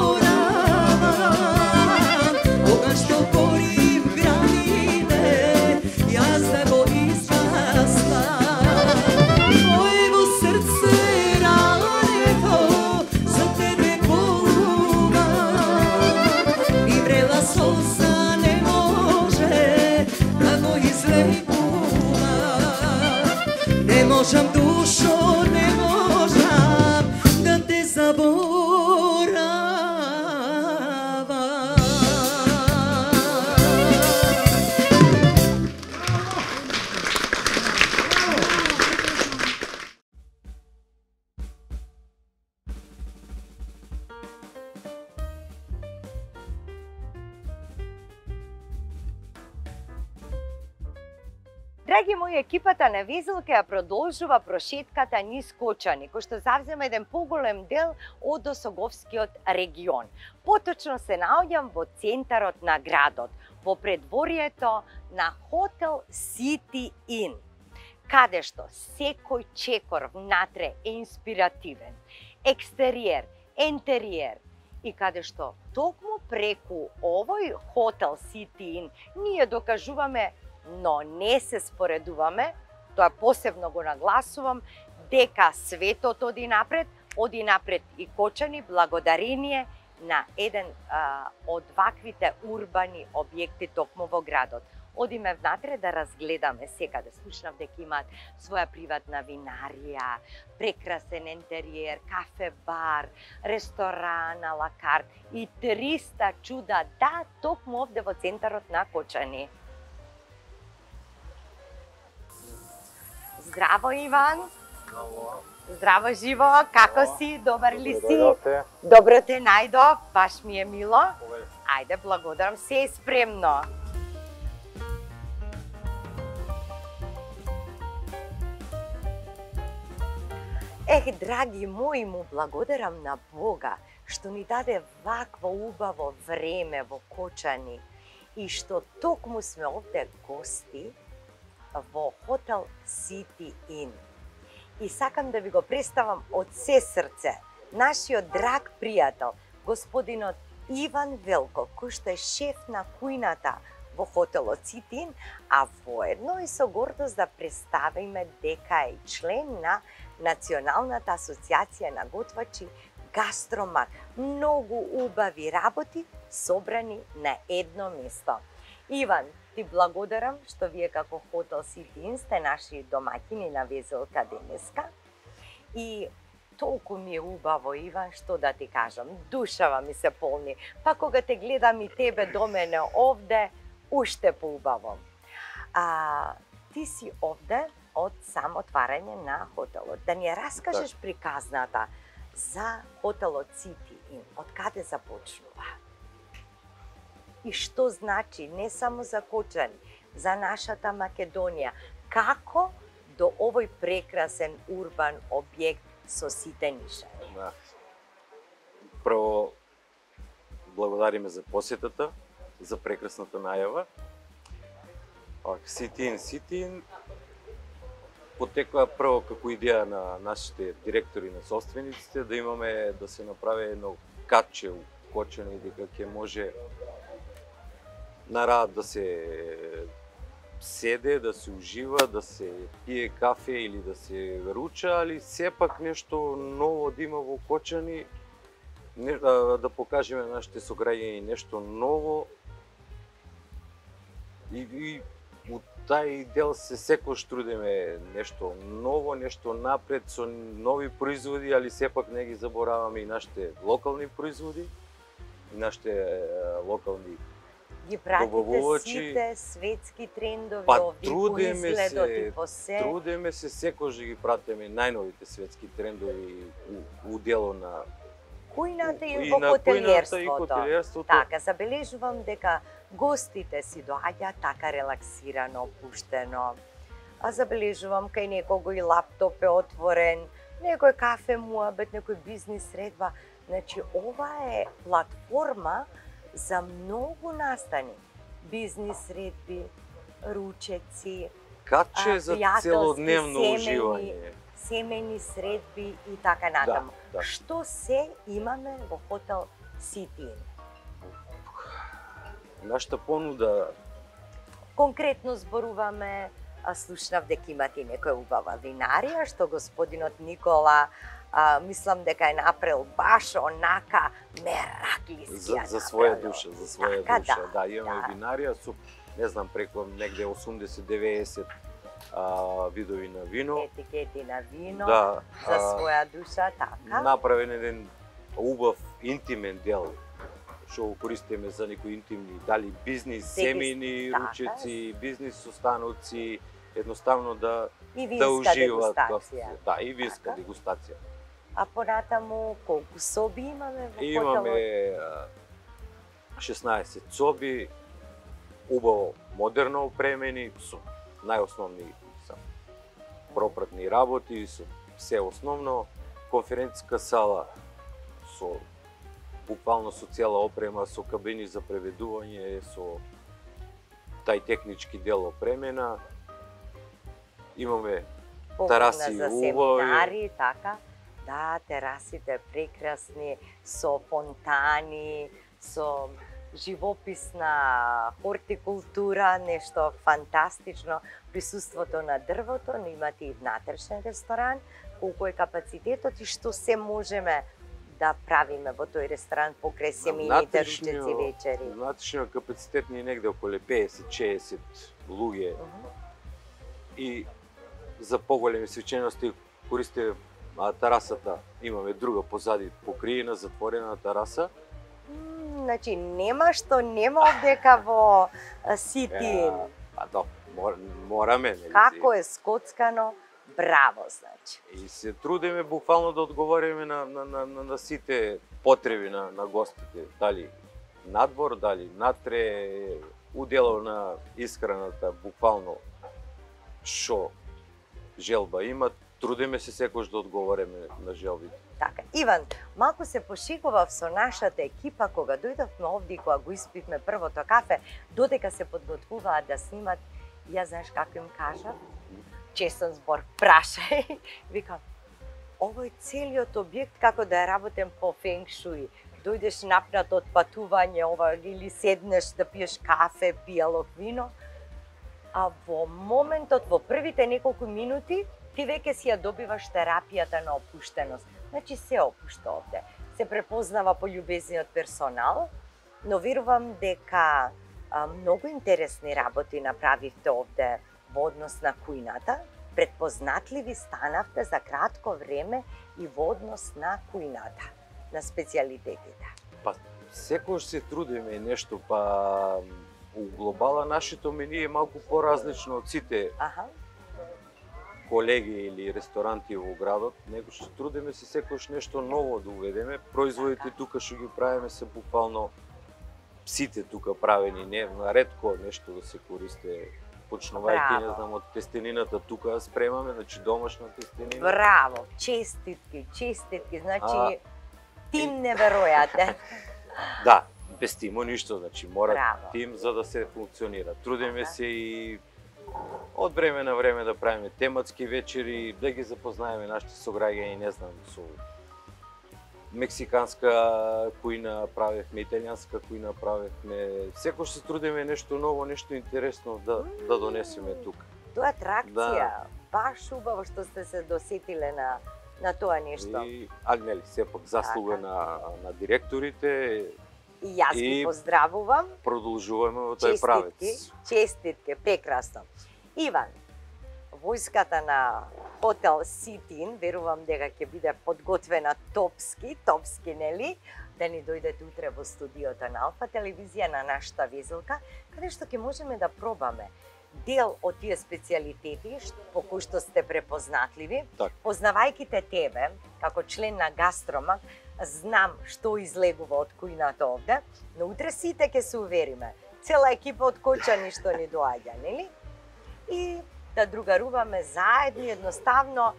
Speaker 14: Кога што гори в гранине, јас да го изгаснам. Мојево срце рането за тебе болува и врела солза не може да го излекува. Не можам душо, не можам да те заборавам.
Speaker 2: Драги мои, екипата на Везелка ја продолжува прошетката низ Кочани, кој што завзема еден поголем дел од Осоговскиот регион. Поточно се наоѓам во центарот на градот, во предворието на хотел City Inn, каде што секој чекор внатре е инспиративен, екстериер, ентериер, и каде што токму преку овој хотел City Inn ние докажуваме, но не се споредуваме, тоа посебно го нагласувам, дека светот оди напред, оди напред и Кочани благодарение на еден а, од ваквите урбани објекти токму во градот. Одиме внатре да разгледаме секаде. Слушнав дека имаат своја приватна винарија, прекрасен ентериер, кафе-бар, ресторан, ала карт и триста чуда, да, токму овде во центарот на Кочани. Здраво, Иван. Здраво, живо. Како си? Добар ли си? Добро те најдов. Баш ми е мило. Ајде, благодарам. Се е спремно. Ех, драги мои, му благодарам на Бога што ни даде вакво убаво време во Кочани и што токму сме овде гости во хотел City Inn. И сакам да ви го представам од се срце нашиот драг пријател, господинот Иван Велков, кој што е шеф на кујната во хотелот City Inn, а воедно и со гордост да представиме дека е член на Националната асоциација на готвачи Гастромар. Многу убави работи собрани на едно место. Иван, ти благодарам што вие како хотел City Inn сте наши домаќини на Везелка денеска. И толку ми е убаво, Иван, што да ти кажам, душава ми се полни. Па кога те гледам и тебе до мене овде, уште поубаво. А, ти си овде од само отварање на хотелот. Да ни ја раскажеш приказната за хотелот City Inn, од каде започнува? И што значи не само за Кочани, за нашата Македонија, како до овој прекрасен урбан објект со сите нишани?
Speaker 17: Да. Прво, благодариме за посетата, за прекрасната најава. City Inn, City Inn потекла прво како идеја на нашите директори, на собствениците, да имаме, да се направи едно катче у Кочани, дека ќе може на рад да се седе, да се ужива, да се пие кафе или да се руча, али сепак нешто ново да има во Кочани, не, да, да покажеме на нашите сограѓани нешто ново. И, и од тај дел се секош трудиме нешто ново, нешто напред со нови производи, али сепак не ги забораваме и нашите локални производи, и нашите е, локални
Speaker 2: Ги пратите
Speaker 17: добавувачи.
Speaker 2: сите светски трендови,
Speaker 17: Па
Speaker 2: овие
Speaker 17: трудиме
Speaker 2: изгледот
Speaker 17: се,
Speaker 2: и по се.
Speaker 17: трудиме се секош да ги пратиме најновите светски трендови у, у дело на
Speaker 2: Кујната и,
Speaker 17: и
Speaker 2: во
Speaker 17: на кујната и
Speaker 2: хотелиерството.
Speaker 17: хотелиерството.
Speaker 2: Така, забележувам дека гостите си доаѓаат така релаксирано, опуштено. А забележувам кај некого и лаптоп е отворен, некој кафе муабет, некој бизнис средба. Значи, ова е платформа за многу настани. Бизнис средби, ручеци,
Speaker 17: Каче
Speaker 2: а,
Speaker 17: за
Speaker 2: пријателски,
Speaker 17: целодневно
Speaker 2: семени,
Speaker 17: уживање.
Speaker 2: семени средби и така натаму.
Speaker 17: Да, да.
Speaker 2: Што се имаме во хотел Сити?
Speaker 17: Нашата понуда
Speaker 2: Конкретно зборуваме, а, слушнав дека имате и некоја убава винарија, што господинот Никола, а, мислам дека е направил баш онака мераклиски.
Speaker 17: за, за своја душа, за своја
Speaker 2: Така,
Speaker 17: душа.
Speaker 2: да,
Speaker 17: Да, имаме
Speaker 2: да.
Speaker 17: винарија со, не знам, преку негде осумдесет до деветдесет а, видови на вино.
Speaker 2: Етикети на вино,
Speaker 17: Да,
Speaker 2: за
Speaker 17: а,
Speaker 2: своја душа, така.
Speaker 17: Направен еден убав интимен дел што го користиме за некои интимни, дали бизнис,
Speaker 2: Секи-
Speaker 17: семени,
Speaker 2: така.
Speaker 17: ручеци, бизнис состаноци, едноставно да
Speaker 2: И
Speaker 17: да
Speaker 2: винска
Speaker 17: уживаат
Speaker 2: дегустација.
Speaker 17: гостите. Да, и винска
Speaker 2: Така.
Speaker 17: дегустација.
Speaker 2: А понатаму колку соби имаме во
Speaker 17: Имаме
Speaker 2: хотелот?
Speaker 17: а, шеснаесет соби, убаво модерно опремени, со најосновни са пропратни работи, со се основно, конференциска сала со буквално со цела опрема, со кабини за преведување, со тај технички дел опремена. Имаме
Speaker 2: Погодна
Speaker 17: тараси
Speaker 2: за
Speaker 17: убави.
Speaker 2: семинари, така. Да, терасите прекрасни, со фонтани, со живописна хортикултура, нешто фантастично. Присуството на дрвото, но имате и внатрешен ресторан, колку е капацитетот и што се можеме да правиме во тој ресторан покрај семените ручеци вечери.
Speaker 17: Внатрешниот капацитет ни е негде околу педесет шеесет луѓе. И за поголеми свечености користиме а, тарасата. Имаме друга позади покриена, затворена тераса.
Speaker 2: М, Значи, нема што нема овдека во а, Сити.
Speaker 17: Па да, мор, мораме. Нели?
Speaker 2: Како е скоцкано, браво, значи.
Speaker 17: И се трудиме буквално да одговориме на, на, на, на, на сите потреби на, на гостите. Дали надвор, дали натре, удело на исхраната, буквално што желба имат. Трудиме се секош да одговориме на желбите.
Speaker 2: Така, Иван, малку се пошикував со нашата екипа кога дојдовме овде и кога го испивме првото кафе, додека се подготвуваат да снимат, ја знаеш како им кажав? Честен збор, прашај. Викам, овој целиот објект како да е работен по фенг шуи. Дојдеш напнат од патување, ова, или седнеш да пиеш кафе, пијалок вино, а во моментот, во првите неколку минути, ти веќе си ја добиваш терапијата на опуштеност. Значи се опушта овде. Се препознава по љубезниот персонал, но верувам дека а, многу интересни работи направивте овде во однос на кујната. Предпознатливи станавте за кратко време и во однос на кујната, на специјалитетите.
Speaker 17: Па секош се трудиме нешто, па у глобала нашето мени е малку поразлично од сите
Speaker 2: Аха.
Speaker 17: колеги или ресторанти во градот, него што трудиме се секош нешто ново да уведеме. Производите тука што ги правиме се буквално сите тука правени, не ретко нешто да се користи. Почнувајќи, не знам, од тестенината тука спремаме, значи домашна тестенина.
Speaker 2: Браво, честитки, честитки, значи
Speaker 17: А,
Speaker 2: тим неверојатен.
Speaker 17: Да, без тимо ништо, значи мора
Speaker 2: Браво.
Speaker 17: тим за да се функционира. Трудиме се и од време на време да правиме тематски вечери, да ги запознаеме нашите сограѓани, не знам, со мексиканска кујна правевме, италијанска кујна правевме. Секош се трудиме нешто ново, нешто интересно да да донесеме тука.
Speaker 2: Тоа е атракција.
Speaker 17: Да.
Speaker 2: Баш убаво што сте се досетиле на на тоа нешто.
Speaker 17: И, али нели, сепак заслуга на на директорите.
Speaker 2: И јас ги
Speaker 17: и
Speaker 2: поздравувам.
Speaker 17: Продолжуваме во тој правец.
Speaker 2: Честитки, честитки, прекрасно. Иван, војската на хотел Ситин, верувам дека ќе биде подготвена топски, топски нели, да ни дојдете утре во студиото на Алфа телевизија на нашата везелка, каде што ќе можеме да пробаме дел од тие специјалитети по кои што сте препознатливи.
Speaker 17: Так.
Speaker 2: Познавајќи те тебе, како член на Гастромак, знам што излегува од кујната овде, но утре сите ќе се увериме. Цела екипа од Кочани што ни доаѓа, нели? И да другаруваме заедно, едноставно,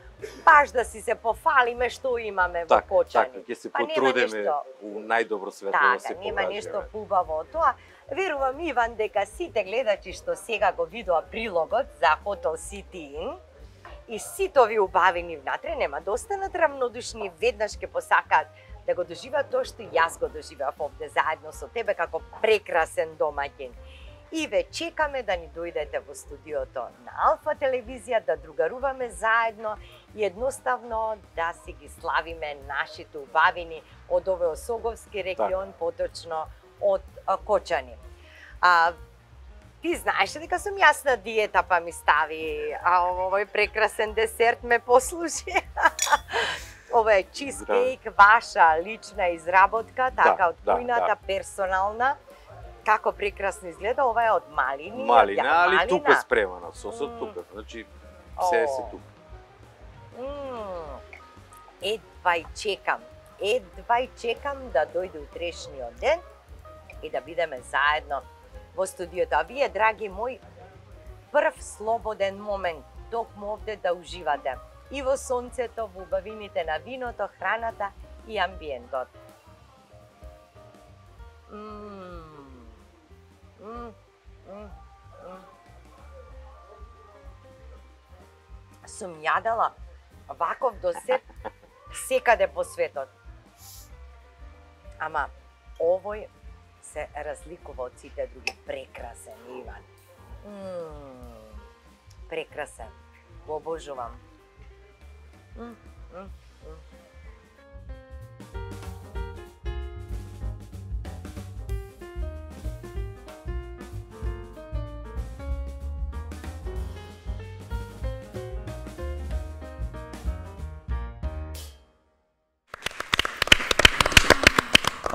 Speaker 2: баш да си се пофалиме што имаме во Кочани.
Speaker 17: Така, ќе се
Speaker 2: Па
Speaker 17: потрудиме у најдобро светло да се
Speaker 2: покажеме. Така, нема нешто
Speaker 17: покажеме.
Speaker 2: хубаво од тоа. Верувам, Иван, дека сите гледачи што сега го видоа прилогот за Хотел Сити Ин и сите овие убавини внатре нема да останат равнодушни, веднаш ќе посакаат да го доживеат тоа што и јас го доживеав овде заедно со тебе како прекрасен домаќин. И ве чекаме да ни дојдете во студиото на Алфа телевизија, да другаруваме заедно и едноставно да си ги славиме нашите убавини од овој Осоговски регион, поточно од а, Кочани. А, ти знаеш дека сум јас на диета, па ми стави а, овој прекрасен десерт ме послужи. Ова е чизкейк, ваша лична изработка, така
Speaker 17: Да,
Speaker 2: од
Speaker 17: да,
Speaker 2: кујната,
Speaker 17: да.
Speaker 2: персонална. Како прекрасно изгледа, ова е од малини.
Speaker 17: Малина,
Speaker 2: ја,
Speaker 17: али
Speaker 2: малина.
Speaker 17: тука спремана, сосот
Speaker 2: М.
Speaker 17: тука, значи се се
Speaker 2: О.
Speaker 17: тука.
Speaker 2: М, Едва и чекам, едва и чекам да дојде утрешниот ден и да бидеме заедно во студиото. А вие, драги мои, прв слободен момент, токму овде да уживате и во сонцето, во убавините на виното, храната и амбиентот. Мм. Мм. Мм. Мм. Сум јадела ваков десерт секаде по светот. Ама овој се разликува од сите други. Прекрасен, Иван. Мм. Прекрасен. Го обожувам. Мм. Мм. Мм.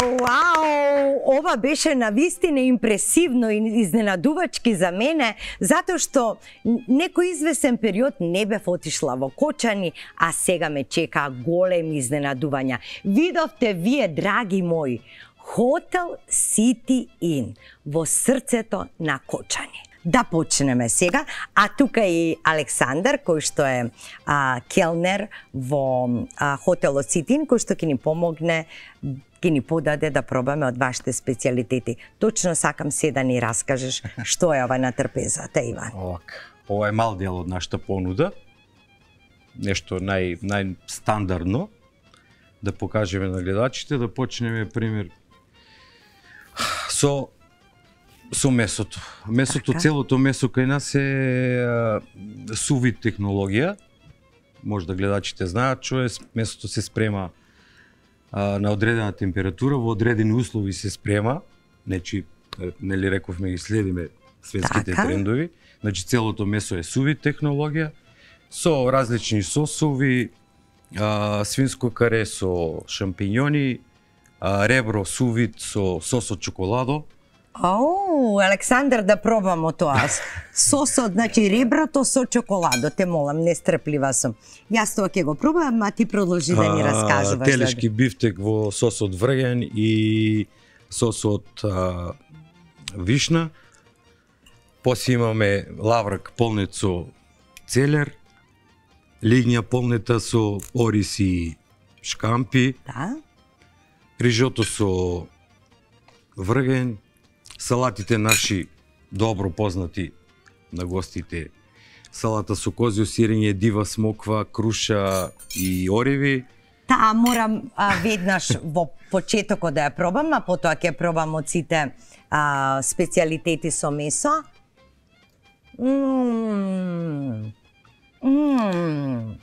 Speaker 2: Вау, ова беше навистина импресивно и изненадувачки за мене, затоа што некој извесен период не бев отишла во Кочани, а сега ме чека големи изненадувања. Видовте вие, драги мои, Хотел Сити Ин во срцето на Кочани. Да почнеме сега, а тука и Александар, кој што е а, келнер во а, Хотелот Сити Ин, кој што ќе ни помогне, ќе ни подаде да пробаме од вашите специјалитети. Точно сакам се да ни раскажеш што е ова на трпезата, Иван.
Speaker 18: Овака, ова е мал дел од нашата понуда. Нешто нај најстандардно да покажеме на гледачите, да почнеме пример со со месото. Месото, така? Целото месо кај нас е а, сувид технологија. Може да гледачите знаат што е, месото се спрема а, на одредена температура, во одредени услови се спрема. Значи, нели рековме ги следиме светските така? Трендови. Значи целото месо е сувид технологија со различни сосови, а, свинско каре со шампињони, а, ребро сувид со сос од чоколадо.
Speaker 2: Ау, Александар, да пробамо тоа. Сосот, значи реброто со чоколадо, те молам, нестрплива сум. Јас тоа ќе го пробам, а ти продолжи да ни раскажуваш.
Speaker 18: Телешки бифтек во сос од врген и сос од а, вишна. После имаме лаврак полнет со целер, лигња полнета со ориз и шкампи.
Speaker 2: Да.
Speaker 18: Рижото со врген, салатите наши добро познати на гостите. Салата со козјо сирење, дива смоква, круша и ореви.
Speaker 2: Таа морам а, веднаш во почетокот да ја пробам, а потоа ќе пробам од сите а, специјалитети со месо. Мм. Мм.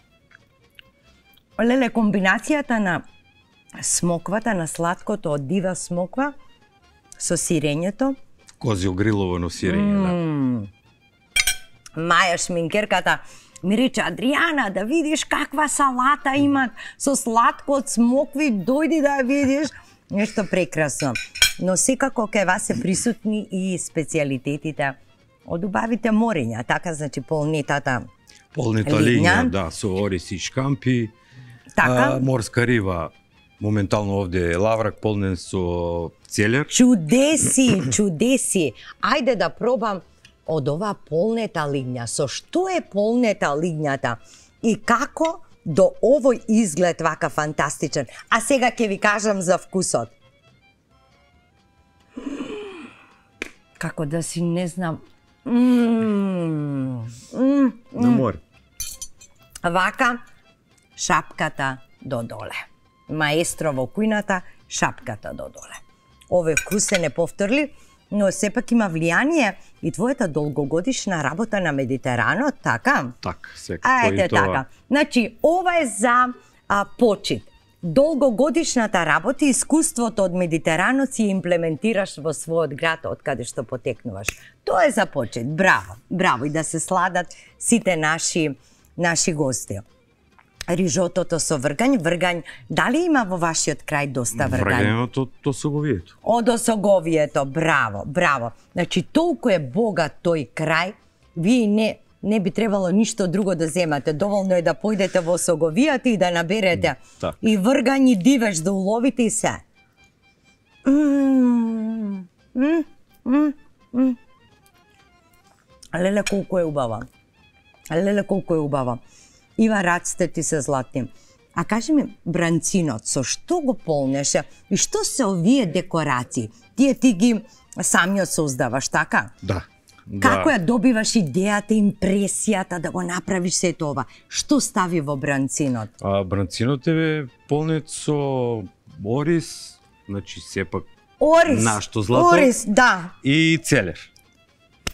Speaker 2: Леле, комбинацијата на смоквата, на сладкото од дива смоква со сирењето.
Speaker 18: Козјо гриловано сирење,
Speaker 2: mm.
Speaker 18: да.
Speaker 2: Маја шминкерката ми рече, Адријана, да видиш каква салата имат со сладко од смокви, дојди да ја видиш. Нешто прекрасно. Но секако кај вас се присутни и специјалитетите од убавите морења, така, значи полнетата
Speaker 18: Полнета лиња, да, со ориз и шкампи.
Speaker 2: Така.
Speaker 18: А, морска риба, моментално овде е лаврак полнен со целер.
Speaker 2: Чудеси, чудеси. Ајде да пробам од ова полнета лиња. Со што е полнета лињата и како до овој изглед вака фантастичен. А сега ќе ви кажам за вкусот. Како да си не знам. Mm, mm,
Speaker 18: На море.
Speaker 2: Вака, шапката до доле. Маестро во кујната, шапката до доле. Овој вкус се неповторлив, но сепак има влијание и твојата долгогодишна работа на Медитеранот, така?
Speaker 18: Така, секако
Speaker 2: А, ете
Speaker 18: и тоа.
Speaker 2: така. Значи, ова е за а, почит. Долгогодишната работа и искуството од Медитеранот си имплементираш во својот град од каде што потекнуваш. Тоа е за почит. Браво, браво и да се сладат сите наши наши гости. Рижотото со вргањ, вргањ, дали има во вашиот крај доста вргањ?
Speaker 18: Вргањето од осоговието.
Speaker 2: Од осоговието, браво, браво. Значи, толку е богат тој крај, вие не не би требало ништо друго да земате. Доволно е да појдете во осоговијата и да наберете
Speaker 18: Так.
Speaker 2: и вргањ и дивеж да уловите и се. Мм, мм, мм, мм. Леле, колку е убава. Леле, колку е убава. Ива, раците ти се златни. А кажи ми, бранцинот, со што го полнеше и што се овие декорации? Тие ти ги самиот создаваш, така?
Speaker 18: Да.
Speaker 2: Како
Speaker 18: да.
Speaker 2: ја добиваш идејата, импресијата да го направиш сето ова? Што стави во бранцинот?
Speaker 18: А бранцинот е полнет со ориз, значи сепак
Speaker 2: Ориз,
Speaker 18: нашто злато.
Speaker 2: ориз, да.
Speaker 18: И целер.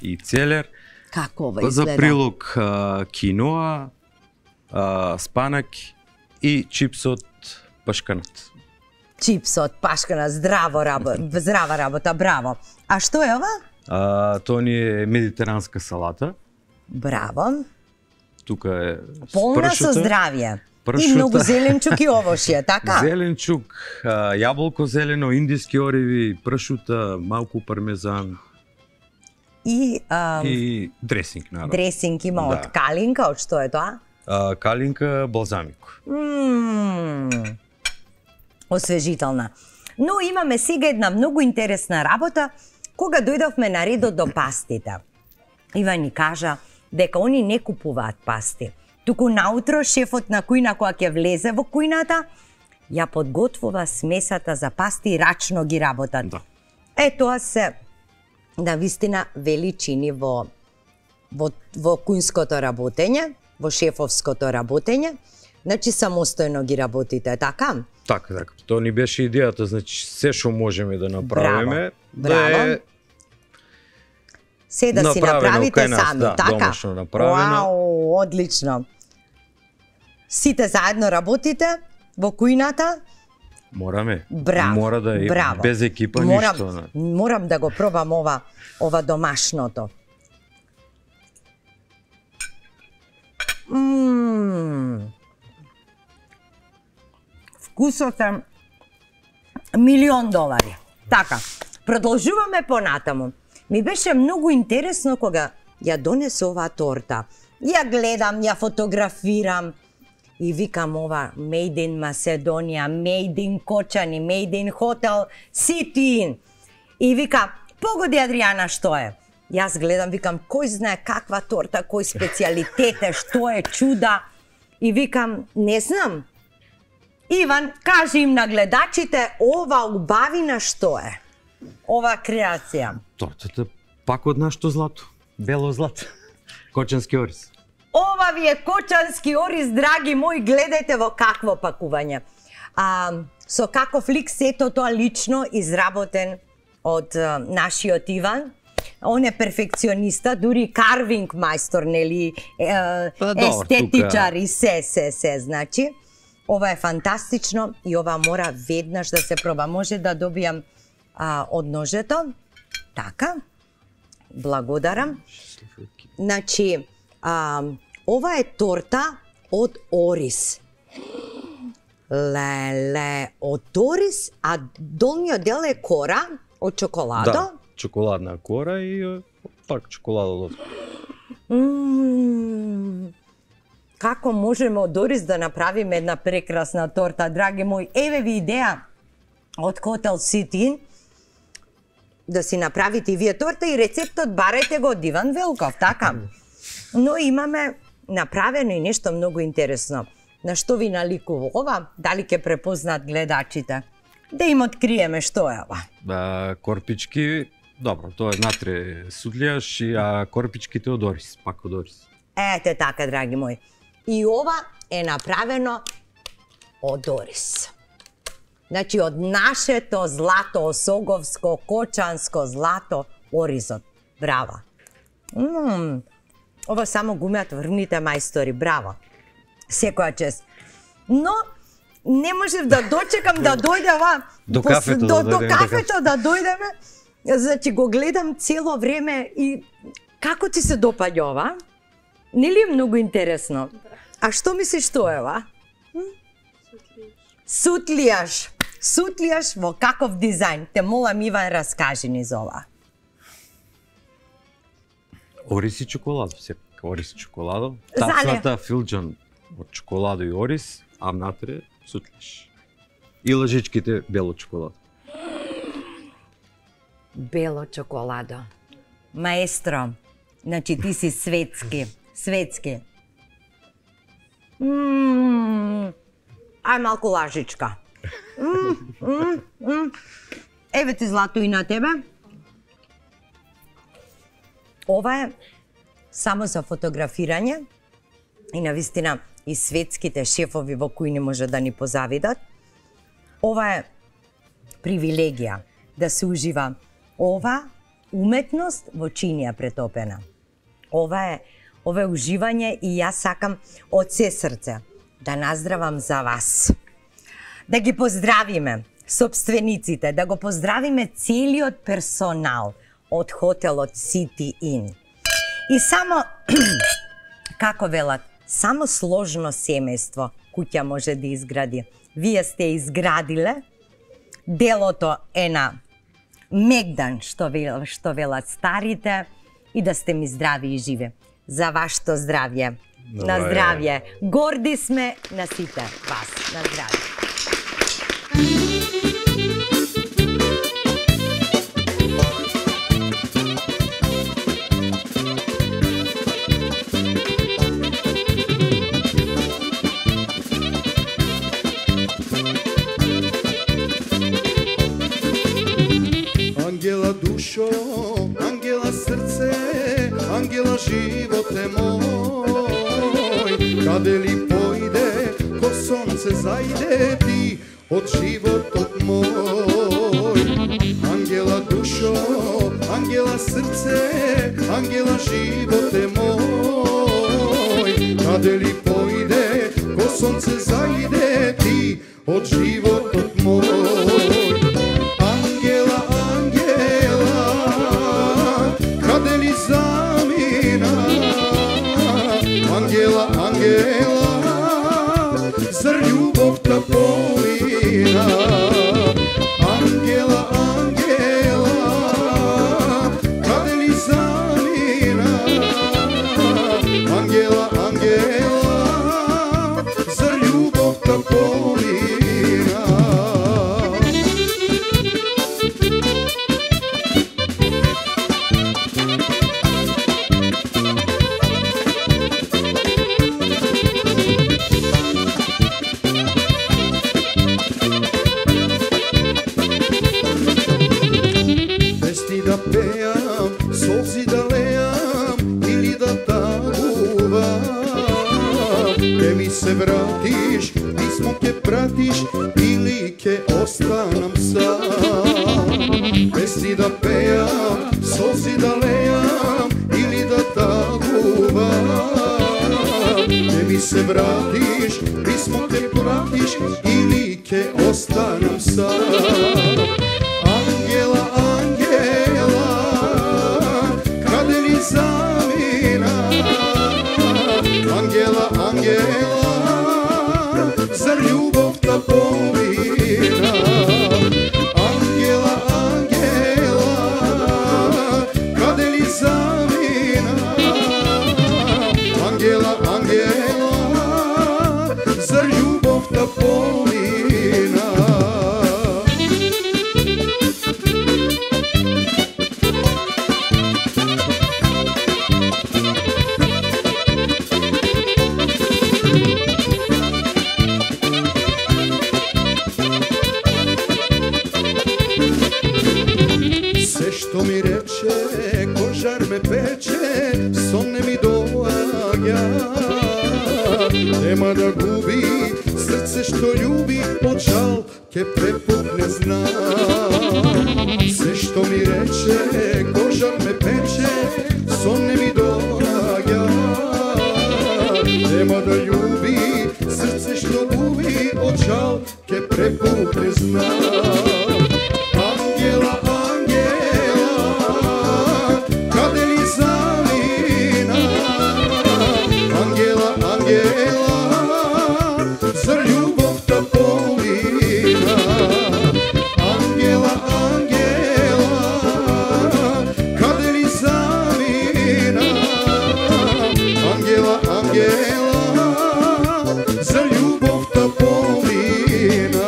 Speaker 18: И целер.
Speaker 2: Како ова
Speaker 18: За
Speaker 2: изгледа?
Speaker 18: прилог а, киноа, а, спанак и чипсот пашканат.
Speaker 2: Чипсот, пашкана, здраво работа, здрава работа, браво. А што е ова?
Speaker 18: А, тоа ни е медитеранска салата.
Speaker 2: Браво.
Speaker 18: Тука е
Speaker 2: Полна со
Speaker 18: пршута,
Speaker 2: здравје. И
Speaker 18: пршута.
Speaker 2: многу зеленчук и овошје, така?
Speaker 18: Зеленчук, а, јаболко зелено, индиски ориви, пршута, малку пармезан
Speaker 2: И, а,
Speaker 18: и дресинг, наравно.
Speaker 2: дресинг има
Speaker 18: Да.
Speaker 2: од калинка, од што е тоа?
Speaker 18: А, калинка, балзамико.
Speaker 2: Мм, освежителна. Но имаме сега една многу интересна работа, кога дојдовме на редот до пастите. Ива ни кажа дека они не купуваат пасти. Туку наутро шефот на кујна која ќе влезе во кујната, ја подготвува смесата за пасти и рачно ги работат.
Speaker 18: Да.
Speaker 2: Е, тоа се на вистина величини во, во, во кујнското работење, во шефовското работење. Значи, самостојно ги работите, така?
Speaker 18: Така, така. Тоа ни беше идејата, значи се што можеме да направиме,
Speaker 2: Браво.
Speaker 18: да е
Speaker 2: Се да си
Speaker 18: направено
Speaker 2: направите
Speaker 18: кај нас,
Speaker 2: сами,
Speaker 18: да,
Speaker 2: така?
Speaker 18: домашно направено.
Speaker 2: Вау, одлично. Сите заедно работите во кујната?
Speaker 18: Мораме.
Speaker 2: Браво.
Speaker 18: Мора да е
Speaker 2: браво.
Speaker 18: без екипа
Speaker 2: морам,
Speaker 18: ништо. Не.
Speaker 2: Морам да го пробам ова, ова домашното. Мм. Вкусот е милион долари. Така, продолжуваме понатаму. Ми беше многу интересно кога ја донесе оваа торта. Ја гледам, ја фотографирам и викам ова Made in Macedония, Made in Кочани, Made in Hotel City Inn. И вика, погоди Адријана, што е? Јас гледам, викам, кој знае каква торта, кој специјалитет е, што е, чуда. И викам, не знам. Иван, кажи им на гледачите, ова убавина што е? Ова креација.
Speaker 18: Тортата пак од нашто злато. Бело злато. Кочански ориз.
Speaker 2: Ова ви е кочански ориз, драги мои, гледајте во какво пакување. А, со каков лик сето тоа лично изработен од а, нашиот Иван. Он е перфекциониста, дури карвинг мајстор, нели, е,
Speaker 18: Па, добро,
Speaker 2: естетичар
Speaker 18: тука.
Speaker 2: и се, се, се, значи. Ова е фантастично и ова мора веднаш да се проба. Може да добијам а, од ножето. Така. Благодарам. Значи, а, ова е торта од орис. Леле, од орис, а долниот дел е кора од чоколадо?
Speaker 18: Да, чоколадна кора и е, пак чоколадо.
Speaker 2: Ммм, како можеме од орис да направиме една прекрасна торта, драги мои? Еве ви идеја од Хотел Сити, да си направите и вие торта и рецептот барете го од Иван Велков, така? Но имаме направено и нешто многу интересно. На што ви наликува ова? Дали ќе препознат гледачите? Да им откриеме што е ова.
Speaker 18: Да, корпички, добро, тоа е натре судлијаш, и а корпичките од орис, пак од орис.
Speaker 2: Ете така, драги мои. И ова е направено од орис. Значи, од нашето злато, осоговско, кочанско злато, оризот. Браво. Ммм, ова само го умеат врвните мајстори, браво. Секоја чест. Но, не можев да дочекам да дојде ова...
Speaker 18: До кафето
Speaker 2: до,
Speaker 18: да
Speaker 2: до
Speaker 18: дојдеме.
Speaker 2: кафето да дојдеме. Значи, го гледам цело време и како ти се допаѓа ова? Нели е многу интересно? А што мислиш што е ова? Сутлијаш. Сутлијаш во каков дизајн? Те молам, Иван, раскажи ни за ова.
Speaker 18: Орис и чоколадо, сепак орис и чоколадо.
Speaker 2: Зале.
Speaker 18: Тацната филџан од чоколадо и орис, а внатре сутлиш. И лъжичките бело чоколадо.
Speaker 2: Бело чоколадо. Маестро, значи ти си светски. Светски. Ммм, ај малку лажичка. Мм, мм, мм. Еве ти злато и на тебе. Ова е само за фотографирање и навистина и светските шефови во кои не може да ни позавидат. Ова е привилегија да се ужива ова уметност во чинија претопена. Ова е ова е уживање и јас сакам од се срце да наздравам за вас. Да ги поздравиме собствениците, да го поздравиме целиот персонал од хотелот City Inn. И само, како велат, само сложно семејство куќа може да изгради. Вие сте изградиле, делото е на мегдан, што велат, што велат старите, и да сте ми здрави и живи. За вашето здравје. На здравје. Горди сме на сите вас. На здравје.
Speaker 8: Ангела душо, ангела срце, ангела животе мој, каде ли појде, ко сонце зајде ти од животот мој. Ангела душо, ангела срце, ангела животе мој, каде ли појде, ко сонце зајде ти од животот мој. Ангела, ангела, зар љубовта полина? Ангела, ангела, каде ли замина? Ангела, ангела, зар љубовта полина? Да пеам, солзи да леам или да тагувам, ке ми се вратиш, писмо ке пратиш или ке останам сам. Песни да пеам, солзи да леам или да тагувам, ке ми се вратиш, писмо ке пратиш или ке останам сам. Ангела, ангела, што ми рече, кожар ме пече, сон не ми доаѓа. Нема да губи срце што љуби, од жал ке препукне знам. Се што ми рече, кожар ме пече, сон не ми доаѓа. Нема да љуби срце што губи, од жал ке препукне знам. Ангела, ангела, каде ли замина? Ангела, ангела, зар љубовта помина? Ангела, ангела, каде ли замина? Ангела, ангела, зар љубовта помина?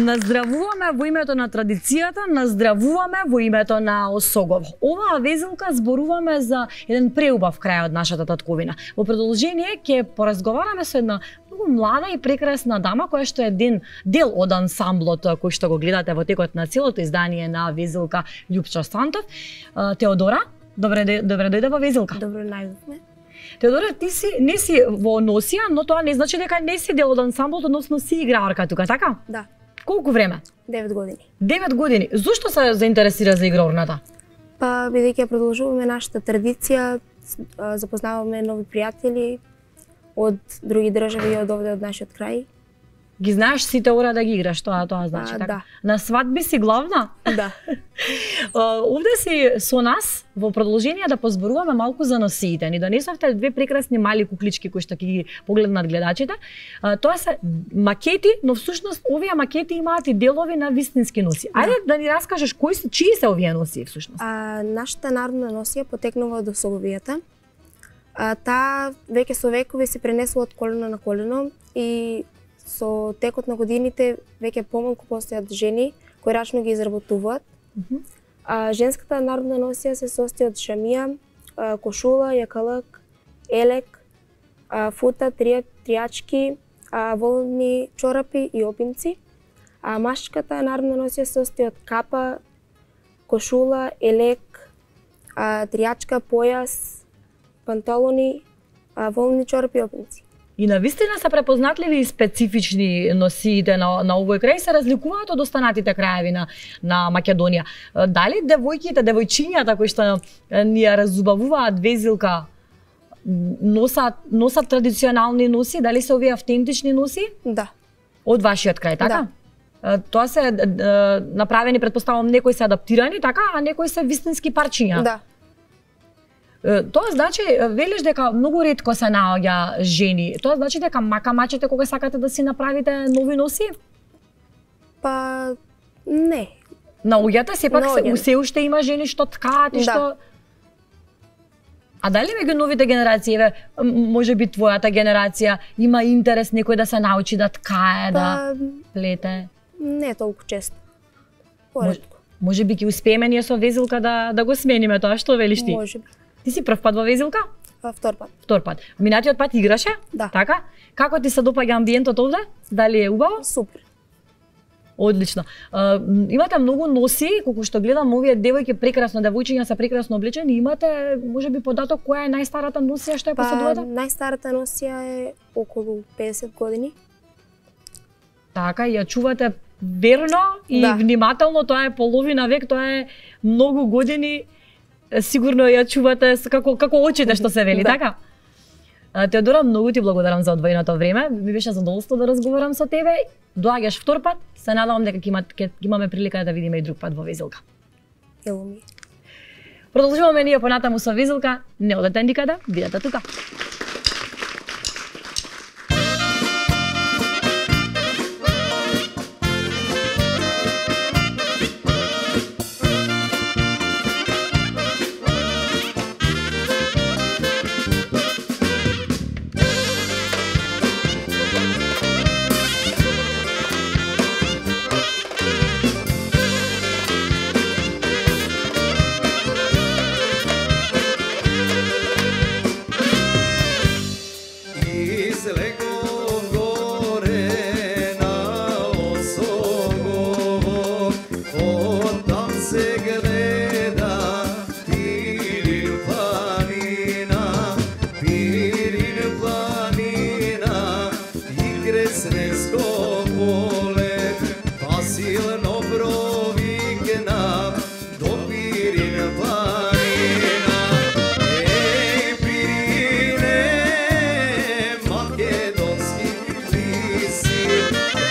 Speaker 3: Наздравуваме во името на традицијата, наздравуваме во името на Осогово. Оваа везелка зборуваме за еден преубав крај од нашата татковина. Во продолжение ќе поразговараме со една многу млада и прекрасна дама која што е ден дел од ансамблот кој што го гледате во текот на целото издание на везелка Љупчо Сантов. Теодора, добре добре дојде во везелка.
Speaker 19: Добро најдовме.
Speaker 3: Теодора, ти си не си во носија, но тоа не значи дека не си дел од ансамблот, односно си играорка тука, така?
Speaker 19: Да.
Speaker 3: Колку време?
Speaker 19: девет години.
Speaker 3: девет години. Зошто се заинтересира за играорната?
Speaker 19: Па, бидејќи ја продолжуваме нашата традиција, запознаваме нови пријатели од други држави и од овде од нашиот крај.
Speaker 3: Ги знаеш сите ора да ги играш, тоа тоа значи
Speaker 19: а,
Speaker 3: така.
Speaker 19: Да.
Speaker 3: На свадби си главна?
Speaker 19: Да.
Speaker 3: Овде си со нас во продолжение да позборуваме малку за носиите. Ни донесовте две прекрасни мали куклички кои што ќе ги погледнат гледачите. Тоа се макети, но всушност овие макети имаат и делови на вистински носи. Ајде да ни раскажеш кои се, чии се овие носи всушност?
Speaker 19: А, нашата народна носија потекнува од Осоговијата. А, таа веќе со векови се пренесува од колено на колено и со текот на годините веќе помалку постојат жени кои рачно ги изработуваат.
Speaker 3: Mm -hmm.
Speaker 19: А, женската народна носија се состои од шамија, а, кошула, јакалак, елек, а, фута, трија, тријачки, а, волни чорапи и опинци. А машката народна носија се состои од капа, кошула, елек, а, тријачка, појас, панталони, а, волни чорапи и опинци.
Speaker 3: И навистина се препознатливи и специфични носиите на, на овој крај, се разликуваат од останатите краеви на, на Македонија. Дали девојките, девојчињата кои што ни ја разубавуваат везилка носат, носат традиционални носи, дали се овие автентични носи?
Speaker 19: Да.
Speaker 3: Од вашиот крај, така? Да. Тоа се направени, предпоставувам, некои се адаптирани, така, а некои се вистински парчиња.
Speaker 19: Да.
Speaker 3: Тоа значи, велиш дека многу ретко се наоѓа жени. Тоа значи дека мака-мачите кога сакате да си направите нови носи?
Speaker 19: Па, не.
Speaker 3: Наоѓате сепак се, се уште има жени што ткаат и
Speaker 19: да.
Speaker 3: што... А дали меѓу новите генерации, еве, може би твојата генерација, има интерес некој да се научи да ткае, па, да плете?
Speaker 19: Не толку често. Поредко.
Speaker 3: Може би ќе успееме ние со везилка да, да го смениме тоа, што велиш ти?
Speaker 19: Може би.
Speaker 3: Ти си прв пат во везилка?
Speaker 19: Втор пат.
Speaker 3: Втор пат. Минатиот пат играше?
Speaker 19: Да.
Speaker 3: Така? Како ти се допаѓа амбиентот овде? Дали е убаво?
Speaker 19: Супер.
Speaker 3: Одлично. Uh, имате многу носи, колку што гледам, овие девојки прекрасно, девојчиња се прекрасно облечени. Имате, може би, податок која е најстарата носија што ја поседувате?
Speaker 19: Па, најстарата носија е околу педесет години.
Speaker 3: Така, ја чувате верно и
Speaker 19: да.
Speaker 3: Внимателно, тоа е половина век, тоа е многу години. Сигурно ја чувате како како очите што се вели, да. Така? Теодора, многу ти благодарам за одвоеното време. Ми беше задоволство да разговарам со тебе. Доаѓаш втор пат. Се надевам дека ќе имаме прилика да видиме и друг пат во везилка.
Speaker 19: Ело ми.
Speaker 3: Продолжуваме ние понатаму со везилка. Не одете никаде, бидете тука.
Speaker 8: излегов горе на Осогово, оттам се гледа Пирин планина, Пирин планина и Кресненско поле, па силно провикна до Пирин планина. Ей, Пирине, македонски лиси,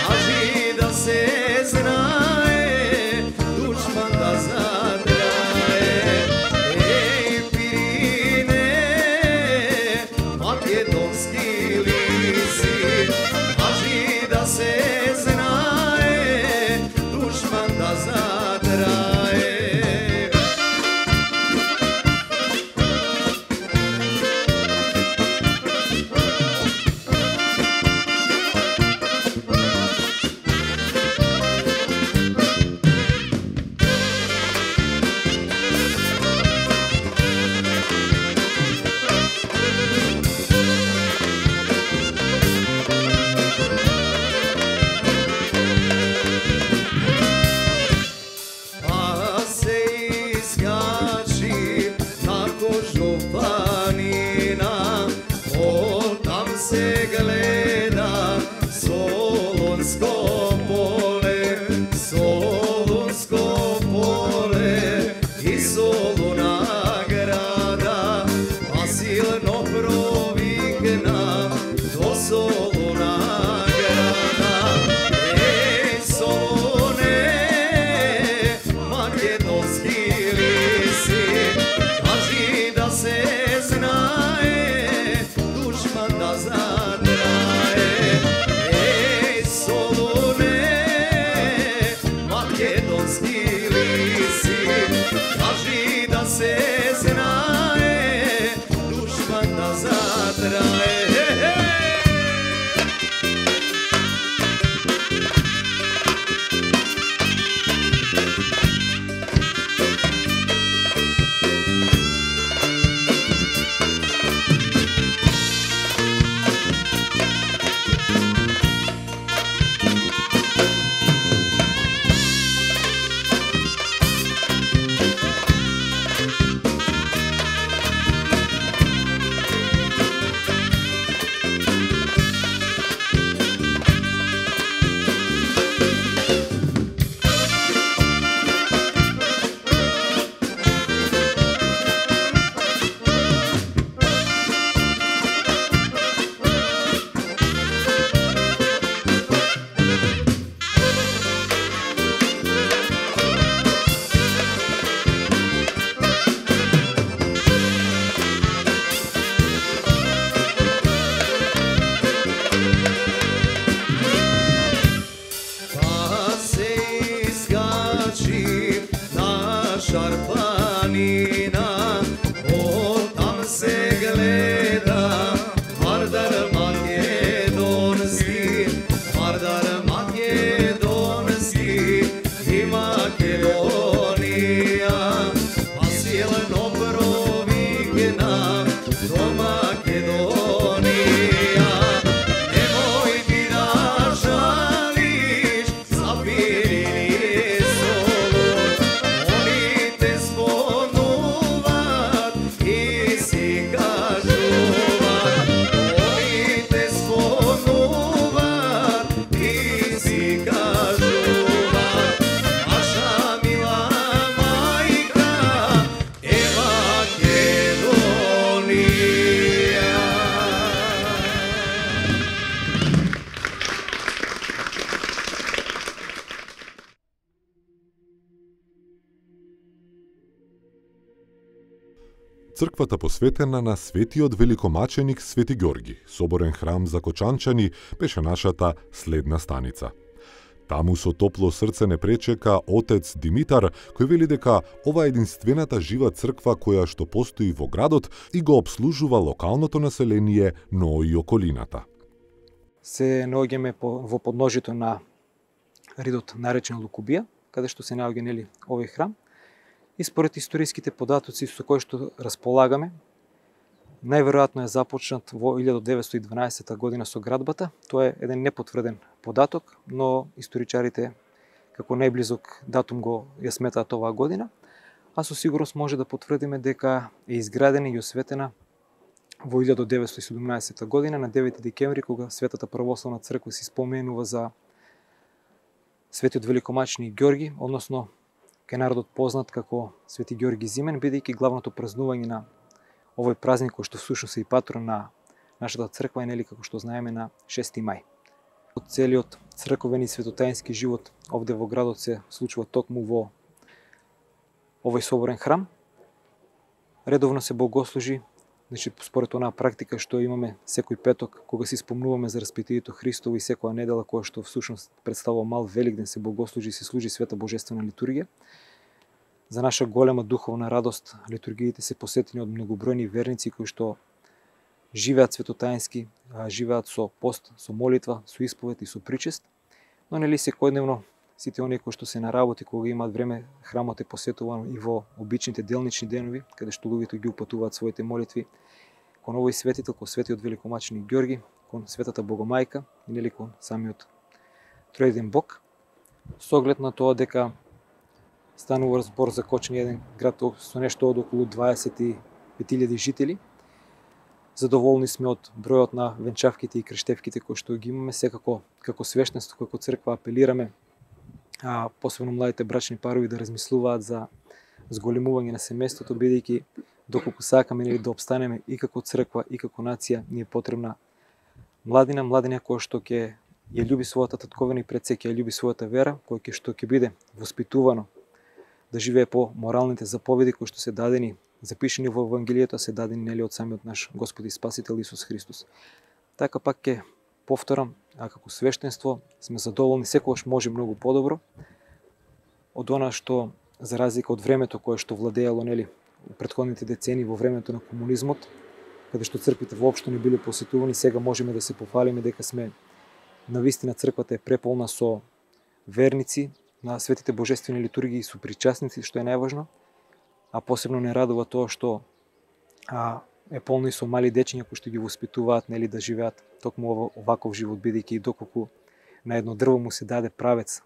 Speaker 8: кажи да се знае, душман да задрае. Ей, Пирине, македонски лиси, кажи да се знае, душман да задрае. А се изкачи на Кожов планина, оттам се гледа Солунско поле, Солунско поле и Солуна града, па силно провикна до Солуна града. Ей, Солуне, македонски лиси, кажи да се знае, душман да задрае. Ей, Солуне, македонски лиси, кажи да се знае, душман да задрае. Па се изкачи на Шарпланина, оттам се гледа Вардар македонски, Вардар македонски и Македонија, па силно провикна до Македонија. Немој ти да жалиш за Пирин и Солун, они те спомнуваат и си кажуваат, они те спомнуваат и си кажуваат, наша мила мајка е Македонија.
Speaker 4: Црквата посветена на светиот великомаченик Свети Ѓорги, соборен храм за кочанчани, беше нашата следна станица. Таму со топло срце не пречека отец Димитар, кој вели дека ова е единствената жива црква која што постои во градот и го обслужува локалното население, но и околината.
Speaker 20: Се наоѓаме во подножјето на ридот наречен Лукубија, каде што се наоѓа нели овој храм. И според историските податоци со кои што располагаме, најверојатно е започнат во илјада деветстотини и дванаесета година со градбата. Тоа е еден непотврден податок, но историчарите како најблизок датум го ја сметаат оваа година, а со сигурност може да потврдиме дека е изградена и осветена во илјада деветстотини и седумнаесета година на девети декември, кога Светата православна црква се споменува за Светиот великомачни Ѓорги, односно кај народот познат како Свети Ѓорги Зимен, бидејќи главното празнување на овој празник кој што всушност е и патрон на нашата црква е, нели, како што знаеме, на шести мај. Целиот црковен и светотаински живот овде во градот се случува токму во овој соборен храм. Редовно се богослужи, значи според онаа практика што имаме секој петок кога се спомнуваме за распитието Христово и секоја недела која што всушност представува мал Великден, се богослужи и се служи света божествена литургија. За наша голема духовна радост, литургиите се посетени од многобројни верници кои што живеат светотаински, живеат со пост, со молитва, со исповед и со причест, но нели секојдневно сите оние кои што се на работи, кога имаат време, храмот е посетуван и во обичните делнични денови, каде што луѓето ги упатуваат своите молитви кон овој светител, кон Светиот великомачни Ѓорги, кон Светата Богомајка и нели кон самиот Троедин Бог, со оглед на тоа дека станува збор за Кочани, еден град со нешто од околу дваесет и пет илјади жители. Задоволни сме од бројот на венчавките и крештевките кои што ги имаме. Секако како свештенство, како црква апелираме а, посебно младите брачни парови да размислуваат за зголемување на семејството, бидејќи доколку сакаме нели да обстанеме и како црква и како нација, ни е потребна младина, младина која што ќе ја љуби својата татковина и пред се ќе ја љуби својата вера, која ќе што ќе биде воспитувано да живее по моралните заповеди кои што се дадени, запишени во Евангелието, се дадени нели од самиот наш Господ и Спасител Исус Христос. Така пак ќе повторам, а како свештенство сме задоволни, секогаш може многу подобро од она што, за разлика од времето кое што владеело нели у претходните децени, во времето на комунизмот, каде што црквите воопшто не биле посетувани, сега можеме да се пофалиме дека сме навистина црквата е преполна со верници на светите божествени литургии и со причасници, што е најважно, а посебно не радува тоа што а, е полно и со мали дечиња кои што ги воспитуваат нели да живеат токму оваков живот, бидејќи доколку на едно дрво му се даде правец,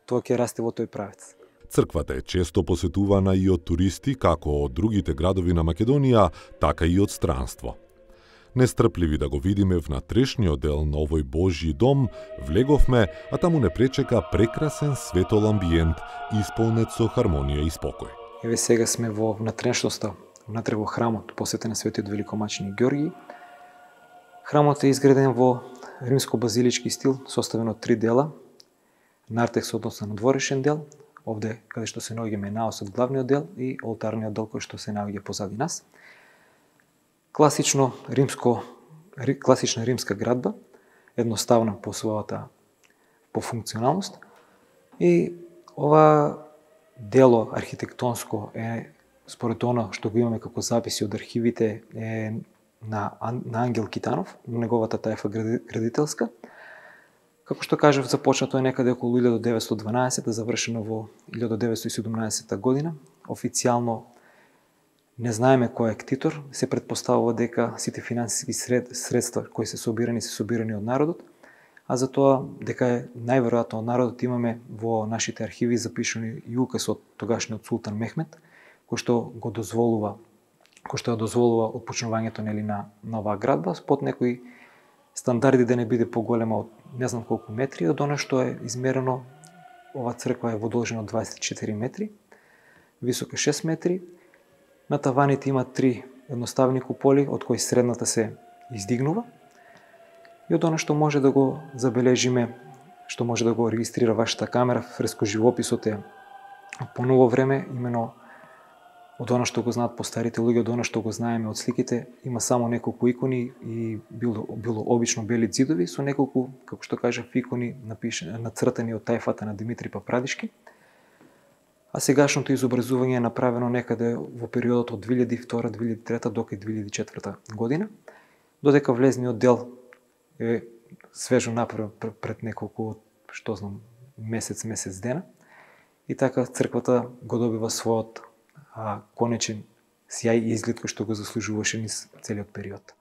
Speaker 20: тоа ќе расте во тој правец.
Speaker 4: Црквата е често посетувана и од туристи, како од другите градови на Македонија, така и од странство. Нестрпливи да го видиме внатрешниот дел на овој Божји дом, влеговме, а таму не пречека прекрасен светол амбиент, исполнет со хармонија и спокој.
Speaker 20: Еве сега сме во внатрешноста, внатре во храмот, посветен на Светиот великомачни Ѓорги. Храмот е изграден во римско-базилички стил, составен од три дела. Нартекс односно надворешен дел, овде каде што се наоѓаме наосот главниот дел и олтарниот дел кој што се наоѓа позади нас. Класично римско, класична римска градба, едноставна по својата по функционалност. И ова дело архитектонско е, според оно што го имаме како записи од архивите, е на, на Ангел Китанов, неговата тајфа градителска. Како што кажав, започнато е некаде околу илјада деветстотини и дванаесета, завршено во илјада деветстотини и седумнаесета година. Официјално не знаеме кој е ктитор, се предпоставува дека сите финансиски сред, средства кои се собирани се собирани од народот, а за тоа дека е најверојатно од народот имаме во нашите архиви запишани и указ од тогашниот султан Мехмет, кој што го дозволува, кој што ја дозволува отпочнувањето нели на нова градба под некои стандарди да не биде поголема од не знам колку метри, од она што е измерено. Ова црква е во должина од дваесет и четири метри, висока шест метри. На таваните има три едноставни куполи, од кои средната се издигнува. И од она што може да го забележиме, што може да го регистрира вашата камера, фрескоживописот е по ново време, имено од она што го знаат постарите луѓе, од она што го знаеме од сликите, има само неколку икони и било, било обично бели ѕидови со неколку, како што кажав, икони напишани, нацртани од тајфата на Димитри Папрадишки. А сегашното изобразување е направено некаде во периодот од две илјади и втора до две илјади и трета до две илјади и четврта година, додека влезниот дел е свежо направен пред неколку, што знам, месец, месец дена. И така црквата го добива својот а, конечен сјај и изглед кој што го заслужуваше низ целиот период.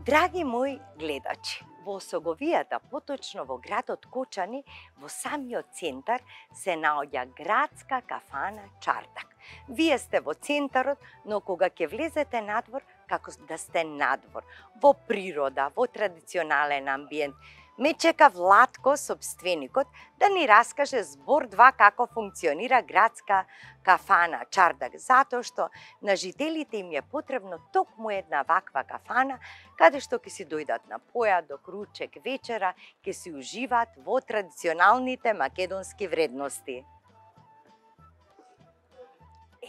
Speaker 2: Драги мои гледачи, во Осоговијата, поточно во градот Кочани, во самиот центар, се наоѓа градска кафана Чардак. Вие сте во центарот, но кога ќе влезете надвор, како да сте надвор, во природа, во традиционален амбиент, ме чека Владко, собственикот, да ни раскаже збор два како функционира градска кафана Чардак, затоа што на жителите им е потребно токму една ваква кафана, каде што ќе си дојдат на појадок, ручек, вечера, ќе си уживаат во традиционалните македонски вредности.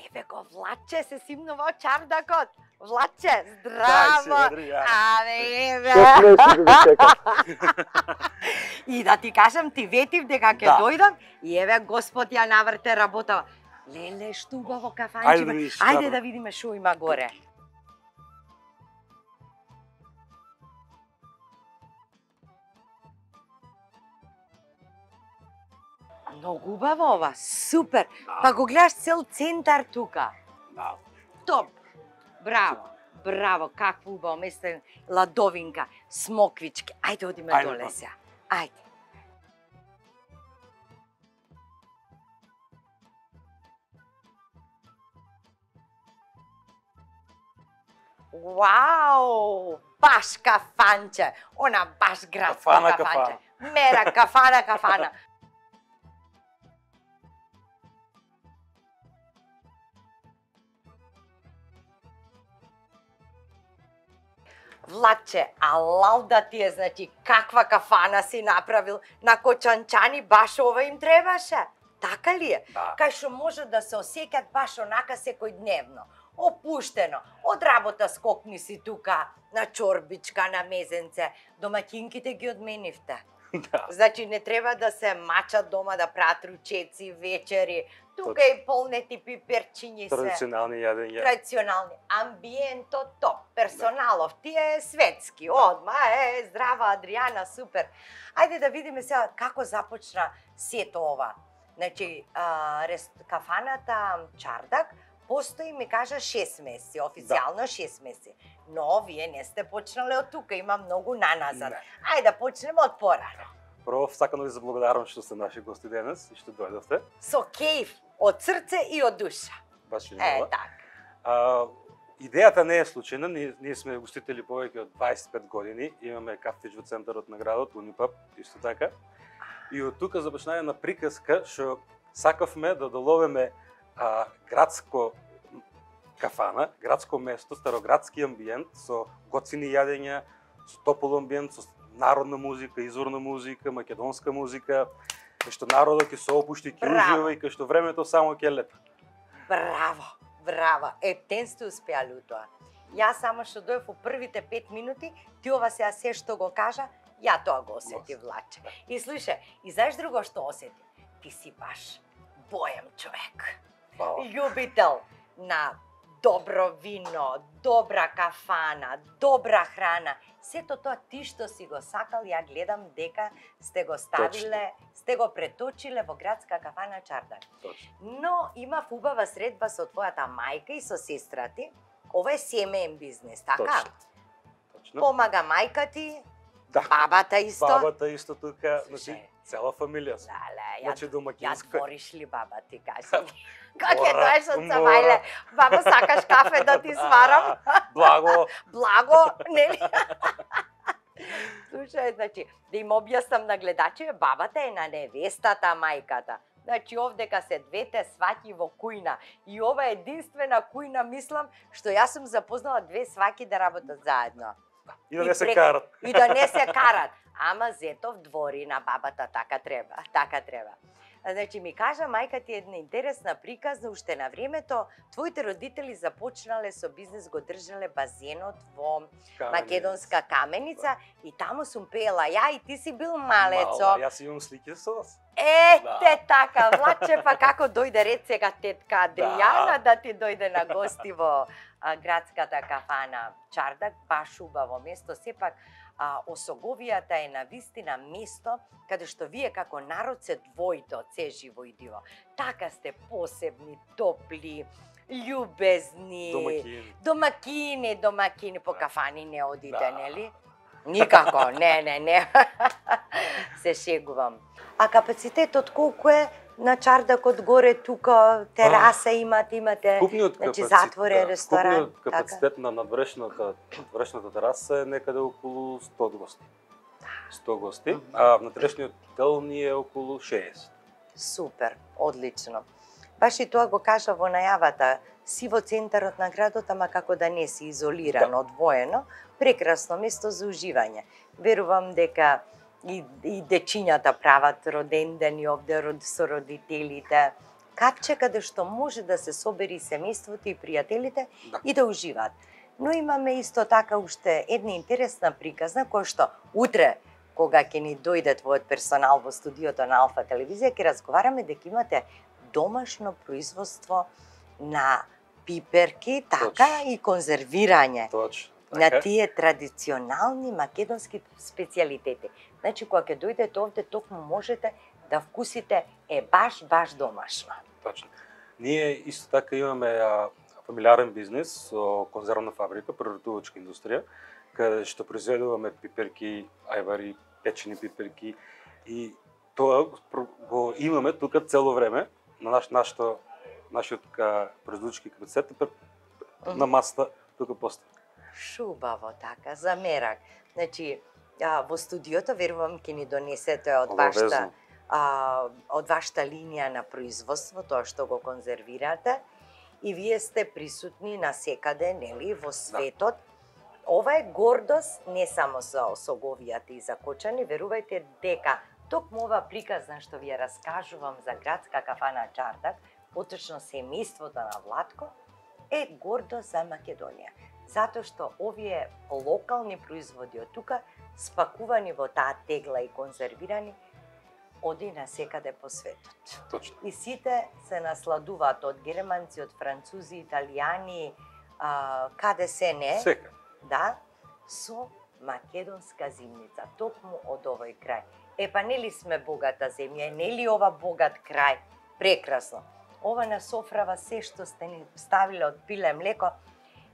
Speaker 2: Еве го Владче, се симнува од Чардакот. Владче, здраво! Абе, еве! И да ти кажам, ти ветив дека ќе
Speaker 21: Да.
Speaker 2: дојдам и еве Господ ја наврте работава. Леле, што убаво кафанче.
Speaker 21: Ајде да видиш,
Speaker 2: Ајде
Speaker 21: Каро.
Speaker 2: да видиме што има горе. Многу убаво ова, супер. Па го гледаш цел центар тука. Топ. Браво. Браво, какво убаво место, ладовинка, смоквички. Ајде одиме
Speaker 21: Ајде,
Speaker 2: доле
Speaker 21: па.
Speaker 2: сега. Ајде. Вау! Баш кафанче. Она баш градско
Speaker 21: Кафана,
Speaker 2: кафанче. Мера кафана, кафана. Владче, алал да ти е, значи, каква кафана си направил на Кочанчани, баш ова им требаше. Така ли е?
Speaker 21: Да.
Speaker 2: Кај што може да се осеќат баш онака секојдневно. Опуштено. Од работа скокни си тука на чорбичка, на мезенце. Домаќинките ги одменивте.
Speaker 21: Да.
Speaker 2: Значи не треба да се мачат дома да прават ручеци, вечери. Тука и полнети пиперчињи се.
Speaker 21: Традиционални јадења.
Speaker 2: Традиционални. Амбиенто топ. Персоналов ти е светски. Одма е здрава Адријана, супер. Ајде да видиме сега како започна сето ова. Значи, а, рес, кафаната Чардак постои, ми кажа, шест месеци, официјално да. шест месеци. Но вие не сте почнале од тука, има многу наназад.
Speaker 21: Не.
Speaker 2: Ајде да почнеме од порано.
Speaker 21: Прво, сакам да ви заблагодарам што сте наши гости денес и што дојдовте.
Speaker 2: Со кејф, од срце и од душа.
Speaker 21: Баш и
Speaker 2: Е,
Speaker 21: нова.
Speaker 2: така.
Speaker 21: А, идејата не е случајна, ние, ние сме гостители повеќе од дваесет и пет години, имаме кафич во центарот на градот, Унипаб, исто така. И од тука започна една приказка што сакавме да доловиме а, градско кафана, градско место, староградски амбиент со готини јадења, со топол амбиент, со народна музика, изворна музика, македонска музика, кај што народот ќе се опушти, ќе
Speaker 2: Браво.
Speaker 21: ужива и кај што времето само ќе лета.
Speaker 2: Браво, браво. Ептен сте успеали у тоа. Јас само што дојав во првите пет минути, ти ова сега се што го кажа, ја тоа го осети, Владче. И слушај, и знаеш друго што осети? Ти си баш боем човек. Љубител на добро вино, добра кафана, добра храна. Сето тоа ти што си го сакал, ја гледам дека сте го ставиле, сте го преточиле во градска кафана Чардак.
Speaker 21: Точно.
Speaker 2: Но имав убава средба со твојата мајка и со сестра ти. Ова е семеен бизнес, така?
Speaker 21: Точно. Точно.
Speaker 2: Помага мајка ти,
Speaker 21: Да.
Speaker 2: бабата исто.
Speaker 21: Бабата исто тука, значи цела фамилија сме.
Speaker 2: Леле,
Speaker 21: Значи
Speaker 2: ја
Speaker 21: домакинска.
Speaker 2: двориш ли баба ти, кажи ми? Как е
Speaker 21: Мора,
Speaker 2: доеш од
Speaker 21: мора.
Speaker 2: Савајле? Баба, сакаш кафе да ти сварам?
Speaker 21: Благо.
Speaker 2: Благо, нели? Слушај, значи, да им објаснам на гледачите, бабата е на невестата, мајката. Значи, овдека се двете сваќи во кујна. И ова е единствена кујна, мислам, што јас сум запознала две сваќи да работат заедно.
Speaker 21: И да не се
Speaker 2: прек-
Speaker 21: карат.
Speaker 2: И да не се карат. Ама Зетов двори на бабата, така треба, така треба. Значи, ми кажа мајка ти една интересна приказна, уште на времето, твоите родители започнале со бизнес, го држале базенот во
Speaker 21: Каменица.
Speaker 2: Македонска Каменица и таму сум пеела ја и ти си бил малецо.
Speaker 21: Мала, јас имам слики со вас.
Speaker 2: Е,
Speaker 21: Да.
Speaker 2: те така, Владче, па како дојде ред сега тетка Адријана да. ти дојде на гости во а, градската кафана Чардак, баш убаво место, сепак а, Осоговијата е на вистина место каде што вие како народ се двоите од се живо и диво. Така сте посебни, топли, љубезни,
Speaker 21: Домакини.
Speaker 2: домакини, домакини, по кафани не одите, да. Нели? Никако, не, не, не. Се шегувам. А капацитетот колку е на Чардакот горе тука, тераса имате, имате,
Speaker 21: Купниот
Speaker 2: значи
Speaker 21: капацитет,
Speaker 2: затворен
Speaker 21: да,
Speaker 2: ресторан,
Speaker 21: Купниот
Speaker 2: така?
Speaker 21: капацитет на надвршната, надвршната тераса е некаде околу сто гости. сто гости, а внатрешниот дел ни е околу шеесет.
Speaker 2: Супер, одлично. Баш и тоа го кажа во најавата, си во центарот на градот, ама како да не си изолирано, да. Одвоено, прекрасно место за уживање. Верувам дека и, и дечињата прават роден ден и овде род со родителите. Капче каде што може да се собери семејството и пријателите да. И да уживаат. Но имаме исто така уште една интересна приказна која што утре кога ќе ни дојде твојот персонал во студиото на Алфа телевизија, ќе разговараме дека имате домашно производство на пиперки, така Точно. И конзервирање.
Speaker 21: Точно.
Speaker 2: На тие традиционални македонски специјалитети. Значи, кога ќе дојдете овде, токму можете да вкусите е баш, баш домашно.
Speaker 21: Точно. Ние исто така имаме а, фамилиарен бизнес со конзервна фабрика, преработувачка индустрија, каде што произведуваме пиперки, ајвари, печени пиперки и тоа го имаме тука цело време на наш нашто нашиот производички капацитет на масата тука постои.
Speaker 2: Шубаво така, за мерак. Значи, а, во студиото верувам ќе ни донесете од вашата а, од вашата линија на производство, тоа што го конзервирате и вие сте присутни насекаде, нели, во светот. Да. Ова е гордост не само за Осоговијата и за Кочани, верувајте дека токму ова приказна што ви ја раскажувам за градска кафана Чардак, поточно семејството на Владко, е гордост за Македонија. Затоа што овие локални производи од тука, спакувани во таа тегла и конзервирани, оди насекаде по светот.
Speaker 21: Точно.
Speaker 2: И сите се насладуваат од германци, од французи, италијани, а, каде се не.
Speaker 21: Сека.
Speaker 2: Да, со македонска зимница, токму од овој крај. Е, па нели сме богата земја, нели ова богат крај? Прекрасно. Ова на софрава се што сте ни ставиле од пиле млеко,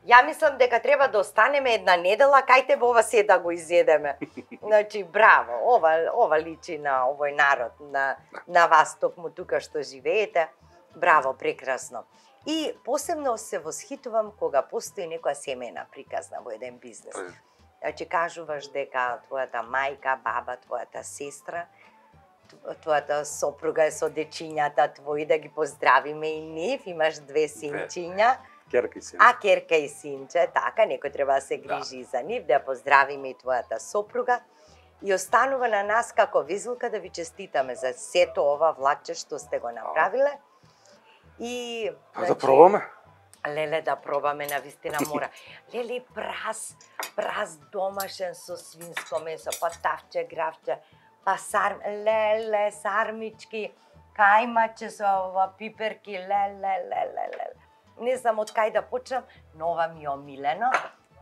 Speaker 2: ја мислам дека треба да останеме една недела, кајте во ова се да го изедеме. Значи, браво, ова, ова личи на овој народ, на, на вас токму тука што живеете. Браво, прекрасно. И посебно се восхитувам кога постои некоја семејна приказна во еден бизнес. Значи, кажуваш дека твојата мајка, баба, твојата сестра, твојата сопруга е со дечињата твои, да ги поздравиме и нив, имаш две синчиња.
Speaker 21: Керка и син.
Speaker 2: А, керка и синче, така, некој треба да се грижи да. За нив, да поздравиме и твојата сопруга. И останува на нас како Везелка да ви честитаме за сето ова влакче што сте го направиле. И
Speaker 21: значи, да пробаме.
Speaker 2: Леле, да пробаме, навистина мора. Леле, прас, прас домашен со свинско месо, па тавче, гравче, па сар, леле, сармички, кајмаче со ова пиперки, леле, леле, леле. Не знам од кај да почнам, но ова ми е омилено.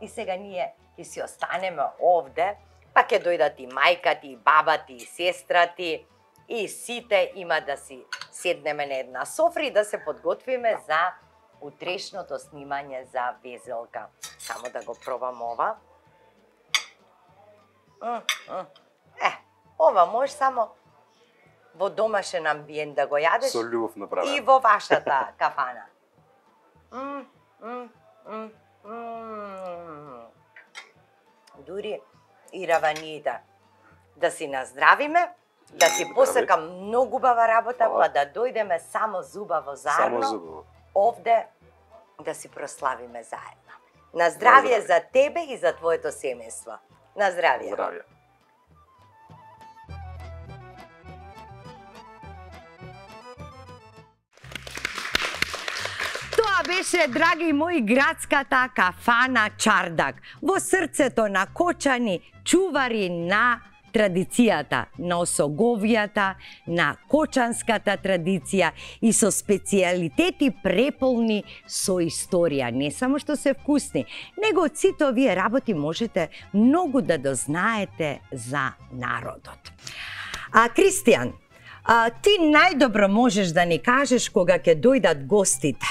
Speaker 2: И сега ние ќе си останеме овде, па ќе дојдат и мајка ти, и баба ти, и сестра ти, и сите има да си седнеме на една софра и да се подготвиме за утрешното снимање за Везелка. Само да го пробам ова. Е, ова може само во домашен амбиент да го јадеш.
Speaker 21: Со љубов направено.
Speaker 2: И во вашата кафана. М, м, м, м. Дури и раваниите. Да си наздравиме, да си посекам многу убава работа, па да дојдеме само зубаво заедно.
Speaker 21: Само зубаво.
Speaker 2: Овде да си прославиме заедно. На здравје за тебе и за твоето семејство. На здравје.
Speaker 21: Здравје.
Speaker 2: Тоа беше, драги мои, градската кафана Чардак. Во срцето на Кочани, чувари на традицијата, на Осоговијата, на кочанската традиција и со специјалитети преполни со историја. Не само што се вкусни, него од сите овие работи можете многу да дознаете за народот. А, Кристијан, а, ти најдобро можеш да ни кажеш кога ќе дојдат гостите.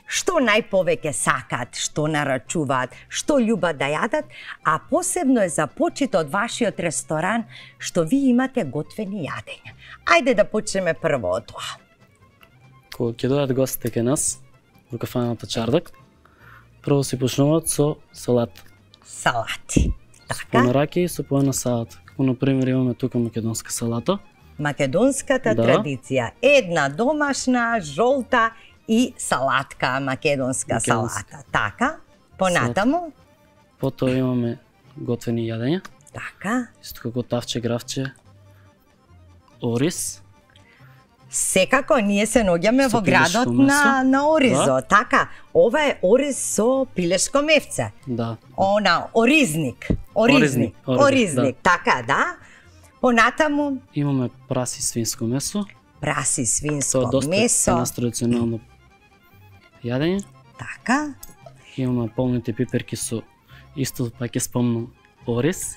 Speaker 2: Што најповеќе сакаат, што нарачуваат, што љубат да јадат, а посебно е започито од вашиот ресторан што ви имате готвени јадења. Ајде да почнеме прво од тоа.
Speaker 5: Кога ќе дојдат гостите кај нас во кафаната Чардак, прво се почнуваат со салат.
Speaker 2: Салати.
Speaker 5: Така? Со пона раке и со пона салат. Како например имаме тука македонска салата.
Speaker 2: Македонската
Speaker 5: Да.
Speaker 2: традиција. Една домашна, жолта и салатка, македонска,
Speaker 5: Македонска.
Speaker 2: салата. Така, понатаму.
Speaker 5: Потоа имаме готвени јадења.
Speaker 2: Така.
Speaker 5: Исто како тавче, гравче, ориз.
Speaker 2: Секако ние се наоѓаме
Speaker 5: Со
Speaker 2: во градот
Speaker 5: пилешко
Speaker 2: на
Speaker 5: месо.
Speaker 2: на оризо.
Speaker 5: Да.
Speaker 2: Така, ова е ориз со пилешко мевце.
Speaker 5: Да.
Speaker 2: Она оризник, оризник,
Speaker 5: Оризник, оризник,
Speaker 2: оризник, така да. Понатаму
Speaker 5: Имаме праси свинско месо.
Speaker 2: праси свинско
Speaker 5: Тоа е доста
Speaker 2: месо.
Speaker 5: нас традиционално јадење.
Speaker 2: Така.
Speaker 5: Имаме полните пиперки со исто пак ќе спомнам ориз.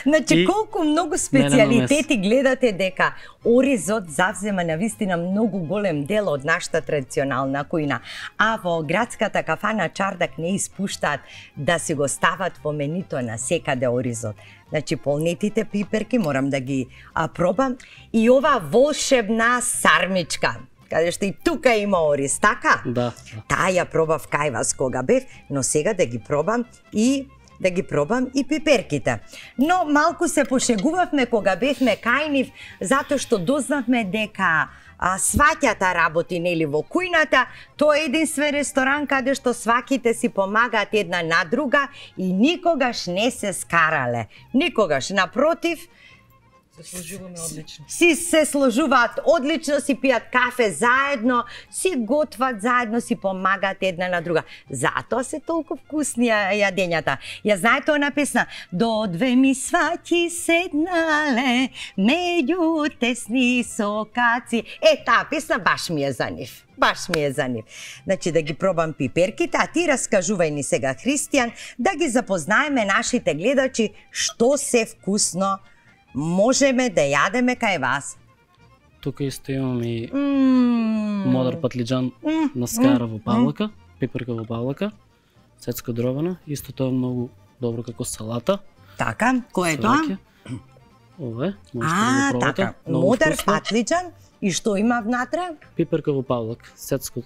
Speaker 2: Значи,
Speaker 5: И
Speaker 2: колку многу
Speaker 5: мелено
Speaker 2: специјалитети гледате дека оризот завзема на вистина многу голем дел од нашата традиционална кујна. А во градската кафана Чардак не испуштаат да си го стават во менито на секаде оризот. Значи, полнетите пиперки морам да ги а, пробам. И ова волшебна сармичка, каде што и тука има ориз, така?
Speaker 5: Да.
Speaker 2: Таа ја пробав кај вас кога бев, но сега да ги пробам и да ги пробам и пиперките. Но малку се пошегувавме кога бевме кај нив, затоа што дознавме дека а, сваќата работи нели во кујната, тоа е единствен ресторан каде што сваките си помагаат една на друга и никогаш не се скарале. Никогаш, напротив,
Speaker 16: Се сложуваме одлично.
Speaker 2: си се сложуваат одлично, си пијат кафе заедно, си готват заедно, си помагаат една на друга. Затоа се толку вкусни ја- јадењата. Ја знаете она песна? До две ми сваќи седнале, меѓу тесни сокаци. Е, таа песна баш ми е за нив. Баш ми е за нив. Значи да ги пробам пиперките, а ти раскажувај ни сега, Христијан, да ги запознаеме нашите гледачи што се вкусно можеме да јадеме кај вас.
Speaker 5: Тука исто имаме и
Speaker 2: Мм.
Speaker 5: модер патлиџан
Speaker 2: Мм,
Speaker 5: на скара
Speaker 2: мм,
Speaker 5: во павлака, пиперка во павлака, сецко дробена, исто тоа е многу добро како салата.
Speaker 2: Така, кој е тоа?
Speaker 5: Сваќа. Ова е, можете да
Speaker 2: А,
Speaker 5: го пробате.
Speaker 2: така,
Speaker 5: Многу
Speaker 2: модер
Speaker 5: вкусно.
Speaker 2: патлиџан и што има внатре?
Speaker 5: Пиперка во павлак, сецко.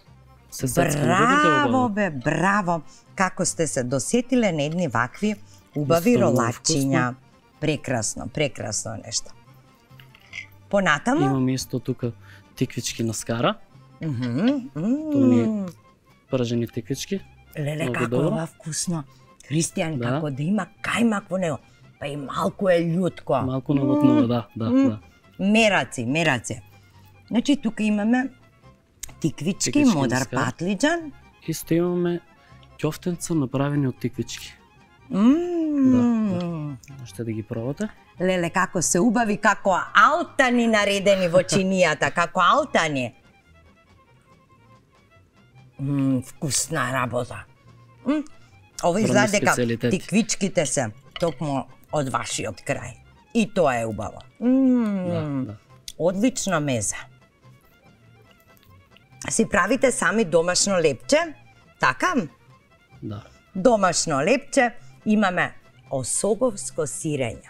Speaker 5: Се сецка на пиперка во
Speaker 2: Браво
Speaker 5: павлак.
Speaker 2: бе, браво. Како сте се досетиле на едни вакви убави
Speaker 5: Исто многу
Speaker 2: ролачиња.
Speaker 5: вкусно.
Speaker 2: Прекрасно, прекрасно нешто. Понатаму?
Speaker 5: Имаме исто тука тиквички на скара.
Speaker 2: Мгм,
Speaker 5: Тоа ни
Speaker 2: мм.
Speaker 5: пражени тиквички.
Speaker 2: Леле,
Speaker 5: Многу
Speaker 2: како е
Speaker 5: добро.
Speaker 2: ова вкусно. Христијан,
Speaker 5: Да.
Speaker 2: како да има кајмак во него, па и малку е љутко.
Speaker 5: Малку навотнува, да, да,
Speaker 2: М,
Speaker 5: да.
Speaker 2: Мераци, мераци. Значи, тука имаме тиквички,
Speaker 5: Тиквички
Speaker 2: модер
Speaker 5: на скара.
Speaker 2: патлиџан.
Speaker 5: Исто имаме ќофтенца направени од тиквички.
Speaker 2: Мм.
Speaker 5: Можете да ги пробате.
Speaker 2: Леле, како се убави, како алтани наредени во чинијата, како алтани. Мм, вкусна работа. Мм, ова изгледа
Speaker 5: Врвни
Speaker 2: дека
Speaker 5: специјалитети.
Speaker 2: тиквичките се токму од вашиот крај. И тоа е убаво. Мм,
Speaker 5: Да, да.
Speaker 2: Одлична меза. Си правите сами домашно лепче? Така?
Speaker 5: Да.
Speaker 2: Домашно лепче, имаме осоговско сирење.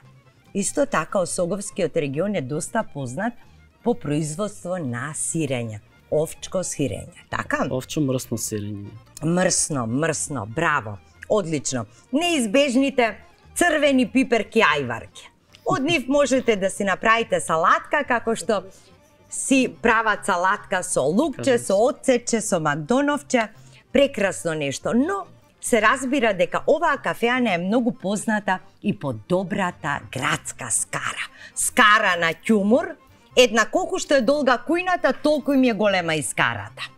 Speaker 2: Исто така, Осоговскиот регион е доста познат по производство на сирење. Овчко сирење, така?
Speaker 5: Овчо мрсно сирење.
Speaker 2: Мрсно, мрсно, браво, одлично. Неизбежните црвени пиперки ајварки. Од нив можете да си направите салатка, како што си прават салатка со лукче, со оцече, со макдоновче. Прекрасно нешто, но се разбира дека оваа кафеана е многу позната и по добрата градска скара. Скара на ќумур, една колку што е долга кујната, толку им е голема и скарата.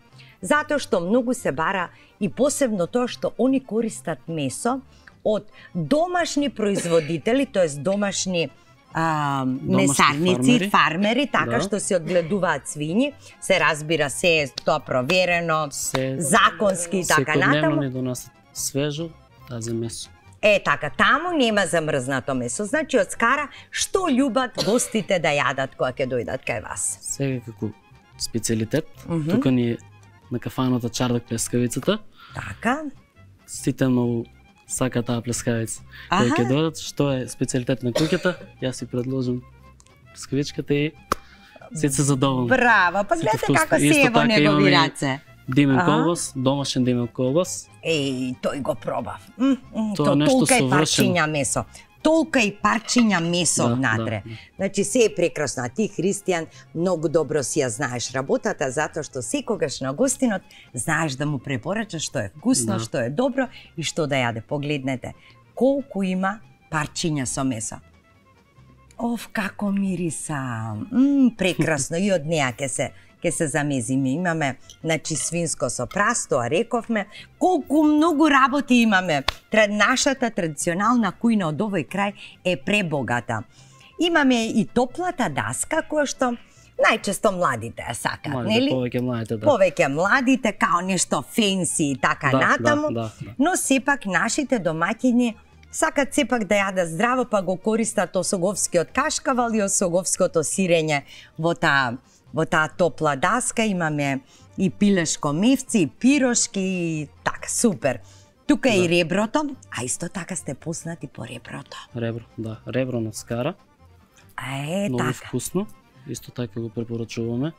Speaker 2: Затоа што многу се бара и посебно тоа што они користат месо од домашни производители, тоест домашни а, месарници,
Speaker 5: фармери.
Speaker 2: фармери, така
Speaker 5: Да.
Speaker 2: што се одгледуваат свињи, се разбира се е тоа проверено,
Speaker 5: Се
Speaker 2: законски и така
Speaker 5: секојдневно
Speaker 2: натаму.
Speaker 5: ни донасат свежо тазе месо.
Speaker 2: Е, така, таму нема замрзнато месо. Значи, од скара, што љубат гостите да јадат кога ќе дојдат кај вас?
Speaker 5: Сега како специјалитет,
Speaker 2: Мгм.
Speaker 5: тука ни е на кафаната Чардак плескавицата.
Speaker 2: Така.
Speaker 5: Сите многу сака таа плескавица.
Speaker 2: Аха.
Speaker 5: Кога ќе дојдат, што е специјалитет на куќата, јас си предложам плескавичката и сите се задоволни.
Speaker 2: Браво, па
Speaker 5: Сите
Speaker 2: гледате
Speaker 5: вкусно.
Speaker 2: како си
Speaker 5: Исто
Speaker 2: е во
Speaker 5: така
Speaker 2: негови
Speaker 5: имаме и
Speaker 2: раце.
Speaker 5: Димен
Speaker 2: Аха.
Speaker 5: колбас, домашен димен колбас.
Speaker 2: Еј, тој го пробав. М, м,
Speaker 5: Тоа
Speaker 2: то
Speaker 5: нешто
Speaker 2: толка е
Speaker 5: совршено.
Speaker 2: парчиња месо. толка и парчиња месо
Speaker 5: Да,
Speaker 2: внатре.
Speaker 5: да, да.
Speaker 2: Значи се е прекрасно. А ти, Христијан, многу добро си ја знаеш работата, затоа што секогаш на гостинот знаеш да му препорачаш што е вкусно,
Speaker 5: Да.
Speaker 2: што е добро и што да јаде. Погледнете колку има парчиња со месо. Оф, како мириса. Мм, прекрасно. И од неа ќе се ќе се замезиме. Имаме, значи, свинско со прасто, а рековме, колку многу работи имаме. Тра, нашата традиционална кујна од овој крај е пребогата. Имаме и топлата даска, која што најчесто младите ја сакаат,
Speaker 5: Младите,
Speaker 2: нели?
Speaker 5: повеќе младите, да.
Speaker 2: Повеќе младите, као нешто фенси и така
Speaker 5: Да,
Speaker 2: натаму,
Speaker 5: да, да, да.
Speaker 2: но сепак нашите домаќини сакат сепак да јадат здраво, па го користат осоговскиот кашкавал и осоговското сирење во таа во таа топла даска. Имаме и пилешко мевци, и пирошки, и така, супер. Тука е
Speaker 5: Да.
Speaker 2: и реброто, а исто така сте познати по реброто.
Speaker 5: Ребро, да, ребро на скара.
Speaker 2: Е,
Speaker 5: Многу
Speaker 2: така.
Speaker 5: вкусно. Исто така го препорачуваме.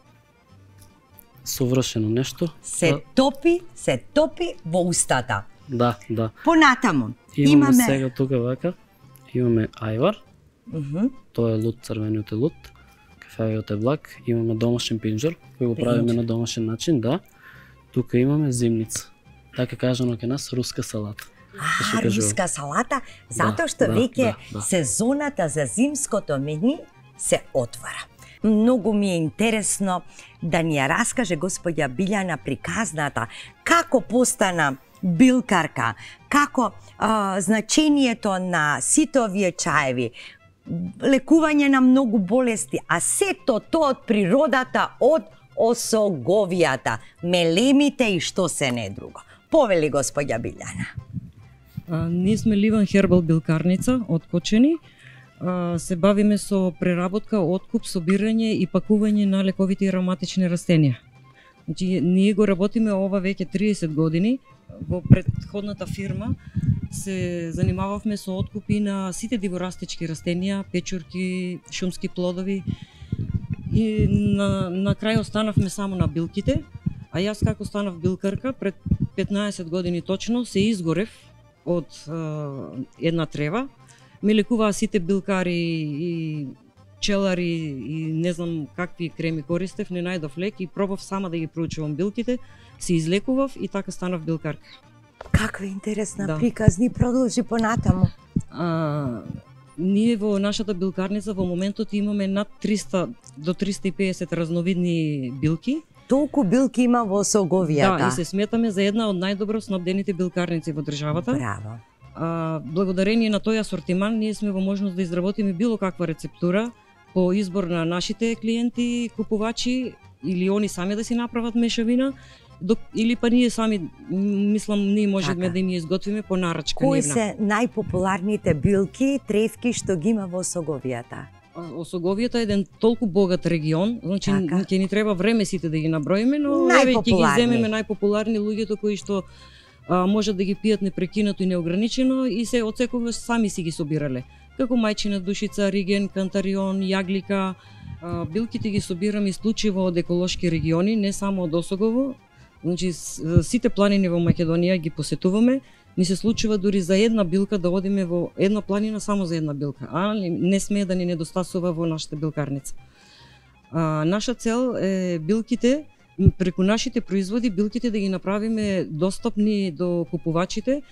Speaker 5: Совршено нешто.
Speaker 2: Се
Speaker 5: Да,
Speaker 2: топи, се топи во устата.
Speaker 5: Да, да.
Speaker 2: Понатаму,
Speaker 5: Имаме,
Speaker 2: имаме...
Speaker 5: сега тука вака, имаме ајвар,
Speaker 2: Мгм.
Speaker 5: тоа е лут, црвениот е лут, кафеавиот е блак, имаме домашен пинџер, кој го правиме
Speaker 2: Пинџер.
Speaker 5: на домашен начин, да. Тука имаме зимница. Така кажано кај нас, руска салата. Да се
Speaker 2: А,
Speaker 5: кажува.
Speaker 2: руска салата, затоа што
Speaker 5: да,
Speaker 2: веќе
Speaker 5: да, да.
Speaker 2: сезоната за зимското мени се отвора. Многу ми е интересно да ни ја раскаже господја Билјана приказната како постана билкарка, како а, значението на сите овие чаеви, лекување на многу болести, а сето тоа од природата, од осоговијата, мелемите и што се не друго. Повели господја Билјана.
Speaker 6: А, ние сме Ливан Хербал билкарница од Кочени. А, се бавиме со преработка, откуп, собирање и пакување на лековити и ароматични растенија. Значи, ние го работиме ова веќе триесет години. Во претходната фирма се занимававме со откупи на сите диворастички растенија, печурки, шумски плодови. И на, на крај останавме само на билките, а јас како станав билкарка пред петнаесет години точно се изгорев од е, една трева. Ме лекуваа сите билкари и пчелари и не знам какви креми користев, не најдов лек и пробав сама да ги проучувам билките, се излекував и така станав билкарка.
Speaker 2: Каква интересна
Speaker 6: Да.
Speaker 2: приказни, продолжи понатаму.
Speaker 6: А, ние во нашата билкарница во моментот имаме над триста до триста и песет разновидни билки.
Speaker 2: Толку билки има во Осоговијата.
Speaker 6: Да, и се сметаме за една од најдобро снабдените билкарници во државата.
Speaker 2: Браво.
Speaker 6: А, благодарение на тој асортиман ние сме во можност да изработиме било каква рецептура по избор на нашите клиенти, купувачи или они сами да си направат мешавина, док, или па ние сами, м, мислам, ние можеме
Speaker 2: Така.
Speaker 6: да им ја изготвиме по нарачка
Speaker 2: Кои
Speaker 6: нивна.
Speaker 2: се најпопуларните билки, тревки што ги има во Осоговијата?
Speaker 6: Осоговијата е еден толку богат регион, значи
Speaker 2: Така.
Speaker 6: ќе ни треба време сите да ги наброиме, но еве ќе ги
Speaker 2: Најпопуларни.
Speaker 6: земеме најпопуларни луѓето кои што а, можат да ги пијат непрекинато и неограничено и се од секогаш сами си ги собирале. Како мајчина душица, риген, кантарион, јаглика. А, билките ги собираме исклучиво од еколошки региони, не само од Осогово. Значи с- сите планини во Македонија ги посетуваме. Ни се случува дури за една билка да одиме во една планина само за една билка, а не смее да ни недостасува во нашата билкарница. А, наша цел е билките, м, преку нашите производи, билките да ги направиме достапни до купувачите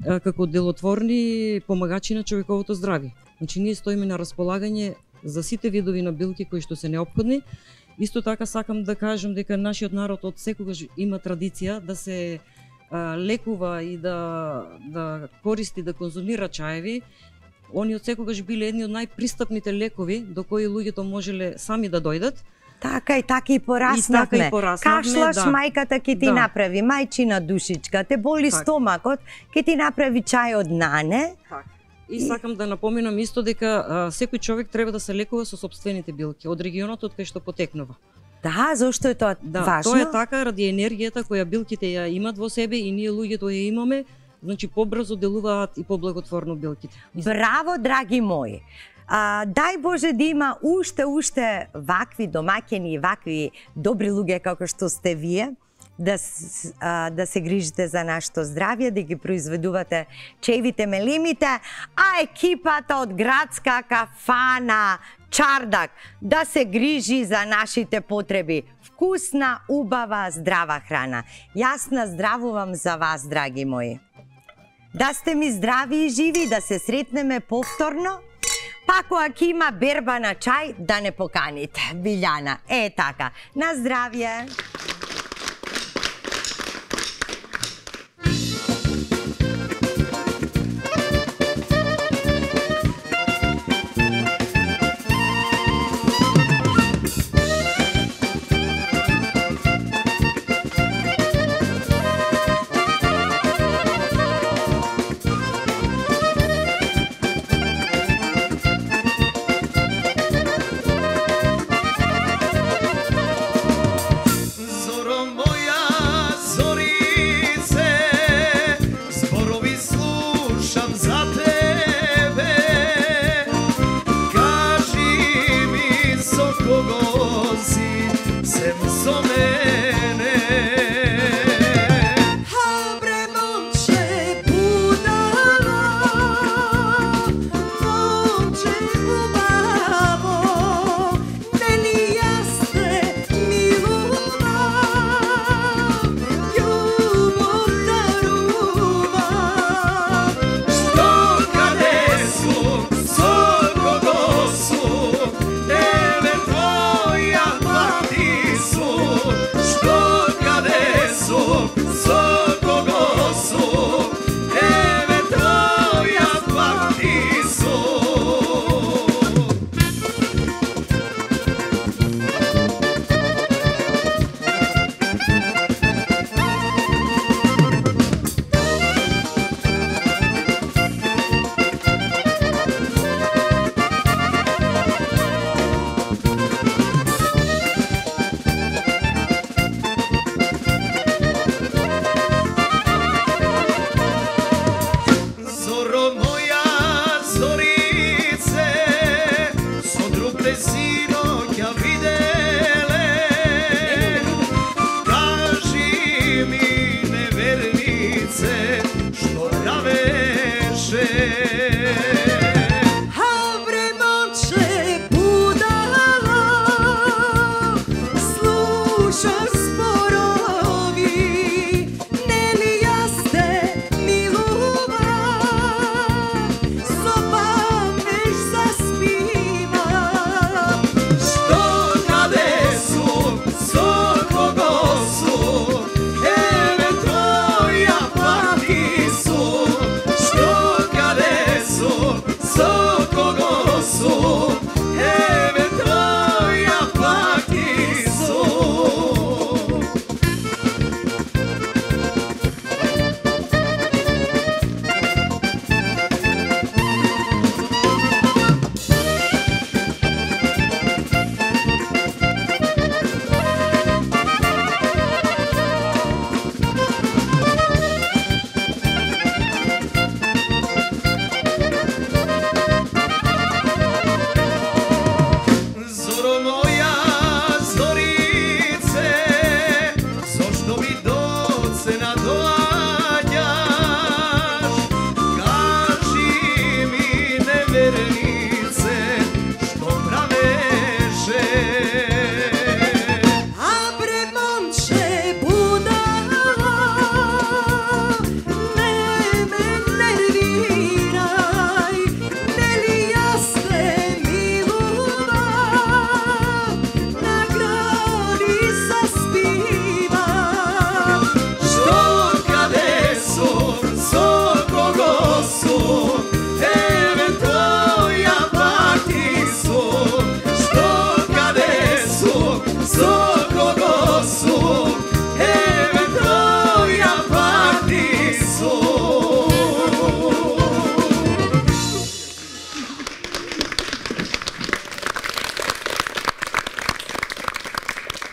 Speaker 6: а, како делотворни помагачи на човековото здравје. Значи ние стоиме на располагање за сите видови на билки кои што се неопходни. Исто така сакам да кажам дека нашиот народ од секогаш има традиција да се а, лекува и да да користи, да конзумира чаеви. Они од секогаш биле едни од најпристапните лекови до кои луѓето можеле сами да дојдат.
Speaker 2: Така и така и пораснавме.
Speaker 6: И така и пораснавме,
Speaker 2: Кашлаш,
Speaker 6: да.
Speaker 2: мајката ќе ти
Speaker 6: Да.
Speaker 2: направи мајчина душичка, те боли
Speaker 6: Така.
Speaker 2: стомакот, ќе ти направи чај од нане.
Speaker 6: И сакам да напоменам исто дека а, секој човек треба да се лекува со сопствените билки од регионот од кај што потекнува.
Speaker 2: Да, зошто е тоа
Speaker 6: Да,
Speaker 2: важно?
Speaker 6: тоа е така ради енергијата која билките ја имат во себе и ние луѓето ја имаме, значи побрзо делуваат и поблаготворно билките.
Speaker 2: Браво, драги мои! А, дај Боже да има уште, уште вакви домаќини и вакви добри луѓе како што сте вие, да, а, да се грижите за нашето здравје, да ги произведувате чевите мелимите, а екипата од градска кафана Чардак да се грижи за нашите потреби. Вкусна, убава, здрава храна. Јас наздравувам за вас, драги мои. Да сте ми здрави и живи, да се сретнеме повторно. Па кога ќе има берба на чај, да не поканите. Билјана, е така. На здравје.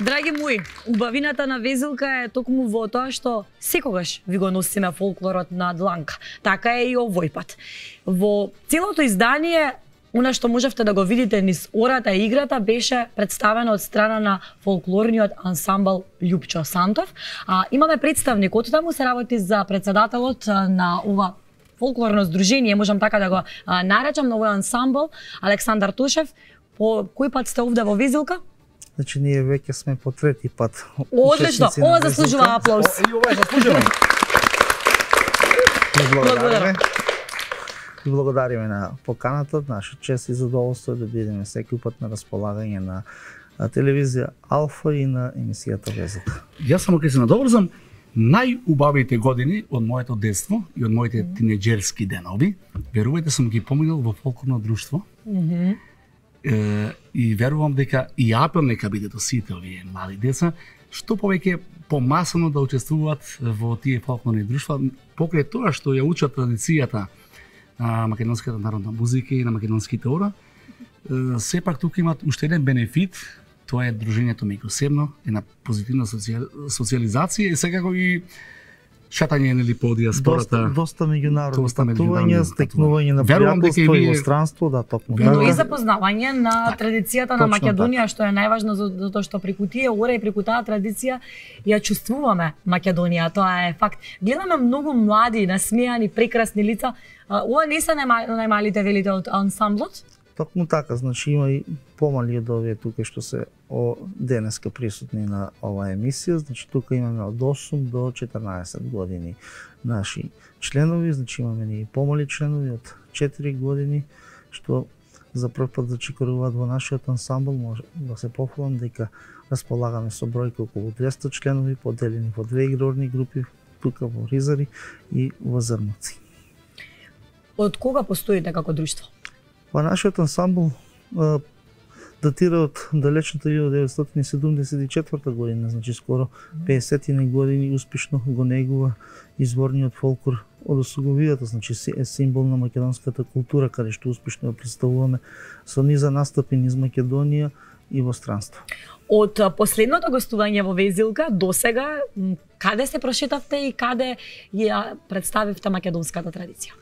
Speaker 3: Драги мои, убавината на Везилка е токму во тоа што секогаш ви го носиме фолклорот на дланка. Така е и овој пат. Во целото издание Она што можевте да го видите низ ората и играта беше представено од страна на фолклорниот ансамбл Љупчо Сантов. А, имаме представник од таму, се работи за председателот на ова фолклорно здружение, можам така да го а, наречам, на овој ансамбл, Александар Тошев. По кој пат сте овде во Везилка?
Speaker 7: Значи ние веќе сме по трети пат.
Speaker 3: Одлично, ова заслужува аплауз.
Speaker 1: И ова е заслужено.
Speaker 7: Благодариме. И благодариме на поканата, наша чест и задоволство е да бидеме секој пат на располагање на телевизија Алфа и на емисијата Везилка.
Speaker 1: Јас само ќе се надоврзам, најубавите години од моето детство и од моите тинеџерски денови, верувајте сум ги поминал во фолклорно друштво.
Speaker 3: Mm-hmm.
Speaker 1: е, и верувам дека и апел нека биде до сите овие млади деца, што повеќе помасано да учествуваат во тие фолклорни друштва, покрај тоа што ја учат традицијата на македонската народна музика и на македонските ора, сепак тука имат уште еден бенефит, тоа е дружењето меѓусебно, една позитивна социализација и секако и шатање нели по диаспората.
Speaker 7: Доста, доста меѓународни патувања, стекнување на пријателство и странство, да, токму така.
Speaker 3: Но и запознавање на традицијата на Македонија, што е најважно затоа што преку тие ора и преку таа традиција ја чувствуваме Македонија, тоа е факт. Гледаме многу млади, насмејани, прекрасни лица. Ова не се најмалите велите од ансамблот?
Speaker 7: Токму така, значи има и помали од овие тука што се о денеска присутни на оваа емисија, значи тука имаме од осум до четрнаесет години наши членови, значи имаме и помали членови од четири години, што за прв пат зачекоруваат во нашиот ансамбл. Може да се пофалам дека располагаме со бројка околу двесте членови, поделени во две игрорни групи, тука во Ризари и во Зрнуци.
Speaker 3: Од кога постоите како друштво?
Speaker 7: Па нашиот ансамбл а, датира од далечната илјада деветстотини седумдесет и четврта година, значи скоро педесет години успешно го негува изворниот фолклор од Осоговијата, значи е символ на македонската култура, каде што успешно ја представуваме со низа настапи низ Македонија и во странство.
Speaker 3: Од последното гостување во Везилка до сега, каде се прошетавте и каде ја представивте македонската традиција?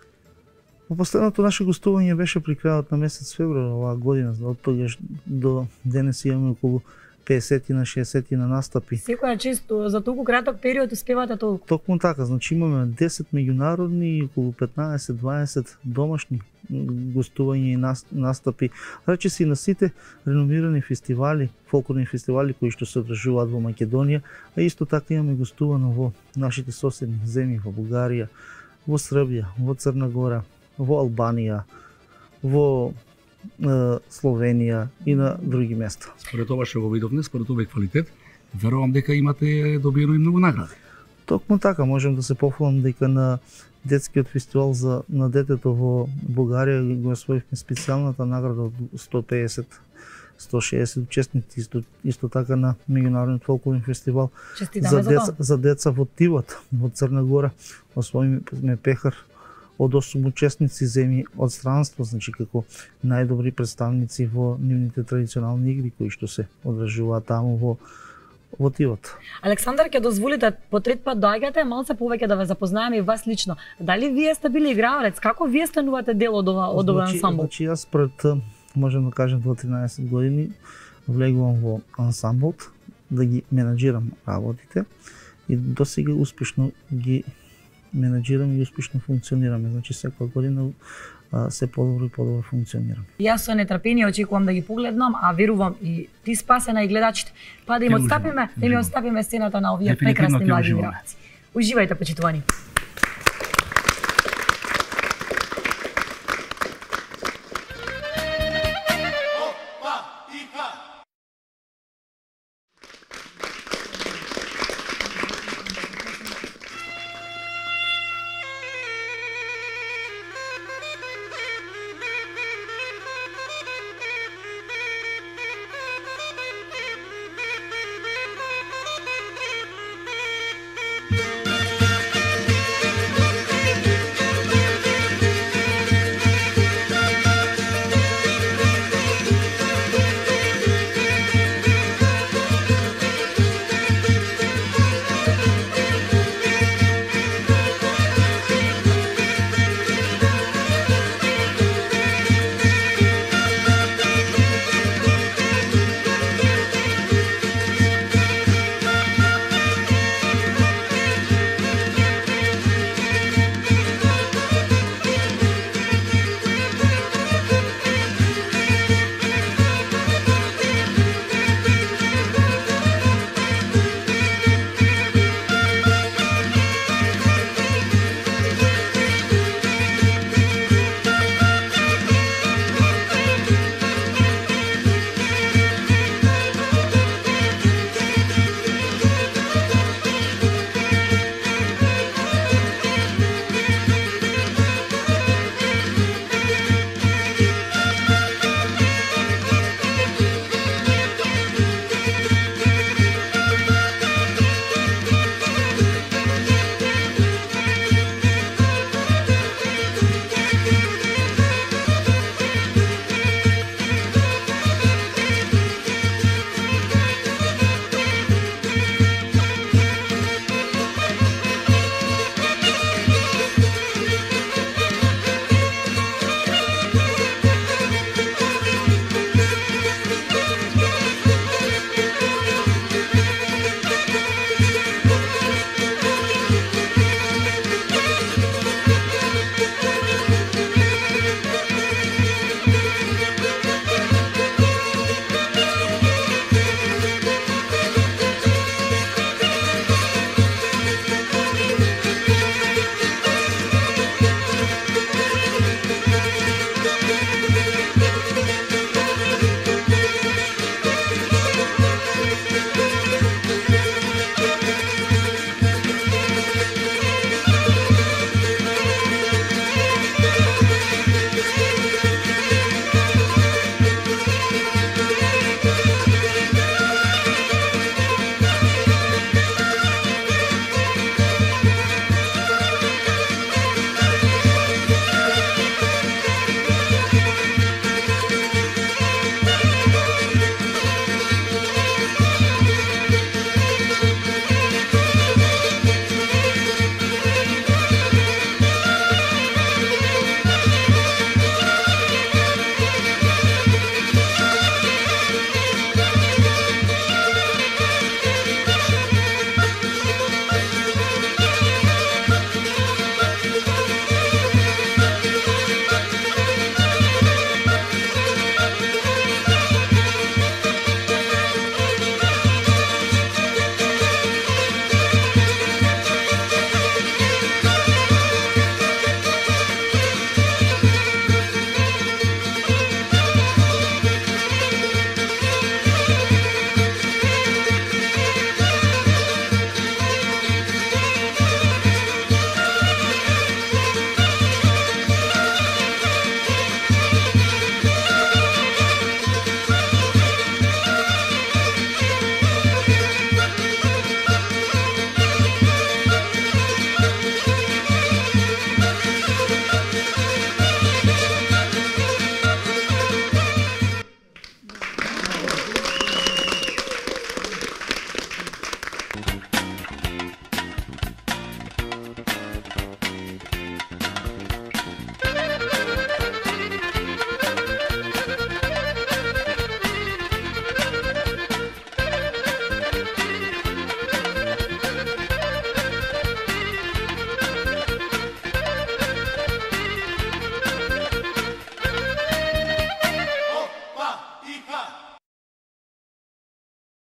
Speaker 7: Во последното наше гостување беше при крајот на месец февруари оваа година, од тогаш до денес имаме околу педесет на шеесет на настапи.
Speaker 3: Секоја често за толку краток период успевате толку?
Speaker 7: Токму така, значи имаме десет меѓународни и околу петнаесет дваесет домашни гостувања и настапи. Рече си на сите реномирани фестивали, фолклорни фестивали кои што се одржуваат во Македонија, а исто така имаме гостувано во нашите соседни земји, во Бугарија, во Србија, во Црна Гора, во Албанија, во е, Словенија и на други места.
Speaker 1: Според ова што го видовме, според овој квалитет, верувам дека имате добиено и многу награди.
Speaker 7: Токму така, можем да се пофалам дека на детскиот фестивал за на детето во Бугарија го освоивме специјалната награда од сто педесет до сто шеесет учесници, исто, исто така на меѓународниот фолклорен фестивал за деца, за деца во Тивот во Црна Гора освоивме пехар од осум учесници земји од странство, значи како најдобри представници во нивните традиционални игри кои што се одржуваат таму во во Тивот.
Speaker 3: Александар, ќе дозволите по трет пат доаѓате, малце повеќе да ве запознаеме и вас лично. Дали вие сте били играорец? Како вие станувате дел од ова од овој ансамбл?
Speaker 7: Значи јас пред, можем да кажем, во тринаесет години влегувам во ансамблот да ги менаџирам работите и досега успешно ги менаџираме и успешно функционираме. Значи секоја година а, се подобро и подобро функционираме.
Speaker 3: Јас со нетрпение очекувам да ги погледнам, а верувам и ти Спасена и гледачите, па да им отстапиме, да им отстапиме сцената на овие прекрасни млади играци. Уживајте, почитувани.